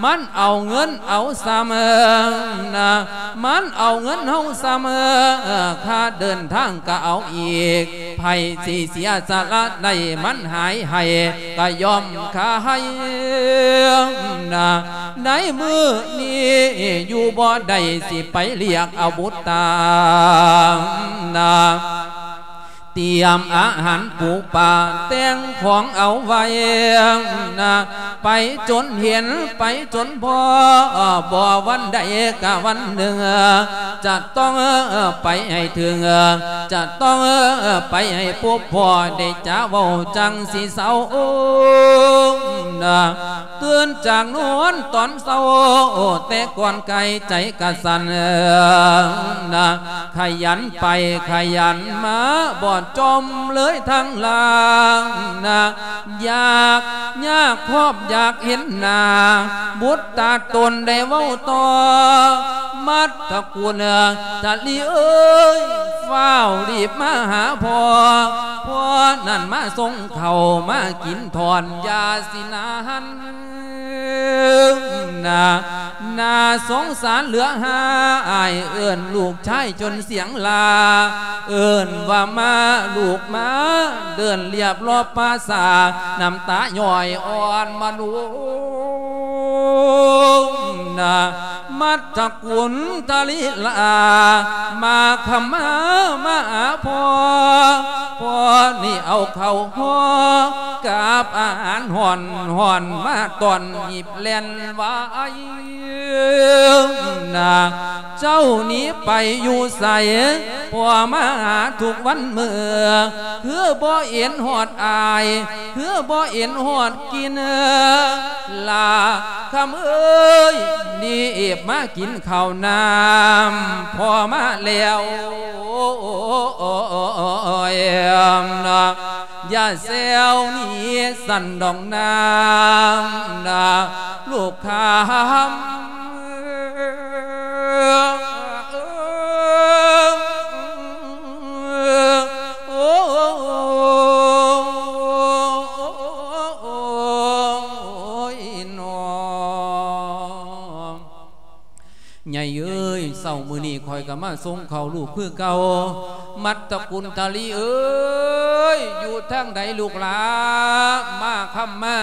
ມັນເອົາເງິນເອົາຊຳນະ ມັນເອົາເງິນເຮົາຊຳ ຄ່າເດີນທາງກະເອົາອີກ ໃຜຊິເສຍສະຫຼະໄດ້ ມັນຫາຍໃຫ້ກະຍອມຂາຍນະ ໃນມື້ນີ້ຢູ່ບໍ່ໄດ້ ຊິໄປລຽກເອົາບຸດຕານະ ຕຽມອາຫານປູປາ ແຕ່ງຂອງເອົາໄວ້ນະ ໄປຈົນເຫັນ ໄປຈົນພໍ ບໍ່ວັນໃດກະວັນໜຶ່ງ ຈະຕ້ອງໄປໃຫ້ເຖິງ ຈະຕ້ອງໄປໃຫ້ພົບພໍ ໄດ້ຈະເວົ້າຈັ່ງຊິເຊົານະ ຕື່ນຈາກນອນຕອນເຊົ້າ ແຕ່ກ່ອນໄກໃຈກະສັ່ນນະ ຂະຫຍັນໄປຂະຫຍັນມາ ບໍ່ຈອມເລີຍທາງລ່າງນະ ຢາກຍາກຄອບຢາກເຫັນໜ້າ ບຸດຕາຕົນໄດ້ເວົ້າຕໍ່ ມັດຕະກຸນທະລີເອີຍ ຟ້າວລີບມາຫາພໍ່ ພໍ່ນັ້ນມາສົ່ງເຂົ້າ ມາກິນທອດຢາຊິນາຫັນ ໜ້າ ໜ້າສົງສານເຫຼືອຫາຍ ເອີ້ນລູກຊາຍຈົນສຽງຫຼ້າ ເອີ້ນວ່າມາລູກມາ ເດີນລຽບລອບປ່າຊ້າ ນ້ຳຕາຍ້ອຍອ່ອນມາລົງ ນະ ມັດຕະກຸນທະລີລາ ມາຄຳມາມາຫາພໍ່ ພໍ່ນີ້ເອົາເຂົ້າຫໍ່ ກັບອາຫານຮ້ອນໆ ມາຕ້ອນຮີບແລ່ນໄວນະ ເຈົ້າໜີໄປຢູ່ໃສ ພໍ່ມາຫາທຸກວັນມື້ ຄືບໍ່ເຫັນຮອດອ້າຍ ຄືບໍ່ເຫັນຮອດກິນ ຫຼ້າຄຳເອີຍ ນີ້ເອບມາກິນເຂົ້ານ້ຳ ພໍ່ມາແລ້ວ ຢ່າແຊວໜີສັນດອກນາງນະ ລູກຄຳ ໂອ້ຍ ນ້ອງ ໃຫຍ່ເອີຍ ເຊົ້າມື້ນີ້ຂ້ອຍກໍມາສົ່ງເຂົ້າລູກຄືເກົ່າ ມັດຕະກຸນທະລີເອີຍ ຢູ່ທາງໃດລູກຫຼ້າ ມາຄຳມາ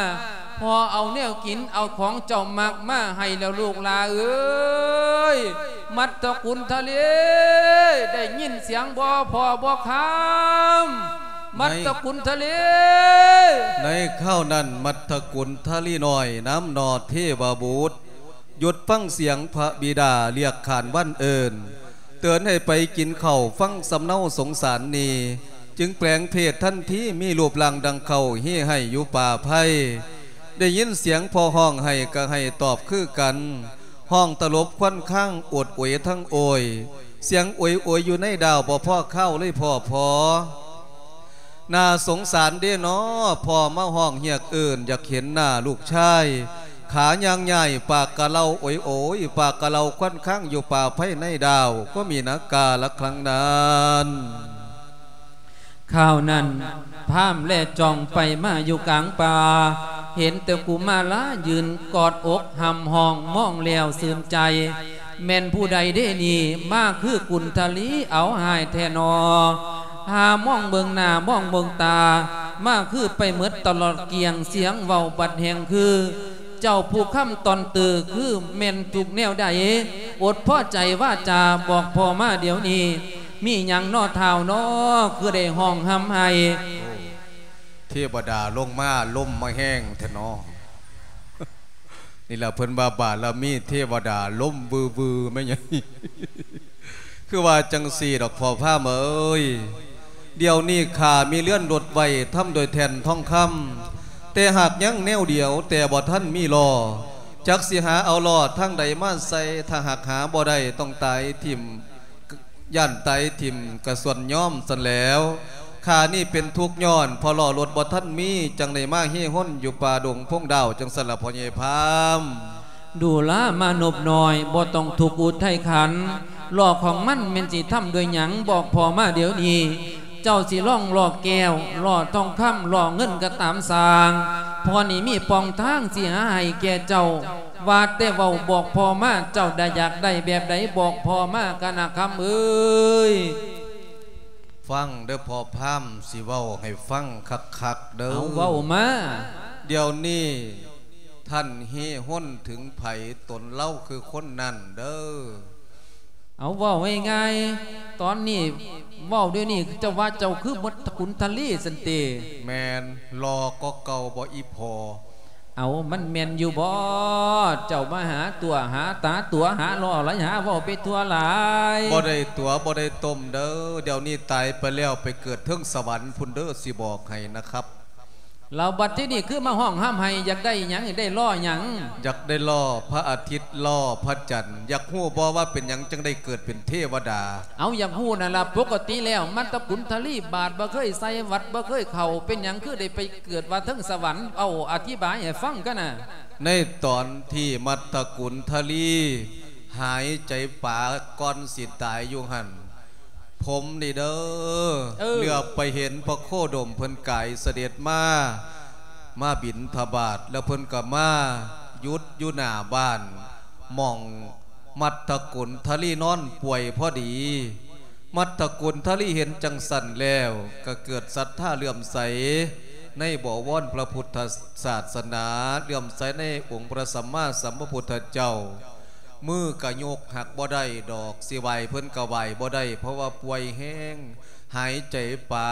ພໍ່ເອົາແນວກິນ ເອົາຂອງເຈົ້າມັກມາໃຫ້ແລ້ວລູກຫຼ້າເອີຍ ມັດຕະກຸນທະລີ ໄດ້ຍິນສຽງບໍ່ພໍ່ບໍ່ຄຳ ມັດຕະກຸນທະລີ. ໃນຄາວນັ້ນ ມັດຕະກຸນທະລີນ້ອຍນຳໜໍ່ເທວະບຸດ ຢຸດຟັງສຽງພະບິດາລຽກຂານວັນເອີ້ນ ເຕືອນໃຫ້ໄປກິນເຂົ້າ ຟັງສຳເນົາສົງສານນີ້ ຈຶ່ງແປງເພດທັນທີ ມີຮູບຮ່າງດັ່ງເຂົ້າ ຮີໄຫ້ຢູ່ປ່າໄພ ໄດ້ຍິນສຽງພໍ່ຮ້ອງໄຫ້ ກະໄຫ້ຕອບຄືກັນ ຮ້ອງຕະຫຼົບຄວັນຄາງ ໂອດໂອຍທັງໂອຍ ສຽງໂອຍໂອຍຢູ່ໃນດາວ ບໍ່ພໍຄາວເລີຍພໍ່ພໍ່. ໜ້າສົງສານເດເນາະ ພໍ່ມາຮ້ອງຮຽກເອີ້ນ ຢາກເຫັນໜ້າລູກຊາຍ ຂາຍ່າງຍ້າຍ ປາກກະເລົາໂອຍໂອຍ ປາກກະເລົາຄວັນຄາງ ຢູ່ປ່າໄພໃນດາວ ກໍມີນາກາລະຄັ້ງນັ້ນ. ຄາວນັ້ນ ພາມແລຈອງໄປມາຢູ່ກາງປ່າ ເຫັນແຕ່ກຸມາລາຢືນກອດອົກຮ່ຳຮ້ອງ ມອງແລ້ວຊື່ນໃຈ. ແມ່ນຜູ້ໃດເດນີ້ ມາຄືກຸນທະລີ ເອົາຮ້າຍແທ້ໜໍ່. ຫາມອງເບິ່ງໜ້າມອງເບິ່ງຕາ ມາຄືໄປໝົດຕະຫຼອດກ້ຽງ ສຽງເວົ້າບັດແຮ່ງຄື ເຈົ້າຜູ້ຄຳຕອນຕື້ ຄືແມ່ນທຸກແນວໃດ? ອົດພໍໃຈວາຈາບອກພໍ່ມາດຽວນີ້ ມີຫຍັງນໍທ້າວນໍ ຄືໄດ້ຮ້ອງຮ່ຳໄຫ້? ໂອ້ ເທວະດາລົງມາ ລົມມາແຮງແທ້ນໍ. ນີ້ລະເພິ່ນວ່າບາລະມີເທວະດາ ລົມວືໆ ແມ່ນຫຍັງ? ຄືວ່າຈັ່ງຊີ້ດອກພໍ່ພາມເອີຍ. ດຽວນີ້ຂ້າມີເຮືອນລົດໄວ້ ທຳດ້ວຍແທ່ນທອງຄຳ ແຕ່ຫາກຍັງແນວດຽວ ແຕ່ບໍ່ທັນມີລໍ້. ຈັກຊິຫາເອົາລໍ້ທາງໃດມາໃສ່? ຖ້າຫາກຫາບໍ່ໄດ້ ຕ້ອງຕາຍຖິ້ມ ຢ້ານຕາຍຖິ້ມກະສ່ວນຍອມຊັ້ນແຫຼວ. ຂ້ານີ້ເປັນທຸກຍ້ອນ ເພາະລໍ້ລົດບໍ່ທັນມີ ຈັ່ງໄດ້ມາເຮຮົນຢູ່ປ່າດົງພົງດາວ ຈັ່ງຊັ້ນລະພໍ່ໃຫຍ່ພາມ. ດູລາມານົບນ້ອຍ ບໍ່ຕ້ອງທຸກອຸດໄທຂັນ. ລໍ້ຂອງມັນແມ່ນຊິທຳດ້ວຍຫຍັງ? ບອກພໍ່ມາດຽວນີ້. ເຈົ້າຊິລອງລໍ້ແກ້ວ ລໍ້ທອງຄຳ ລໍ້ເງິນກະຕາມຊ່າງ. ພໍ່ນີ້ມີປ່ອງທາງຊິຫາໃຫ້ແກ່ເຈົ້າ. ວ່າແຕ່ເວົ້າບອກພໍ່ມາ ເຈົ້າໄດ້ຢາກໄດ້ແບບໃດ ບອກພໍ່ມາກະນະຄຳເອີຍ. ຟັງເດີພໍ່ພາມ ຊິເວົ້າໃຫ້ຟັງຄັກໆເດີ. ເອົາ ເວົ້າມາ. ດຽວນີ້ທ່ານເຮຮົນເຖິງໃຜ? ຕົນລາວຄືຄົນນັ້ນເດີ. ເອົາ ເວົ້າງ່າຍໆ ຕອນນີ້ ເວົ້າດຽວນີ້ ເຈົ້າວ່າເຈົ້າຄືມົດຕະກຸນທະລີຊັ້ນຕິ? ແມ່ນ. ຫຼໍ່ກວ່າເກົ່າບໍ່ອີ່ພໍ່? ເອົາ ມັນແມ່ນຢູ່ບໍ່? ເຈົ້າມາຫາຕົວະ ຫາຕາຕົວະ ຫາຫຼໍ່ຫຼາຍ ຫາເວົ້າໄປທົ່ວຫຼາຍ. ບໍ່ໄດ້ຕົວະ ບໍ່ໄດ້ຕົ້ມເດີ. ດຽວນີ້ຕາຍໄປແລ້ວ ໄປເກີດເທິງສະຫວັນພຸ້ນເດີ ຊິບອກໃຫ້ນະຄັບ. ແລ້ວບັດທີນີ້ຄືມາຮ້ອງຮ່ຳໄຫ້ ຢາກໄດ້ຫຍັງ? ຢາກໄດ້ລໍ້ຫຍັງ? ຢາກໄດ້ລໍ້ພະອາທິດ ລໍ້ພະຈັນ. ຢາກຮູ້ບໍ່ວ່າເປັນຫຍັງຈັ່ງໄດ້ເກີດເປັນເທວະດາ? ເອົາ ຢາກຮູ້ນັ້ນລະ. ປົກກະຕິແລ້ວມັດຕະກຸນທະລີບາດບໍ່ເຄີຍໃສ່ ວັດບໍ່ເຄີຍເຂົ້າ ເປັນຫຍັງຄືໄດ້ໄປເກີດວ່າເທິງສະຫວັນ? ເອົາ ອະທິບາຍໃຫ້ຟັງກັນນະ. ໃນຕອນທີ່ມັດຕະກຸນທະລີຫາຍໃຈປາກ່ອນຊິຕາຍຢູ່ຫັ້ນ ຜົມນີ້ເດີ ເອີ ເຫຼືອໄປເຫັນພະໂຄດົມເພິ່ນກາຍສະເດັດມາ ມາບິນທະບາດ ແລ້ວເພິ່ນກໍມາຢຸດຢູ່ໜ້າບ້ານ ໝ່ອງມັດຕະກຸນທະລີນອນປ່ວຍພໍດີ. ມັດຕະກຸນທະລີເຫັນຈັ່ງຊັ້ນແລ້ວ ກໍເກີດສັດທາເຫຼື້ອມໃສໃນບໍວອນພະພຸດທະສາສະໜາ ເຫຼື້ອມໃສໃນອົງພະສຳມາສຳພະພຸດທະເຈົ້າ. ມືກະຍົກຫາກບໍ່ໄດ້ດອກ ຊິໄຫວ້ເພິ່ນກະໄຫວ້ບໍ່ໄດ້ ເພາະວ່າປ່ວຍແຮງ ຫາຍໃຈປາ.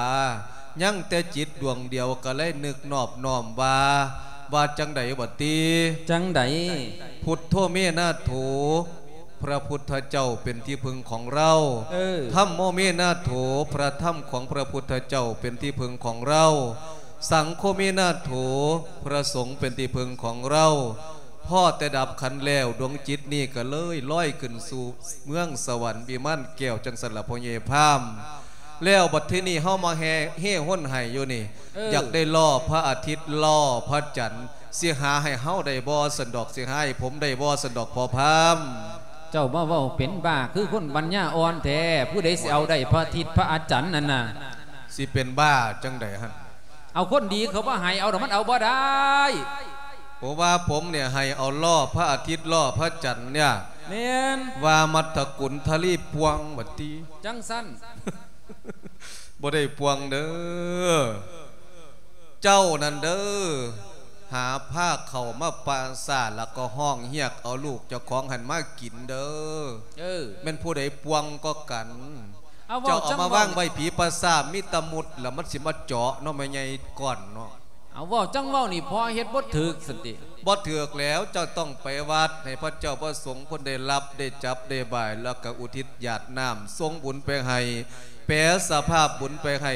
ຍັງແຕ່ຈິດດວງດຽວ ກະເລີຍນຶກນອບນ້ອມວ່າ ວ່າຈັ່ງໃດບັດຕິ? ຈັ່ງໃດ? ພຸດໂທເມນາໂຖ ພະພຸດທະເຈົ້າເປັນທີ່ເພິ່ງຂອງເຮົາ. ເອີ ທຳໂມເມນາໂຖ ພະທຳຂອງພະພຸດທະເຈົ້າເປັນທີ່ເພິ່ງຂອງເຮົາ. ສັງໂຄເມນາໂຖ ພະສົງເປັນທີ່ເພິ່ງຂອງເຮົາ. ພໍແຕ່ດັບຂັນແລ້ວ ດວງຈິດນີ້ກໍເລີຍລອຍຂຶ້ນສູ່ເມືອງສະຫວັນວິມານແກ້ວ ຈັ່ງຊັ້ນລະພໍ່ໃຫຍ່ພາມ. ແລ້ວບັດທີນີ້ເຮົາມາແຫ່ເຮຮົນໄຫ້ຢູ່ນີ້ ເອີ ຢາກໄດ້ລໍ້ພະອາທິດ ລໍ້ພະຈັນ ຊິຫາໃຫ້ເຮົາໄດ້ບໍ່ຊັ້ນດອກ? ຊິຫາໃຫ້ຜົມໄດ້ບໍ່ຊັ້ນດອກພໍ່ພາມ? ເຈົ້າມາເວົ້າເປັນບ້າຄືຄົນປັນຍາອ່ອນແທ້. ຜູ້ໃດຊິເອົາໄດ້ພະອາທິດພະອາຈັນນັ້ນນະ? ຊິເປັນບ້າຈັ່ງໃດຫັ້ນ? ເອົາຄົນດີເຂົາບໍ່ໃຫ້ເອົາດອກ ມັນເອົາບໍ່ໄດ້. ເພາະວ່າຜົມນີ້ໃຫ້ເອົາລໍ້ພະອາທິດ ລໍ້ພະຈັນນີ້. ແມ່ນ. ວ່າມັດຕະກຸນທະລີປ່ວງບັດຕິ. ຈັ່ງຊັ້ນ. ບໍ່ໄດ້ປ່ວງເດີ. ເຈົ້ານັ້ນເດີ ຫາພາເຂົ້າມາປ່າຊ້າ ແລ້ວກໍຮ້ອງຮຽກເອົາລູກເຈົ້າຂອງຫັ້ນມາກິນເດີ. ເອີ ແມ່ນຜູ້ໃດປ່ວງກວ່າກັນ? ເອົາ ເຈົ້າເອົາມາວາງໄວ້ຜີປ່າຊ້າ ມີຕະມຸດ ແລ້ວມັນຊິມາເຈາະເນາະ ແມ່ໃຫຍ່ກ່ອນເນາະ. ເອົາ ເວົ້າຈັ່ງເວົ້ານີ້ ພໍ່ເຮັດບໍ່ຖືກຊັ້ນຕິ? ບໍ່ຖືກແລ້ວ ເຈົ້າຕ້ອງໄປວັດ ໃຫ້ພະເຈົ້າພະສົງເພິ່ນໄດ້ຮັບ ໄດ້ຈັບໄດ້ບາຍ ແລ້ວກໍອຸທິດຢາດນ້ຳ ສົ່ງບຸນໄປໃຫ້ ແປສະພາບບຸນໄປໃຫ້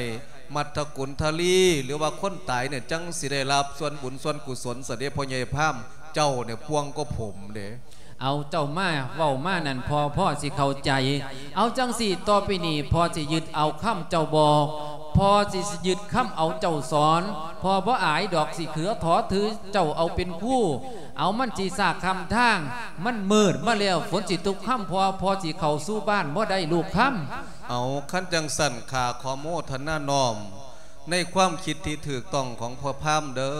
ມັດຕະກຸນທະລີ ຫຼືວ່າຄົນຕາຍນີ້ ຈັ່ງຊິໄດ້ຮັບສ່ວນບຸນສ່ວນກຸສົນຊະເດ ພໍ່ໃຫຍ່ພາມ. ເຈົ້ານີ້ປ່ວງກວ່າຜົມເດ. ເອົາ ເຈົ້າມາເວົ້າມານັ້ນ ພໍ່ ພໍ່ຊິເຂົ້າໃຈ. ເອົາຈັ່ງຊີ້ ຕໍ່ໄປນີ້ພໍ່ຊິຍຶດເອົາຄຳເຈົ້າບອກ ພໍ່ຊິຍຶດຄຳເອົາເຈົ້າສອນ. ພໍ່ບໍ່ອາຍດອກ ຊິເຂືອຂໍຖືເຈົ້າເອົາເປັນຄູ. ເອົາ ມັນຊິຊາກຄ່ຳທາງ ມັນມືດມາແລ້ວ ຝົນຊິຕົກຄ່ຳ ພໍ່ ພໍ່ຊິເຂົ້າສູ່ບ້ານບໍ່ໄດ້ລູກຄຳ. ເອົາ ຄັນຈັ່ງຊັ້ນ ຂ້າຂໍໂມທະນານ້ອມ ໃນຄວາມຄິດທີ່ຖືກຕ້ອງຂອງພໍ່ພາມເດີ້.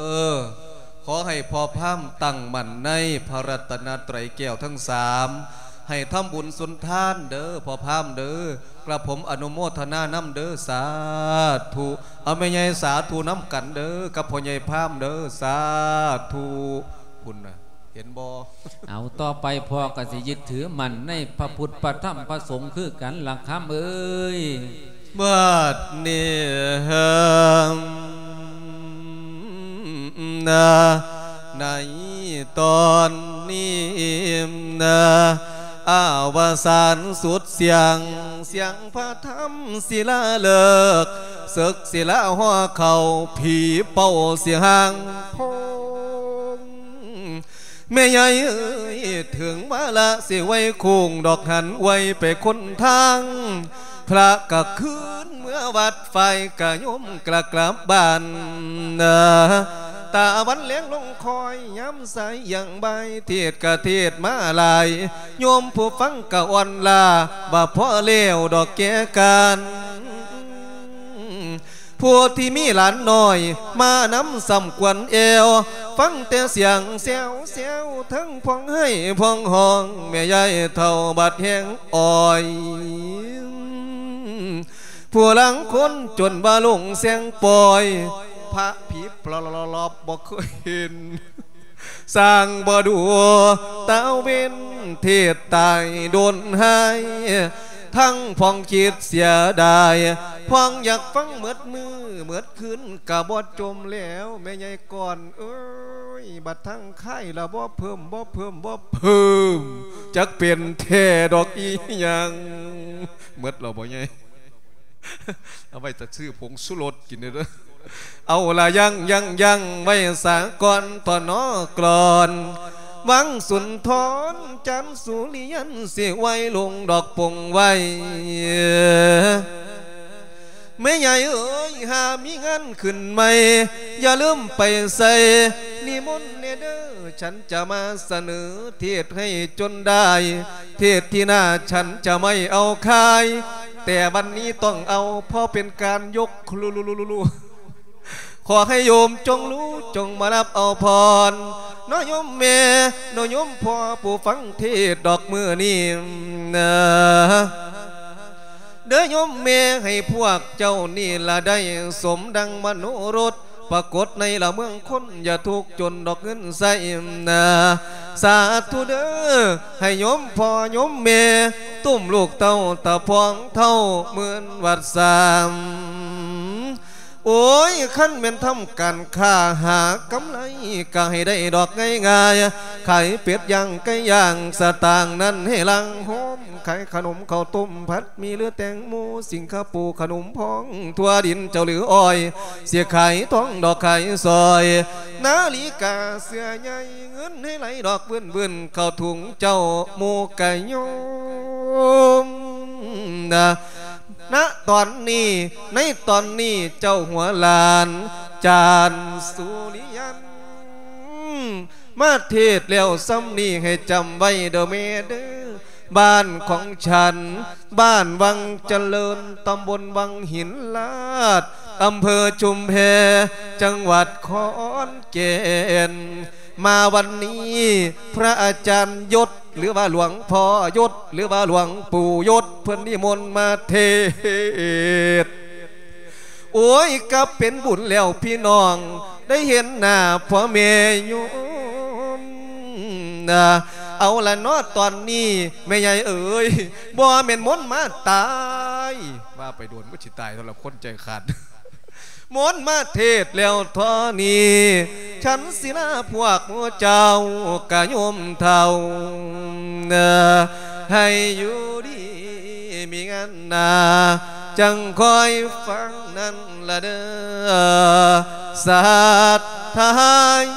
ຂໍໃຫ້ພໍ່ພາມຕັ້ງໝັ້ນໃນພະລັດຕະນະໄຕຣແກ້ວທັງສາມ ໃຫ້ທຳບຸນສຸນທານເດີ້ ພໍ່ພາມເດີ້. ກະຜົມອະນຸໂມທະນານຳເດີ້ ສາທຸ. ເອົາ ແມ່ໃຫຍ່ສາທຸນຳກັນເດີ້ ກັບພໍ່ໃຫຍ່ພາມເດີ້ ສາທຸ. ພຸ້ນນະ ເຫັນບໍ່? ເອົາ ຕໍ່ໄປພໍ່ກະຊິຍຶດຖືໝັ້ນໃນພະພຸດ ພະທຳ ພະສົງຄືກັນລະຄຳເອີຍ. ບັດນີ້ ນະ ໃນຕອນນີ້ນະ ອາວະສານສຸດສຽງ ສຽງພະທຳສິລາເລີກ ເສິກສິລາຫໍ່ເຂົ້າ ຜີເປົ່າສິຫາງໂພງ. ແມ່ໃຫຍ່ເອີຍ ເຖິງວາລະສິໄຫວ້ໂຄ້ງດອກ ຫັນໄຫວ້ໄປຄົນທາງ ພະກະຄືນເມືອວັດ ຝ່າຍກະໂຍມກະກັບບ້ານ. ຕາວັນແລງລົງຄ່ອຍ ຍາມສາຍຢ່າງບ່າຍ ເທດກະເທດມາຫຼາຍ ໂຍມຜູ້ຟັງກະອ່ອນລ້າ ວ່າພໍແລ້ວດອກແກ່ການ. ຜູ້ທີ່ມີຫຼານນ້ອຍມານຳ ສ່ຳຄວນແອວ ຟັງແຕ່ສຽງແຊວໆ ທັງພວງໄຫ້ພວງຮ້ອງ ແມ່ຍາຍເຖົ້າບັດແຮງອ່ອຍ. ຜູ້ລາງຄົນຈົນວ່າລົງແຊງປ່ອຍ ພະຜີປລອບໆ ບໍ່ເຄີຍເຫັນ ສ້າງບໍ່ດູຕາເວັນ ເທດຕາຍດົນຫາຍ ທັງພວງຄິດເສຍດາຍ ພວງຢາກຟັງໝົດມື້ໝົດຄືນ ກະບໍ່ຈົມແລ້ວ ແມ່ໃຫຍ່ກ່ອນເອີຍ. ບັດທາງຄ້າຍລະບໍ່ເພີ່ມ ບໍ່ເພີ່ມ ບໍ່ເພີ່ມ ຈັກເປັນແທ້ດອກອີ່ຫຍັງ. ໝົດແລ້ວບໍ່ໃຫຍ່? ເອົາໄວ້ແຕ່ຊື້ຜົງຊູລົດກິນເດີ້. ເອົາລະຍັງ ຍັງ ຍັງໄວ້ສາກ່ອນ ຕອນນອກລອນ ວັງສຸນທອນ ຈັນສຸລິຍັນ ຊິໄຫວ້ລົງດອກປົງໄຫວ້. ແມ່ໃຫຍ່ເອີຍ ຫາມີງານຂຶ້ນໃໝ່ ຢ່າລືມໄປໃສ່ ນິມົນແດ່ເດີ້ ສັນຈະມາສະເໜີ ເທດໃຫ້ຈົນໄດ້ ເທດທີ່ໜ້າ ສັນຈະໄມ່ເອົາຄາຍ ແຕ່ວັນນີ້ຕ້ອງເອົາ ເພາະເປັນການຍົກ ຂໍໃຫ້ໂຍມຈົ່ງຮູ້ ຈົ່ງມາຮັບເອົາພອນ ເນາະໂຍມແມ່ ເນາະໂຍມພໍ່ ຜູ້ຟັງເທດດອກມື້ນີ້ນະ. ເດີໂຍມແມ່ ໃຫ້ພວກເຈົ້ານີ້ລະໄດ້ສົມດັ່ງມະໂນລົດ ປາກົດໃນລະເມືອງຄົນ ຢ່າທຸກຈົນດອກເງິນໃຊ້ນະ. ສາທຸເດີ ໃຫ້ໂຍມພໍ່ໂຍມແມ່ ຕຸ້ມລູກເຕົ້າຕາພອງເທົ່າໝື່ນວັດສາມ. ໂອ້ຍ ຄັນແມ່ນທຳການຄ້າຫາກຳໄລ ກະໃຫ້ໄດ້ດອກງ່າຍໆ ຂາຍເປັດຍ່າງໄກ່ຍ່າງ ສະຕາງນັ້ນໃຫ້ຫຼັ່ງໂຮມ ຂາຍຂະໜົມເຂົ້າຕົ້ມ ຜັດໝີ່ ຫຼື ແຕງໂມ ສິງຄະໂປ ຂະໜົມພອງ ທົ່ວດິນເຈົ້າ ຫຼື ອ້ອຍ ຊິຂາຍທອງດອກຂາຍສອຍ ນາລິກາເສື້ອໃຫຍ່ ເງິນໃຫ້ໄຫຼດອກວື່ນໆ ເຂົ້າຖົງເຈົ້າໝູ່ກະໂຍມນະ. ນະຕອນນີ້ ໃນຕອນນີ້ເຈົ້າຫົວຫຼານ ຈານສຸລິຍັນ ມາເທດແລ້ວສ່ຳນີ້ໃຫ້ຈຳໄວ້ເດີແມ່ເດີ ບ້ານຂອງສັນ ບ້ານວັງຈະເລີນ ຕຳບົນວັງຫີນລາດ ອຳເພີຊຸມແພ ຈັງຫວັດຂອນແກ່ນ. ມາວັນນີ້ ພະອາຈານຍົດ ຫຼືວ່າຫຼວງພໍ່ຍົດ ຫຼືວ່າຫຼວງປູ່ຍົດ ເພິ່ນນິມົນມາເທດ. ໂອ້ຍ ກະເປັນບຸນແລ້ວພີ່ນ້ອງ ໄດ້ເຫັນໜ້າພໍ່ແມ່ໂຍມນະ. ເອົາລະເນາະ ຕອນນີ້ແມ່ໃຫຍ່ເອີຍ ບໍ່ແມ່ນມົນມາຕາຍ ວ່າໄປໂດນ ມັນຊິຕາຍສຳລັບຄົນໃຈຂາດ. ມົນມາເທດແລ້ວທໍ່ນີ້ ສັນສິລາພວກໝູ່ເຈົ້າກະໂຍມເຖົ້າ ໃຫ້ຢູ່ດີມີງານນາ ຈັ່ງຄອຍຟັງນັ້ນລະເດີ ສັດທາໂຍ.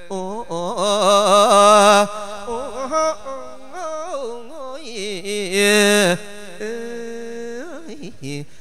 ໂອ້ ໂອ້ ໂອ້ ໂອ້ຍ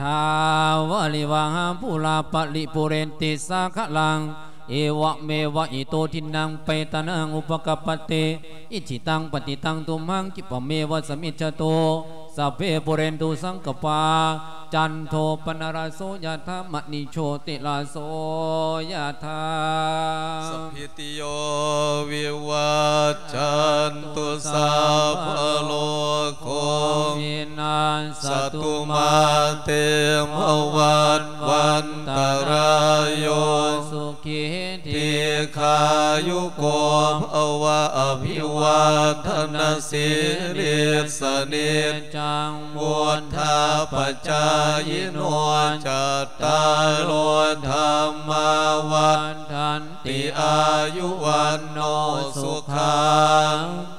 ຖາວາລິວະຫາປູລາປະລິປູເຣນຕິສາຄະລັງ ເອວະເມວະອິໂຕທິນນັງເປຕານັງອຸປະກະປະຕິ ອິດຖິຕັງປະຕິຕັງຕຸມຫັງ ຄິປະເມວະສະມິດຊະຕຸ ສັບເພປູເຣນຕຸສັງກະປາ ຈັນໂທປະນະລະໂສ ຍະຖາ ມະນີໂຊຕິລະໂສ ຍະຖາ ສະພີຕິໂຍວິວັດຈັນຕຸ ສັບພະໂລໂຄ ວິນັດສະຕຸມາເຕ ພະວັດວັນຕະລາໂຍ ສຸ ຂີ ດີຄາຍຸໂກ ພະວະ ອະພິວັດທະນະສີລິດສະນິດຈັງ ວຸດທາປະຈາຍິໂນ ຈັດຕາໂລ ທຳມາ ວັດທັນຕິ ອາຍຸ ວັນໂນ ສຸຂັງ